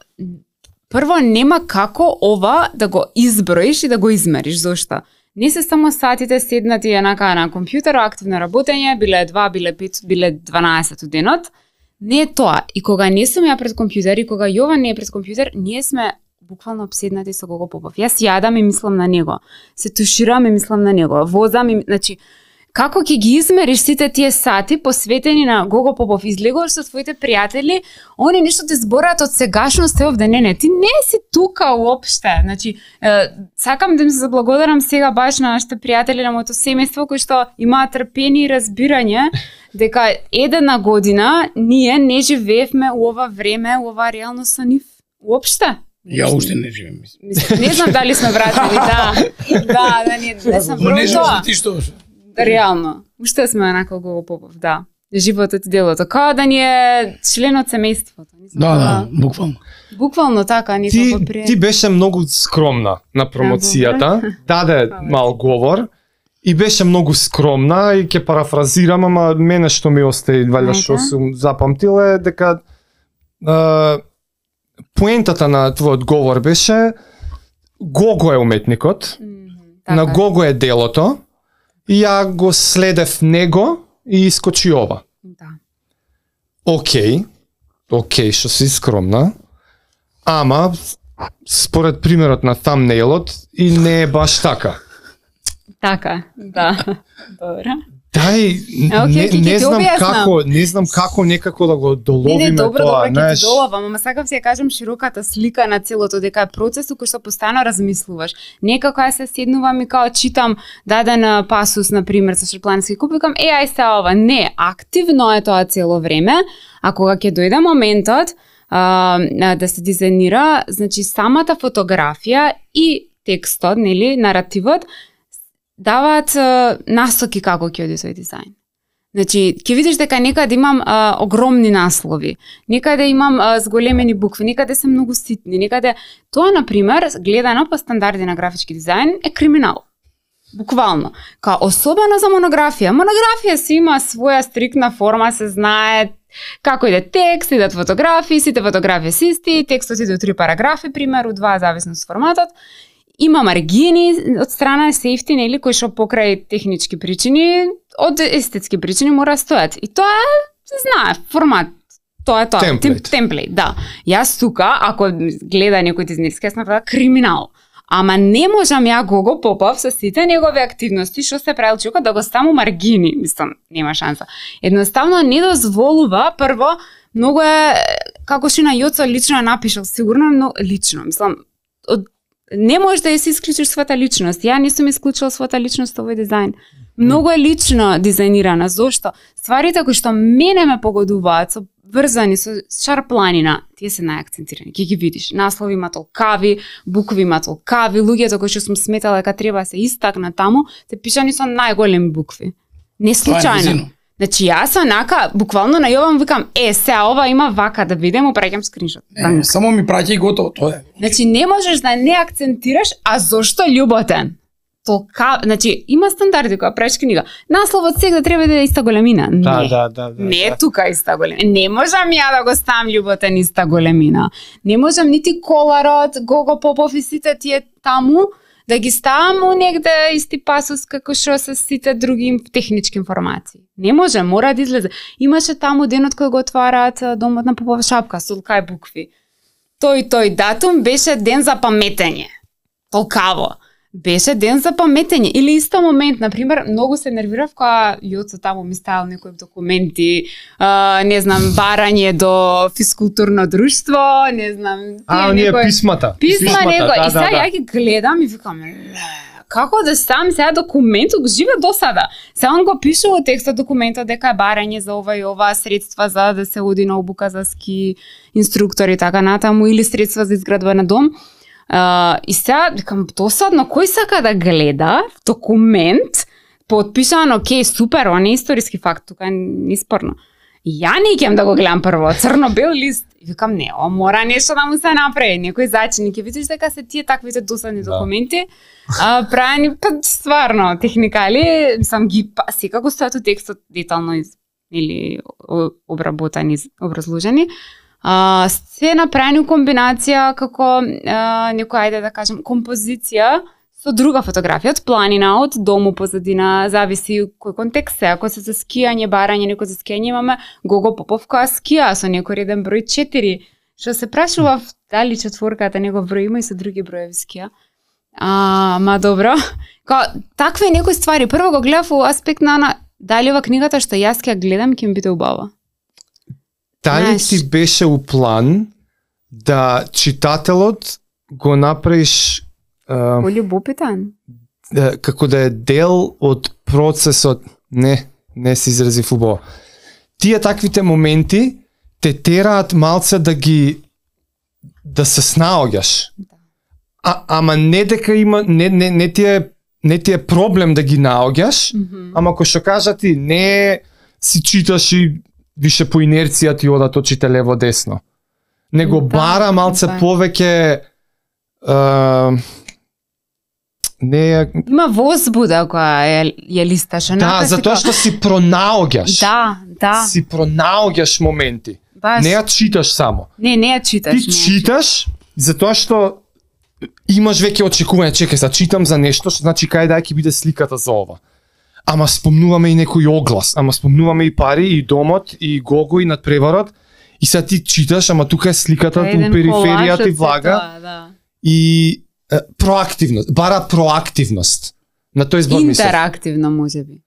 прво нема како ова да го изброиш и да го измериш, зошто? Не се само сатите седнати енака на компјутер, активно работење, биле два, биле пет, биле дванаесет од денот. Не е тоа. И кога не сум ја пред компјутер и кога Јован не е пред компјутер, ние сме буквално обседнати со Гого Попов. Јас јадам и мислам на него. Се туширам и мислам на него. Возам и, значи, како ќе ги измериш сите тие сати посветени на Гого Попов? Излегуваш со твоите пријатели, они нешто ти збораат од сегашност, овде, не, не, ти не си тука уопште. Значи, е, сакам да им се заблагодарам сега баш на нашите пријатели, на моето семејство, кои што имаат трпение и разбирање дека една година ние не живеевме у ова време, у ова реалност со нив уопште. Ја уште не живеем, мислам. Мислам, не знам дали сме вратени, да. Да, да, не, не сам Но не прво живееш тоа. ти што? Реално. Уште сме онака Гого Попов, да. Животот и делото. Као да ни е член од семејството. Не знам, Да, да, буквално. Буквално така, Ти, никако прие. ти беше многу скромна на промоцијата, даде мал говор и беше многу скромна и ќе парафразирам, ама мене што ми остаи, валја Ајде. што сум запамтил е дека е, поентата на твојот говор беше Гого е уметникот, Така на е. Гого е делото и ја го следев него и искочи ова. Да. Океј, океј, што си скромна, ама според примерот на thumbnailот и не е баш така. Така, да. Добро. Дај, Океј, не, ќе- ќе не ти знам објаснам. како, не знам како некако да го Не, доловиме не, добро, тоа, добро, ќе знаеш. ти доловам, ама сакам се ја кажам широката слика на целото, дека е процес кој што постојано размислуваш. Некако ја се седнувам и као читам даден пасус, на пример, со шотландски куп, викам, е, ај се ова. Не, активно е тоа цело време, а кога ќе дојде моментот а, а, да се дизајнира, значи самата фотографија и текстот, нели, наративот, даваат а, насоки како ќе оди тој дизајн. Значи, ќе видиш дека некаде имам а, огромни наслови, некаде имам а, зголемени букви, некаде се многу ситни, некаде тоа, на пример, гледано по стандарди на графички дизајн, е криминал. Буквално. Као особено за монографија. Монографија си има своја стриктна форма, се знае како иде текст, идат фотографии, сите фотографии се исти, текстот иде у три параграфи, примеру, два, зависно од форматот. Има маргини од страна safety, нели, кои што покрај технички причини, од естетски причини мора да стојат. И тоа е, се знае, формат. Тоа е тоа. Темплейт. Тем- Темплейт, да. Јас тука, ако гледа некој дизајнерски, јас направам криминал. Ама не можам ја Гого Попов со сите негови активности што се правил човекот да го ставам маргини, мислам, нема шанса. Едноставно не дозволува, прво, многу е, како што на Јоцо лично напишал, сигурно но лично, мислам, од, не можеш да ја си исклучиш својата личност. Ја не сум исклучила својата личност овој дизајн. Многу е лично дизајнирана. Зошто? Стварите кои што мене ме погодуваат, со врзани со шарпланина, тие се најакцентирани. Ке ги видиш. Наслови има толкави, букви има толкави, луѓето кои што сум сметала дека треба се истакна таму, се пишани со најголеми букви. Не случајно. Значи јас онака буквално најавам викам е се ова има вака да видам, упраќам скриншот. Е, само ми праќај готово, тоа е. Значи не можеш да не акцентираш, а зошто љуботен? Толка, значи има стандарди кога правиш книга. Насловот сега треба да е иста големина. Не. Да, да, да, да. Не е тука иста големина. Не можам ја да го ставам љуботен иста големина. Не можам нити Коларот, Гого Попов и сите тие таму да ги ставам у негде исти пасус како што се сите други технички информации. Не може, мора да излезе. Имаше таму денот кој го отвараат домот на Попова шапка со кај букви. Тој тој датум беше ден за паметење. Толкаво. Беше ден за паметење. Или исто момент, например, многу се нервирав кога Јоцо таму ми ставил некои документи, а, не знам, барање до физкултурно друштво, не знам, тие А, оние некои... писмата. Писма Писмата, него. да, И сега да, да. ја ги гледам и викам, ле, како да ставам сега документот, го живе до сада. Сега он го пише во текстот документот дека е барање за ова и ова, средства за да се оди на обука за ски инструктори и така натаму, или средства за изградба на дом. Uh, и сега, викам, досадно, кој сака да гледа документ, подпишан, окей, супер, он е историски факт, тука не спорно. Ја не ќем да го гледам прво, црно-бел лист. И викам, не, о, мора нешто да му се направи, некој зачини, ќе видиш дека се тие таквите досадни да. документи, а, правени, па, стварно, техникали, мислам, ги, па, секако стојат у текстот детално из, или обработани, образложени, Uh, се направени комбинација како uh, некој, ајде да кажем, композиција со друга фотографија, од планина, од дому позадина, зависи кој контекст е. Ако се за скијање, барање, некој за скијање, имаме Гого Попов која скија со некој реден број четири, што се прашува дали четворката негов број има и со други броеви скија. А, ма добро. Ка, такви некои ствари. Прво го гледав во аспект на, на дали ова книгата што јас ќе гледам ќе ми биде убава. Дали ти беше у план да читателот го направиш uh, полюбопитен? Да, како да е дел од процесот, не, не се изразив убаво. Тие таквите моменти те тераат малце да ги да се снаоѓаш. А, ама не дека има не не не ти е не ти е проблем да ги наоѓаш, mm-hmm. ама кој што кажа ти не си читаш и више по инерција ти одат очите лево десно. Него да, бара малце да. повеќе uh, не е... Има возбуда која ја, ја листаш. Да, затоа што си пронаоѓаш. Да, да. Си пронаоѓаш моменти. Баш. Не ја читаш само. Не, не ја читаш. Ти читаш, затоа што имаш веќе очекување, чекај, са читам за нешто, што значи кај да ќе биде сликата за ова. Ама спомнуваме и некој оглас, ама спомнуваме и пари, и домот, и Гого, и надпреварот, и сега ти читаш, ама тука е сликата, у периферијата и влага, тоа, да. и е, проактивност, бара проактивност. На тој збор мислам. Интерактивно, можеби.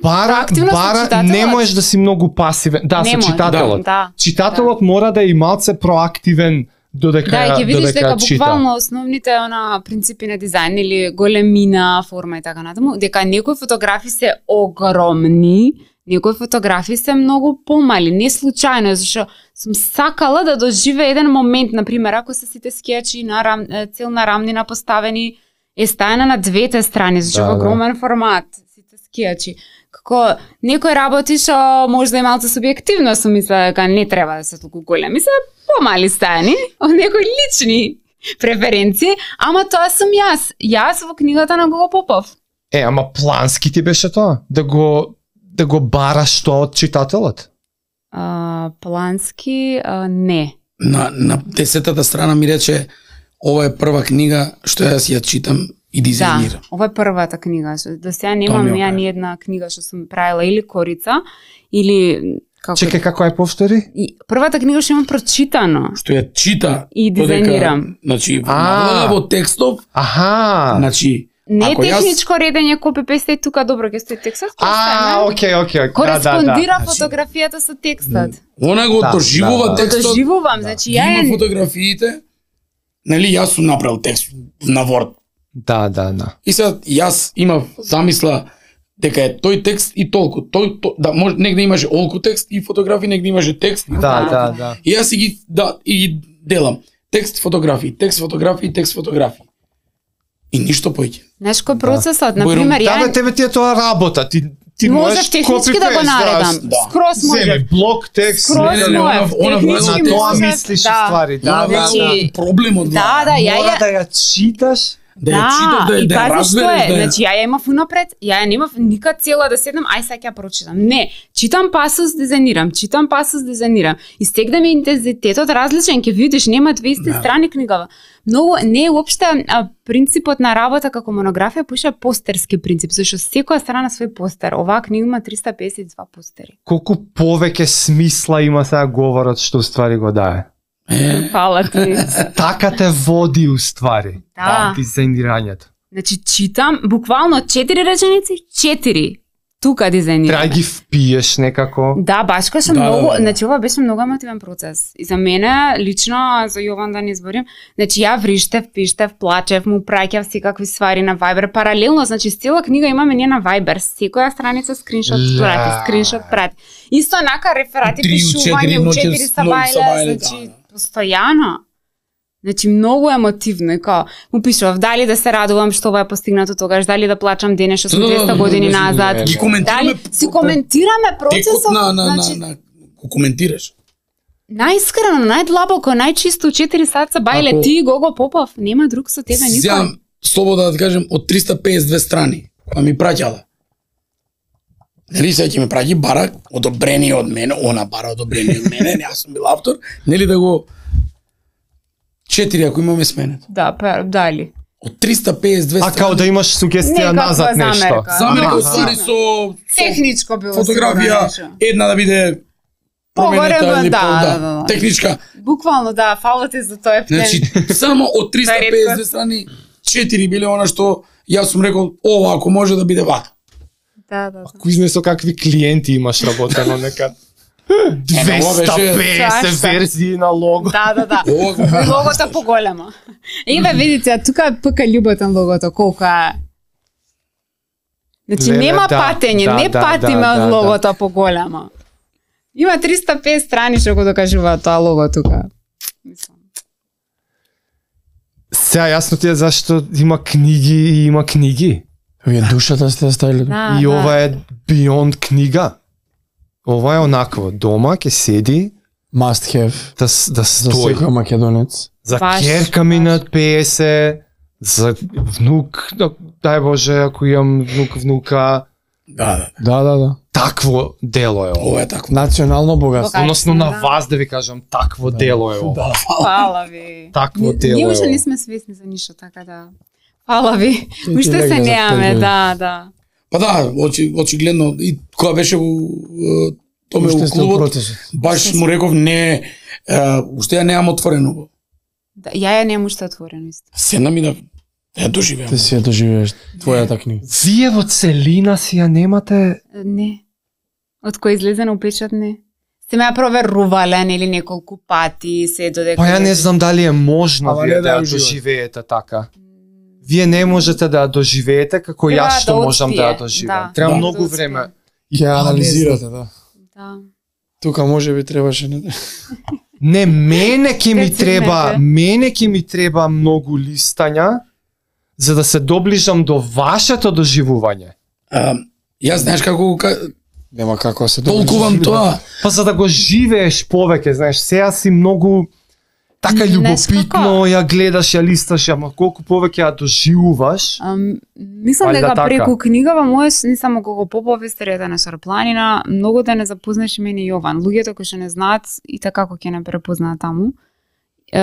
Бара, бара не можеш да си многу пасивен, да, не со може, читателот. Да, Читателот да. мора да е и малце проактивен додека да, ќе видиш додека дека чита. буквално основните она принципи на дизајн или големина, форма и така натаму, дека некои фотографии се огромни, некои фотографии се многу помали, не случајно, зашто сум сакала да доживе еден момент, например, ако се сите скијачи на рам, целна рамнина поставени е стајана на двете страни, зашто да, во огромен да. формат, сите скијачи. Како некои работи што можда и малце субјективно сум мисла дека не треба да се толку големи, се помали стајани, од некои лични преференции, ама тоа сум јас. Јас во книгата на Гого Попов. Е, ама плански ти беше тоа? Да го да го бараш тоа од читателот? А, плански а, не. На на десетата страна ми рече ова е прва книга што јас ја читам и дизајнирам. Да, ова е првата книга. До сега немам ја ни една книга што сум правила или корица, или Како Чекај, како е повтори? И првата книга што имам прочитано. Што ја чита И дизајнирам. додека, значи А. во текстов, Аха. значи Не ако јас- техничко редење, копи песте и тука добро ќе стои текстот. А, окей, окей, окей. Кореспондира Значи- фотографијата со текстот. она го Да, доживува да, да. текстот. Доживувам, значи ја Има е фотографиите. Нели јас сум направил текст на Word. Да, да, да. И сега јас имав замисла дека е тој текст и толку. Тој, тој да може негде имаше олку текст и фотографии, негде имаше текст. И Да, фотографии. да, да. И јас и ги да и ги делам. Текст, фотографии, текст, фотографии, текст, фотографии. И ништо поиќе. Знаеш кој процесот, на Бојрум- пример, Да, бе, ја тебе ти е тоа работа. Ти ти можеш можеш технички да го copy-paste, наредам. да. Скроз Земи може. блок текст. Скроз Не, не, не, може. она- она Технички врајла На тоа може. мислиш Да. ствари. Да, Она да, значи- да. проблемот Да, да, ја Мора ја да ја читаш. да ја читаш, да, и да ја пази што разбереш, е, да ја- значи ја ја имав унапред, ја ја немав никад цела да седнам, ај сега ќе ја прочитам. Не, читам пасус, дизајнирам, читам пасус, дизајнирам. И стегна ми интензитетот различен, ќе видиш, нема двеста Да. страни книгава. Многу не е уопште а, принципот на работа како монографија, поише постерски принцип, зашто секоја страна свој постер. Оваа книга има триста песет и два постери. Колку повеќе смисла има сега говорот што уствари го дае. Фала ти. Така те води уствари. Да. Дизајнирањето. Значи читам буквално четири реченици, четири. Тука дизајнирам. Треба да ги впиеш некако. Да, баш кај што Да, многу, да, да. значи ова беше многу емотивен процес. И за мене лично, за Јован да не изборим, значи ја вриштев, пиштев, плачев, му праќав секакви ствари на Viber паралелно, значи цела книга имаме ние на Viber, секоја страница скриншот Ля. прати, скриншот прати. Исто нака реферати Три, у четири пишување у ноќе четири с- сабајле, сабајле, значи да, да. постојано. Значи многу емотивно и као му пишував дали да се радувам што ова е постигнато тогаш, дали да плачам денес што сум Да, да, двеста да, години да, да, назад. Ги коментираме Дали си коментираме текот процесот, на на значи на на го коментираш. најискрено, најдлабоко, најчисто четири саца бајле Ако- ти Гого Попов, нема друг со тебе никој. Сега слободно да кажем од триста песет и две страни која ми праќала. Нели сега ќе ме праќи бара одобрени од мене, она бара одобрени од мене, јас сум бил автор, нели да го четири ако имаме сменет. Да, па дали. Од триста песет и две А страни. као да имаш сугестија Некаква назад нешто. замерка. Замерка Аха. уствари со Техничко било фотографија, сигурно една да биде Погоре, променета или да, по- да, да. техничка. Буквално да, фала ти за тој плен. Значи само од триста песет и две страни четири биле она што јас сум рекол ова ако може да биде вака. да, да, да. Кој знае со какви клиенти имаш работено некад? Е, ова беше- двеста песет Шашта. верзии на лого. Да, да, да. Ова го Логото поголемо. Еве видите, а тука е ПК љуботен логото, колку е. Значи Леле, нема да, патење, да, не да, патиме да, од да, логото поголемо. Има триста пет страни што го докажуваат тоа лого тука. Мислам. Сега јасно ти е зашто има книги и има книги. Вие душата сте ја ставиле. Да, И да. ова е beyond книга. Ова е онакво, дома ќе седи Must have да, с- да за стои. секој македонец. За Баш, керка ми баш. на песет, за внук, да- дај Боже, ако имам внук, внука, Да, да. Да, да, да. такво дело е ова. Ова е така. Национално богатство. Бога- Односно на Да. вас да ви кажам, такво дело е ова. Да. Фала ви. Такво Ни- дело Ние е уште ова. не сме свесни за ништо, така да. Фала ви. Ти- ти Уште се легна за неаме, пет да, да. Па да, очи, очигледно и кога беше у е, томе Уште у сте во клубот, процесот. баш му реков не, е, уште ја немам отворено. Да, ја ја немам уште отворено исто. Седнам и да да ја доживеам. Ти си ја доживееш твојата книга. Вие во целина си ја немате. Не. Од кој излезе на печат не. Се ме ја проверувале нели неколку пати, се додека. Па ја не знам дали е можно Ама вие не да да ја ја уживате. доживеете така. Вие не можете да ја доживеете како Треба јас што да можам да ја успие, доживеам. да. Треба Да. многу Да успие. време. Ќе ја А, не анализирате, да. Да. Тука може би требаше не. Не, мене ќе ми Рецензите. треба, мене ќе ми треба многу листања за да се доближам до вашето доживување. А, јас знаеш како го ка- Нема како да се толкувам тоа. Па за да го живееш повеќе, знаеш, сега си многу така Знаеш љубопитно, како? ја гледаш, ја листаш, ама колку повеќе ја доживуваш. Ам, мислам Валјда дека така. преку книгава можеш не само Гого Попов, Историјата на Шарпланина, многу да не запознаеш и мене и Јован. Луѓето кои што не знаат и така како ќе не препознаат таму. Е,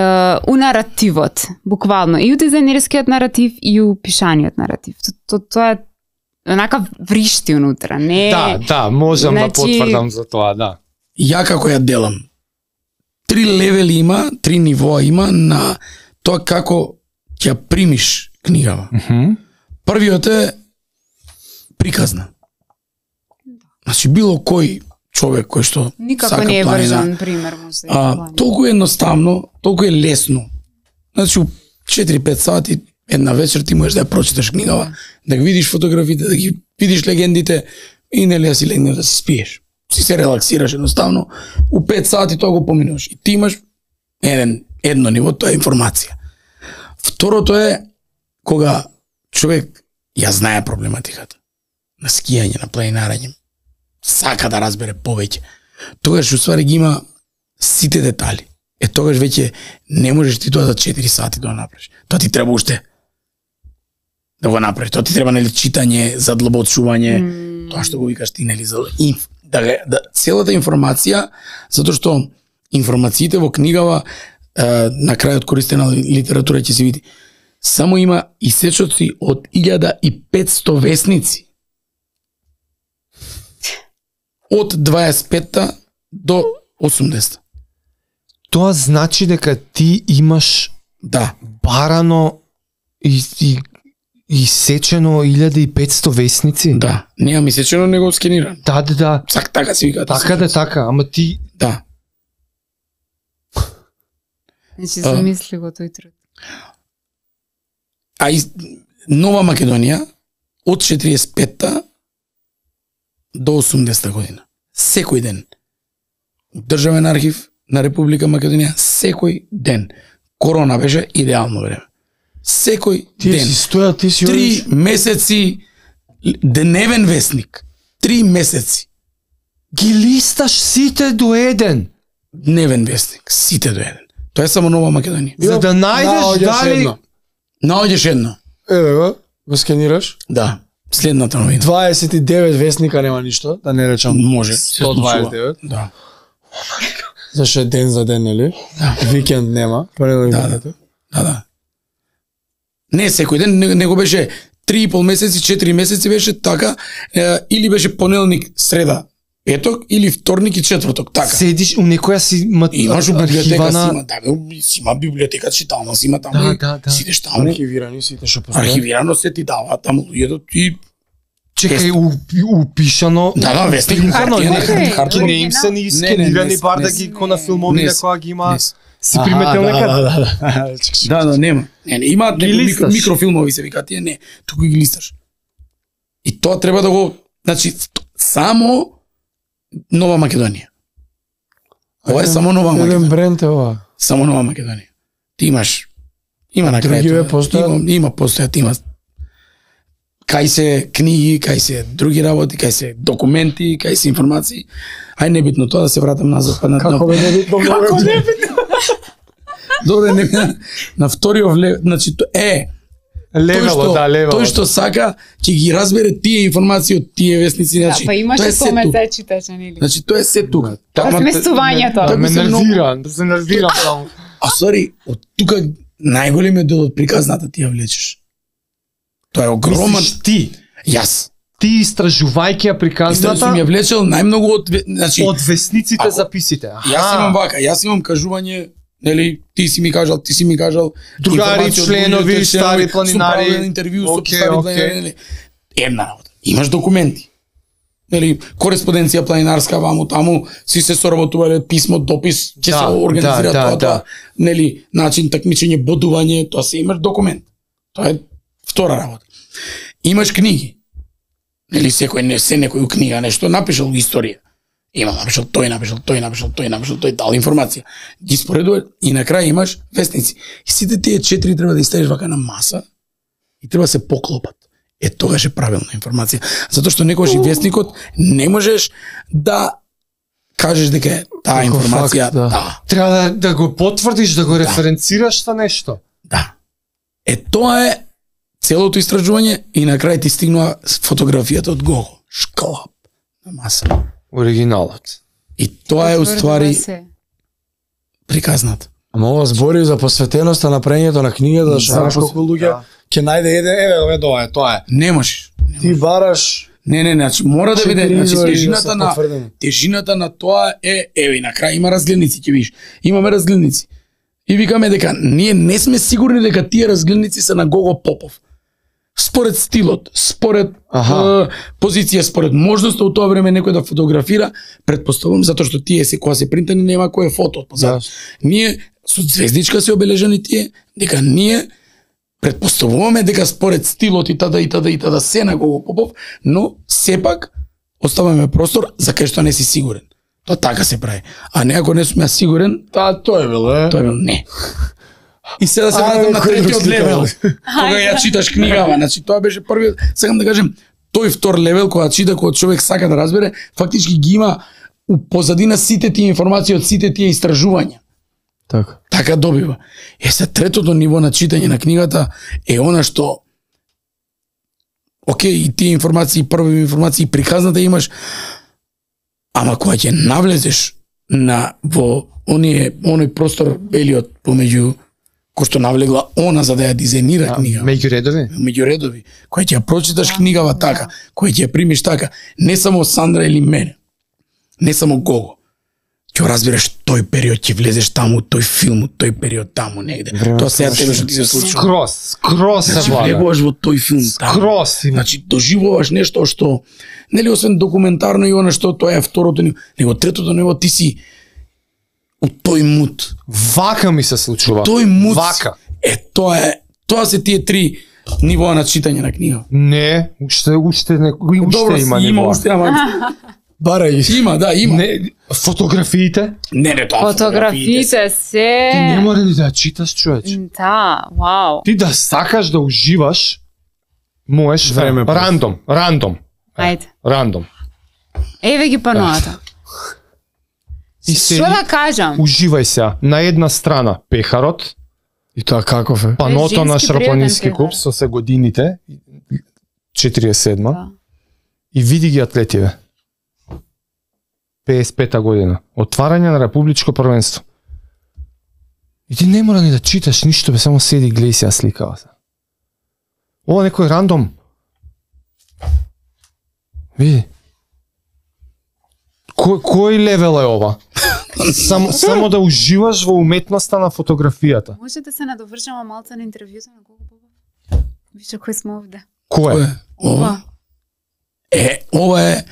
у наративот, буквално, и у дизајнерскиот наратив и у пишаниот наратив. То, то, тоа е онака вришти унутра, не Да, да, можам да значи- потврдам за тоа, да. ја како ја делам, три левели има, три нивоа има на тоа како ќе ја примиш книгава. Мгм. Првиот е приказна. Значи било кој човек кој што Никако сака не е планина, врзан пример може да а, планина. толку едноставно, толку е лесно. Значи у четири-пет сати една вечер ти можеш да ја прочиташ книгава, да ги видиш фотографите, да ги видиш легендите и нели да си легнеш да си спиеш. Си се релаксираш едноставно, у пет сати тоа го поминуваш. И ти имаш еден едно ниво, тоа е информација. Второто е кога човек ја знае проблематиката на скијање, на планинарање, сака да разбере повеќе. Тогаш уствари ги има сите детали. Е тогаш веќе не можеш ти тоа за четири сати да го направиш. Тоа ти треба уште да го направиш. Тоа ти треба нели читање, задлабочување, mm. тоа што го викаш ти нели за инф, да, да целата информација, затоа што информациите во книгава е, на крајот користена литература ќе се види. Само има исечоци од илјада и петсто весници. Од дваесет петта до осумдесетта. Тоа значи дека ти имаш Да. барано и, и, и сечено илјада и петсто весници? Да, немам исечено, него скениран. Да, да, да. Сак така си викаат. Така да, така, ама ти... Да. Значи А. замисли го тој труд. А из Нова Македонија од четириесет петта до осумдесетта година. Секој ден. Државен архив на Република Македонија секој ден. Корона беше идеално време. Секој Ти ден. си стоја, ти си Три одиш. месеци дневен вестник. Три месеци Ги листаш сите до еден, дневен вестник. Сите до еден. Тоа е само Нова Македонија. за да најдеш наоѓаш дали... едно. Наоѓеш едно. Еве го, го скенираш. Да. Следната новина. дваесет и девет вестника нема ништо, да не речам. Може. сто дваесет и девет. Да. Зашто е ден за ден, нели? Да. Викенд нема. Понеделник Да, да, да. Да, да. Не секој ден, не- него беше три и пол месеци, четири месеци беше така, е, или беше понеделник, среда, петок, или вторник и четврток, така. Седиш у некоја си ма... Имаш у библиотека архива си на... има, да, бе, си има библиотека читална, си има таму. Да, и да, да. Сидеш таму, Архивирани сите што постојат. архивирано се ти дава таму луѓето и Чекај, у- упишано... Да, да, вестник, принтано, хартија, не, хартија, хартија, не им се ни Не, не, скенирани не, бар не, да не, ги ко на не, филмовите не, која ги има... не. Си приметил да, некад? да, да, да. Да, да, нема. Не, не, имаат Ги некои микро, листаш. микрофилмови се викаат, тие не, туку ги листаш. И тоа треба да го, значи само Нова Македонија. Ова е само Нова Еден Македонија. бренд е ова. Само Нова Македонија. Ти имаш има на Други крајето. ве постојат? Има, има постојат, има кај се книги, кај се други работи, кај се документи, кај се информации. Ај небитно тоа да се вратам назад па на Како бе небитно Како многу. небитно? Добре, не на, на вториот лев, значи то е тој Левело, што, да, левело. тој што сака ќе ги разбере тие информации од тие вестници, Да, значи па имаше тоа е се томе тука. се читаше, нели? Значи тоа е се тука. Тама- Разместувањето. Да ме се многу- нервира, да се нервирам само. А сори, од тука најголемиот дел од приказната ти ја влечеш. Тоа е огромен. Мислиш ти, Јас. ти истражувајќи ја Исто приказната сум ја влечел најмногу од ве- значи од весниците Ако- записите. јас имам вака, јас имам кажување, нели, ти си ми кажал, ти си ми кажал, Другари, информација од членови, луѓето, стари членови, планинари. сум правил интервју со Окей, стари окей. планинари, нели. Една работа. Имаш документи. Нели, кореспонденција планинарска ваму таму, си се соработувале писмо, допис, ќе Да, се организира да, тоа, да, тоа, да. нели, начин такмичење, бодување, тоа се имаш документ. Тоа е втора работа. Имаш книги. Нели секој не се некој у книга нешто напишал историја. Има напишал тој, напишал тој, напишал тој, напишал тој, дал информација. Ги споредува и на крај имаш вестници. И сите тие четири треба да ги ставиш вака на маса и треба да се поклопат. Е тогаш е правилна информација. Затоа што некогаш и вестникот не можеш да кажеш дека е таа Како информација, факт, да. да, Треба да, да го потврдиш, да го референцираш за нешто. да. Е тоа е целото истражување и на крај ти стигнува фотографијата од Гого. Шклап на маса. Оригиналот. И тоа е уствари Се. приказната. Ама ова збори за посветеноста на прењето на книгата, што За знаеш колку луѓе ќе најде еден, еве, еве, тоа е, тоа е. Не можеш. Ти бараш Не, не, значи мора да биде, Четири значи извори тежината се на потврдени. тежината на тоа е, еве, на крај има разгледници, ќе видиш. Имаме разгледници. И викаме дека ние не сме сигурни дека тие разгледници се на Гого Попов. Според стилот, според е, позиција, според можноста од тоа време некој да фотографира, претпоставувам затоа што тие се кога се принтани нема кој е фото од позад. Да. Ние со звездичка се обележани тие, дека ние претпоставуваме дека според стилот и тада и тада и тада се на Гого Попов, но сепак оставаме простор за кај што не си сигурен. Тоа така се прави. А не ако не сум ја сигурен, Та, тој е бил, е. тој е бил не. И сега да се Ајде, вратам на кој третиот го левел. Кога ја читаш книгава, значи тоа беше првиот, сакам да кажем, тој втор левел кога чита, кога човек сака да разбере, фактички ги има у позадина сите тие информации од сите тие истражувања. Така. Така добива. Е, се третото ниво на читање на книгата е она што окей, и тие информации, први информации, приказната имаш, ама кога ќе навлезеш на во оние оној простор белиот помеѓу кој што навлегла она за да ја дизајнира книга. Меѓу редови? Меѓу редови, кој ќе ја прочиташ книгава така, кој ќе ја примиш така, не само Сандра или мене, не само Гого. Ќе разбереш тој период, ќе влезеш таму, тој филм, тој период таму негде. Тоа сега тебе што ти се случува. Скрос, скрос се Значи влага. влегуваш во тој филм таму. Скрос. Значи доживуваш нешто што нели освен документарно и она што тоа е второто ниво, него третото ниво ти си у тој мут. Вака ми се случува. Тој мут. Вака. Е тоа е, тоа се тие три нивоа на читање на книга. Не, уште уште не, уште Добро, има има ниво. уште ама Барај. има, да, има. Не, Не, фотографиите? не, не тоа. Фотографиите се... Ти не мора ли да ја читаш, човече? Да, вау. Ти да сакаш да уживаш, можеш Време просто. рандом, рандом, Ајде. рандом. Еве ги паноата. И се Што да кажам? уживај се на една страна пехарот, И тоа каков е? паното женски на Шрапонински пријатен клуб пехар. со се годините, четириесет и седма, Да. и види ги атлетиве. пеесет и пета година. Отварање на републичко првенство. И ти не мора ни да читаш ништо, бе, само седи, гледај се, ја сликава се. Ова некој рандом. Види. Кој, кој левел е ова? Само, само да уживаш во уметноста на фотографијата. Може да се надовршаме малце на интервјуто на Гого Попов? Више кој сме овде. Кој е? Ова. Е, ова е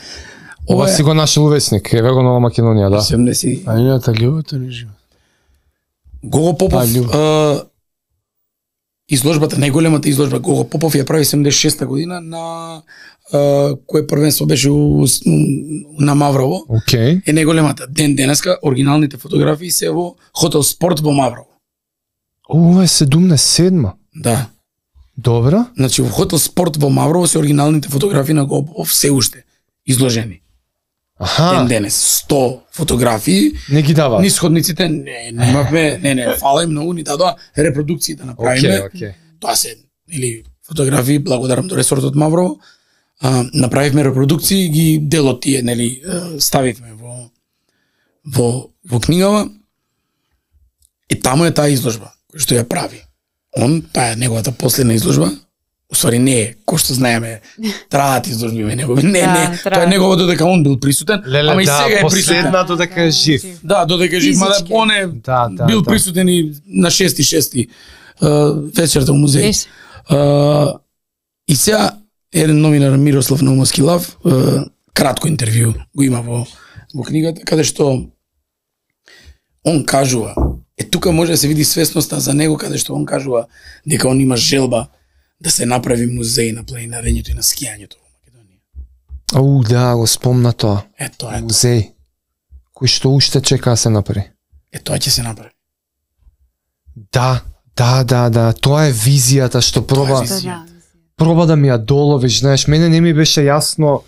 Ова ова е си го нашел увесник, еве го Нова Македонија, да. седемдесет. А ината љубовта не живе. Гого Попов, А, љубов. а, изложбата, најголемата изложба Гого Попов ја прави седумдесет и шеста година на а, кое првенство беше у, на Маврово. Океј. Е најголемата. Ден денеска оригиналните фотографии се во Хотел Спорт во Маврово. Ова е седумдесет и седма. Да. Добра. Значи во Хотел Спорт во Маврово се оригиналните фотографии на Гого Попов се уште изложени. Аха, Ден денес сто фотографии. не ги дава. Нисходниците не немавме, не не, фала им многу ни дадоа репродукции да направиме. Океј, океј. Тоа се или фотографии, благодарам до ресортот Маврово. А, направивме репродукции, ги делот тие, нели, е, ставивме во во во книгава. И таму е таа изложба која што ја прави. Он, таа е неговата последна изложба. Усвари не е, кој што знаеме, траат изложби ме негови. Не, Да, не, тоа траат. е негово додека он бил присутен, Леле, ама и да, сега е присутен. последна додека е жив. Да, додека е жив, мада Физички. он е Да, да, бил да. присутен и на шести шести вечерта во музеј. Беше. Uh, и сега еден новинар Мирослав Наумовски Лав, uh, кратко интервју го има во во книгата, каде што он кажува, е тука може да се види свесноста за него, каде што он кажува дека он има желба да се направи музеј на планинарењето и на скијањето во Македонија. Ау, да, го спомна тоа. Е тоа е, Музеј. Кој што уште чека да се направи. е тоа ќе се направи. Да, да, да, да, тоа е визијата што проба, Тоа е визија. Да, проба да ми ја доловиш, знаеш, мене не ми беше јасно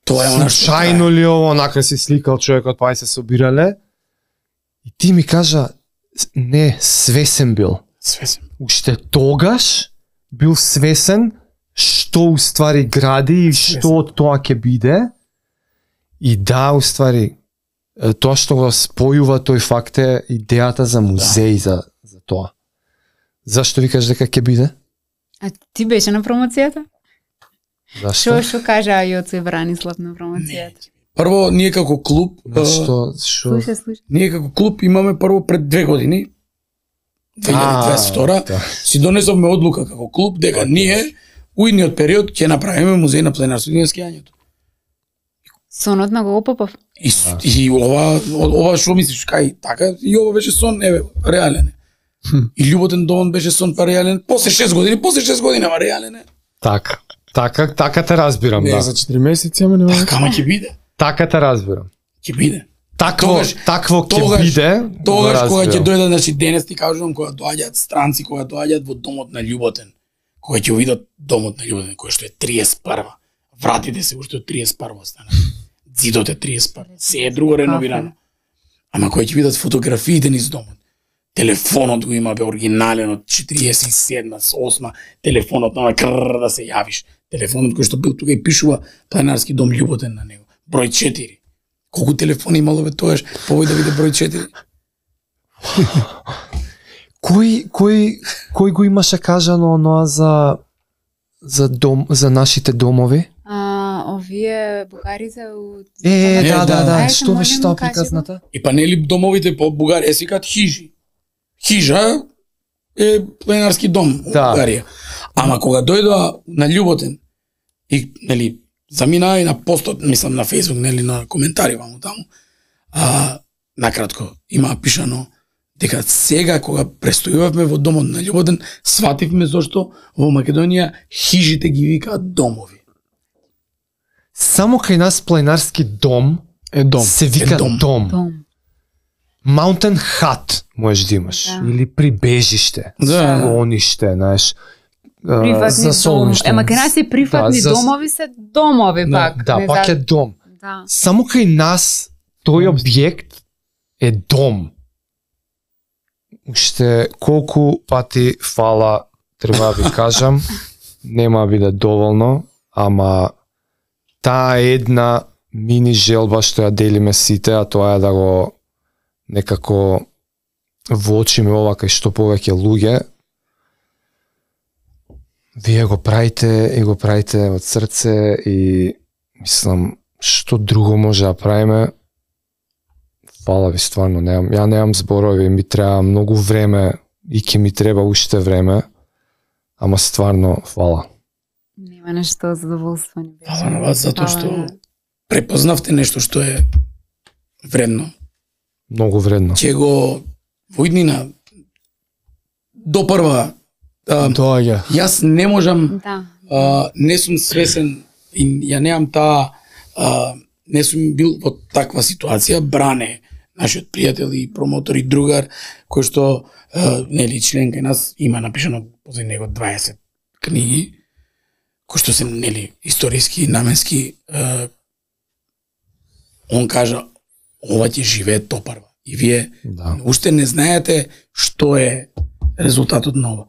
Тоа е она што случајно ли ово, онака си сликал човекот, па и се собирале. И ти ми кажа, не, свесен бил. свесен. Уште тогаш бил свесен што уствари гради и што од тоа ќе биде. И да, уствари, е, тоа што го спојува тој факт е идејата за музеј за, за тоа. Зашто викаш дека ќе биде? А ти беше на промоцијата? Зашто? Што што кажа Јоцо и Бранислав на промоцијата? Прво, ние како клуб, а, Што, што? Слушај, слушај. ние како клуб имаме прво пред две години, две илјади дваесет и втора, да. си донесовме одлука како клуб дека ние у идниот период ќе направиме музеј на пленарството и на скијањето. Сонот на Гого Попов. И, и ова, ова што мислиш, кај така, и ова беше сон, еве, реален е. И Љуботен дом беше сон, па реален, после шест години, после шест години, ама реален е. Така. Така, така те разбирам, Не, да. за четири месеци, ама нема. Така, ама ќе биде, Така те разбирам. ќе биде. Такво, Тогаш- такво ќе тогаш- биде. Тогаш го кога ќе разбирам. дојдат, значи денес ти кажувам кога доаѓаат странци, кога доаѓаат во домот на Љуботен, кога ќе видат домот на Љуботен, кој што е триесет и прва. Вратите се уште од триесет и прва стана. Зидот е триесет и прва. Се е друго реновирано. Ама кои ќе видат фотографиите низ домот. Телефонот го има бе оригинален од четириесет и седма, осма, телефонот на крр да се јавиш. Телефонот кој што бил тука и пишува Планинарски дом Љуботен на него. Број четири. Колку телефони имало бе тогаш, повој да биде број четири. Кој кој кој го имаше кажано оноа за за дом за нашите домови? А, овие бугарите од... Е, Е, да, да, да. да. Ајде, Што беше молим, тоа кажи го. приказната? И па нели домовите по Бугарија се викаат хижи. Хижа е пленарски дом во Да. Бугарија. Ама кога дојдоа на Љуботен и нели заминаа и на постот, мислам на Facebook, нели на коментари ваму таму. А накратко има пишано дека сега кога престојувавме во домот на Љуботен, свативме зошто во Македонија хижите ги викаат домови. Само кај нас планинарски дом Е дом. се вика Е дом. дом. Дом. Mountain hut можеш да имаш Да. или прибежиште, Да. склониште, знаеш. А, Приватни за дом. солниште. Ема кај нас е приватни Да, за- домови се домови Да, пак. да, не пак за- е дом. Да. Само кај нас тој објект е дом. Уште колку пати фала треба да ви кажам, нема да биде доволно, ама таа е една мини желба што ја делиме сите, а тоа е да го некако воочиме ова кај што повеќе луѓе. Вие го правите и го правите од срце и мислам што друго може да правиме. Фала ви стварно, немам, ја немам зборови, ми треба многу време и ќе ми треба уште време, ама стварно фала. Нема нешто задоволство ни беше. Фала на вас затоа Фала што на- препознавте нешто што е вредно. Многу вредно. Ќе го во иднина до прва а, Доаѓа. јас не можам Да. а, не сум свесен и ја немам таа а, не сум бил во таква ситуација. Бране, нашиот пријател и промотор и другар, кој што а, нели член кај нас има напишано позади него дваесет книги, кои што се нели историски, наменски. А, он кажа ова ќе живее топарва. И вие Да. уште не знаете што е резултатот на ова.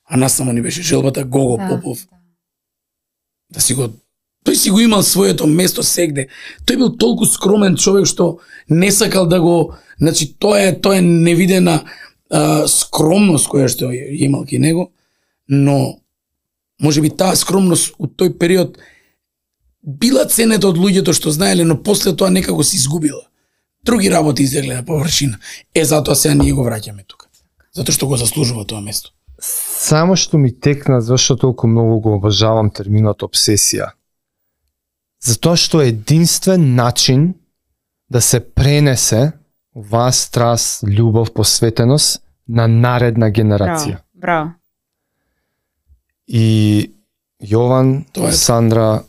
А нас само ни беше желбата Гого Да, Попов да. да си го тој си го имал своето место сегде. Тој бил толку скромен човек што не сакал да го, значи тоа е тоа е невидена а, скромност која што ја имал кај него, но можеби таа скромност од тој период била ценета од луѓето што знаеле, но после тоа некако се изгубила. Други работи излегле на површина. Е, затоа сега ние го враќаме тука. Затоа што го заслужува тоа место. Само што ми текна зашто толку многу го обожавам терминот обсесија. Затоа што е единствен начин да се пренесе оваа страст, љубов, посветеност на наредна генерација. Браво. Браво. И Јован, Тоа е. Сандра,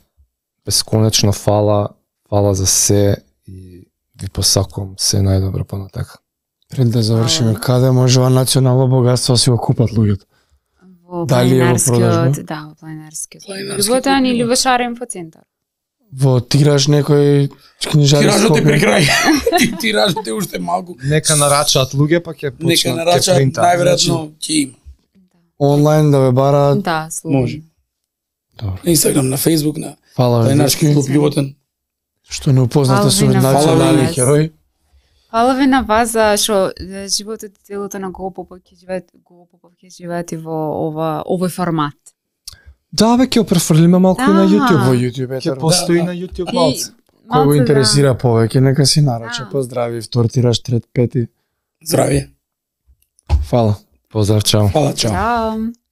бесконечно фала, фала за се и ви посакувам се најдобро понатака. Пред да завршиме, каде може ова национално богатство да си го купат луѓето? Во Дали е во планинарскиот, продажба? да, во планинарскиот. Планинарски Љуботен клуб, или да. во Шарен по центар. Во тираж некој книжари Тиражот е при Скопје? крај. Ти- Тиражот е уште малку. Нека нарачаат луѓе, па ќе Нека почнат ќе нарачаат, принтаат. најверојатно ќе има. Онлайн да ве бараат. Да, слободно. Може. На Инстаграм, на Фейсбук, на Фала ви, Планинарски дечки, клуб Љуботен. што не упознате Фала со ви на национални вас. херои. Фала ви на вас за што е, животот и делото на Гого Попов ќе живеат, Гого Попов ќе живеат и во ова овој формат. Да, бе, ќе префрлиме малку и на Аха. YouTube. Во YouTube е Ќе тоа. постои Да, на YouTube И- малце. Кој го малце, интересира повеќе, нека си нарача. Да. Поздрави, втор тираж, трет, пети. Здравје. Фала. Поздрав, чао. Фала, Да. чао. Чао.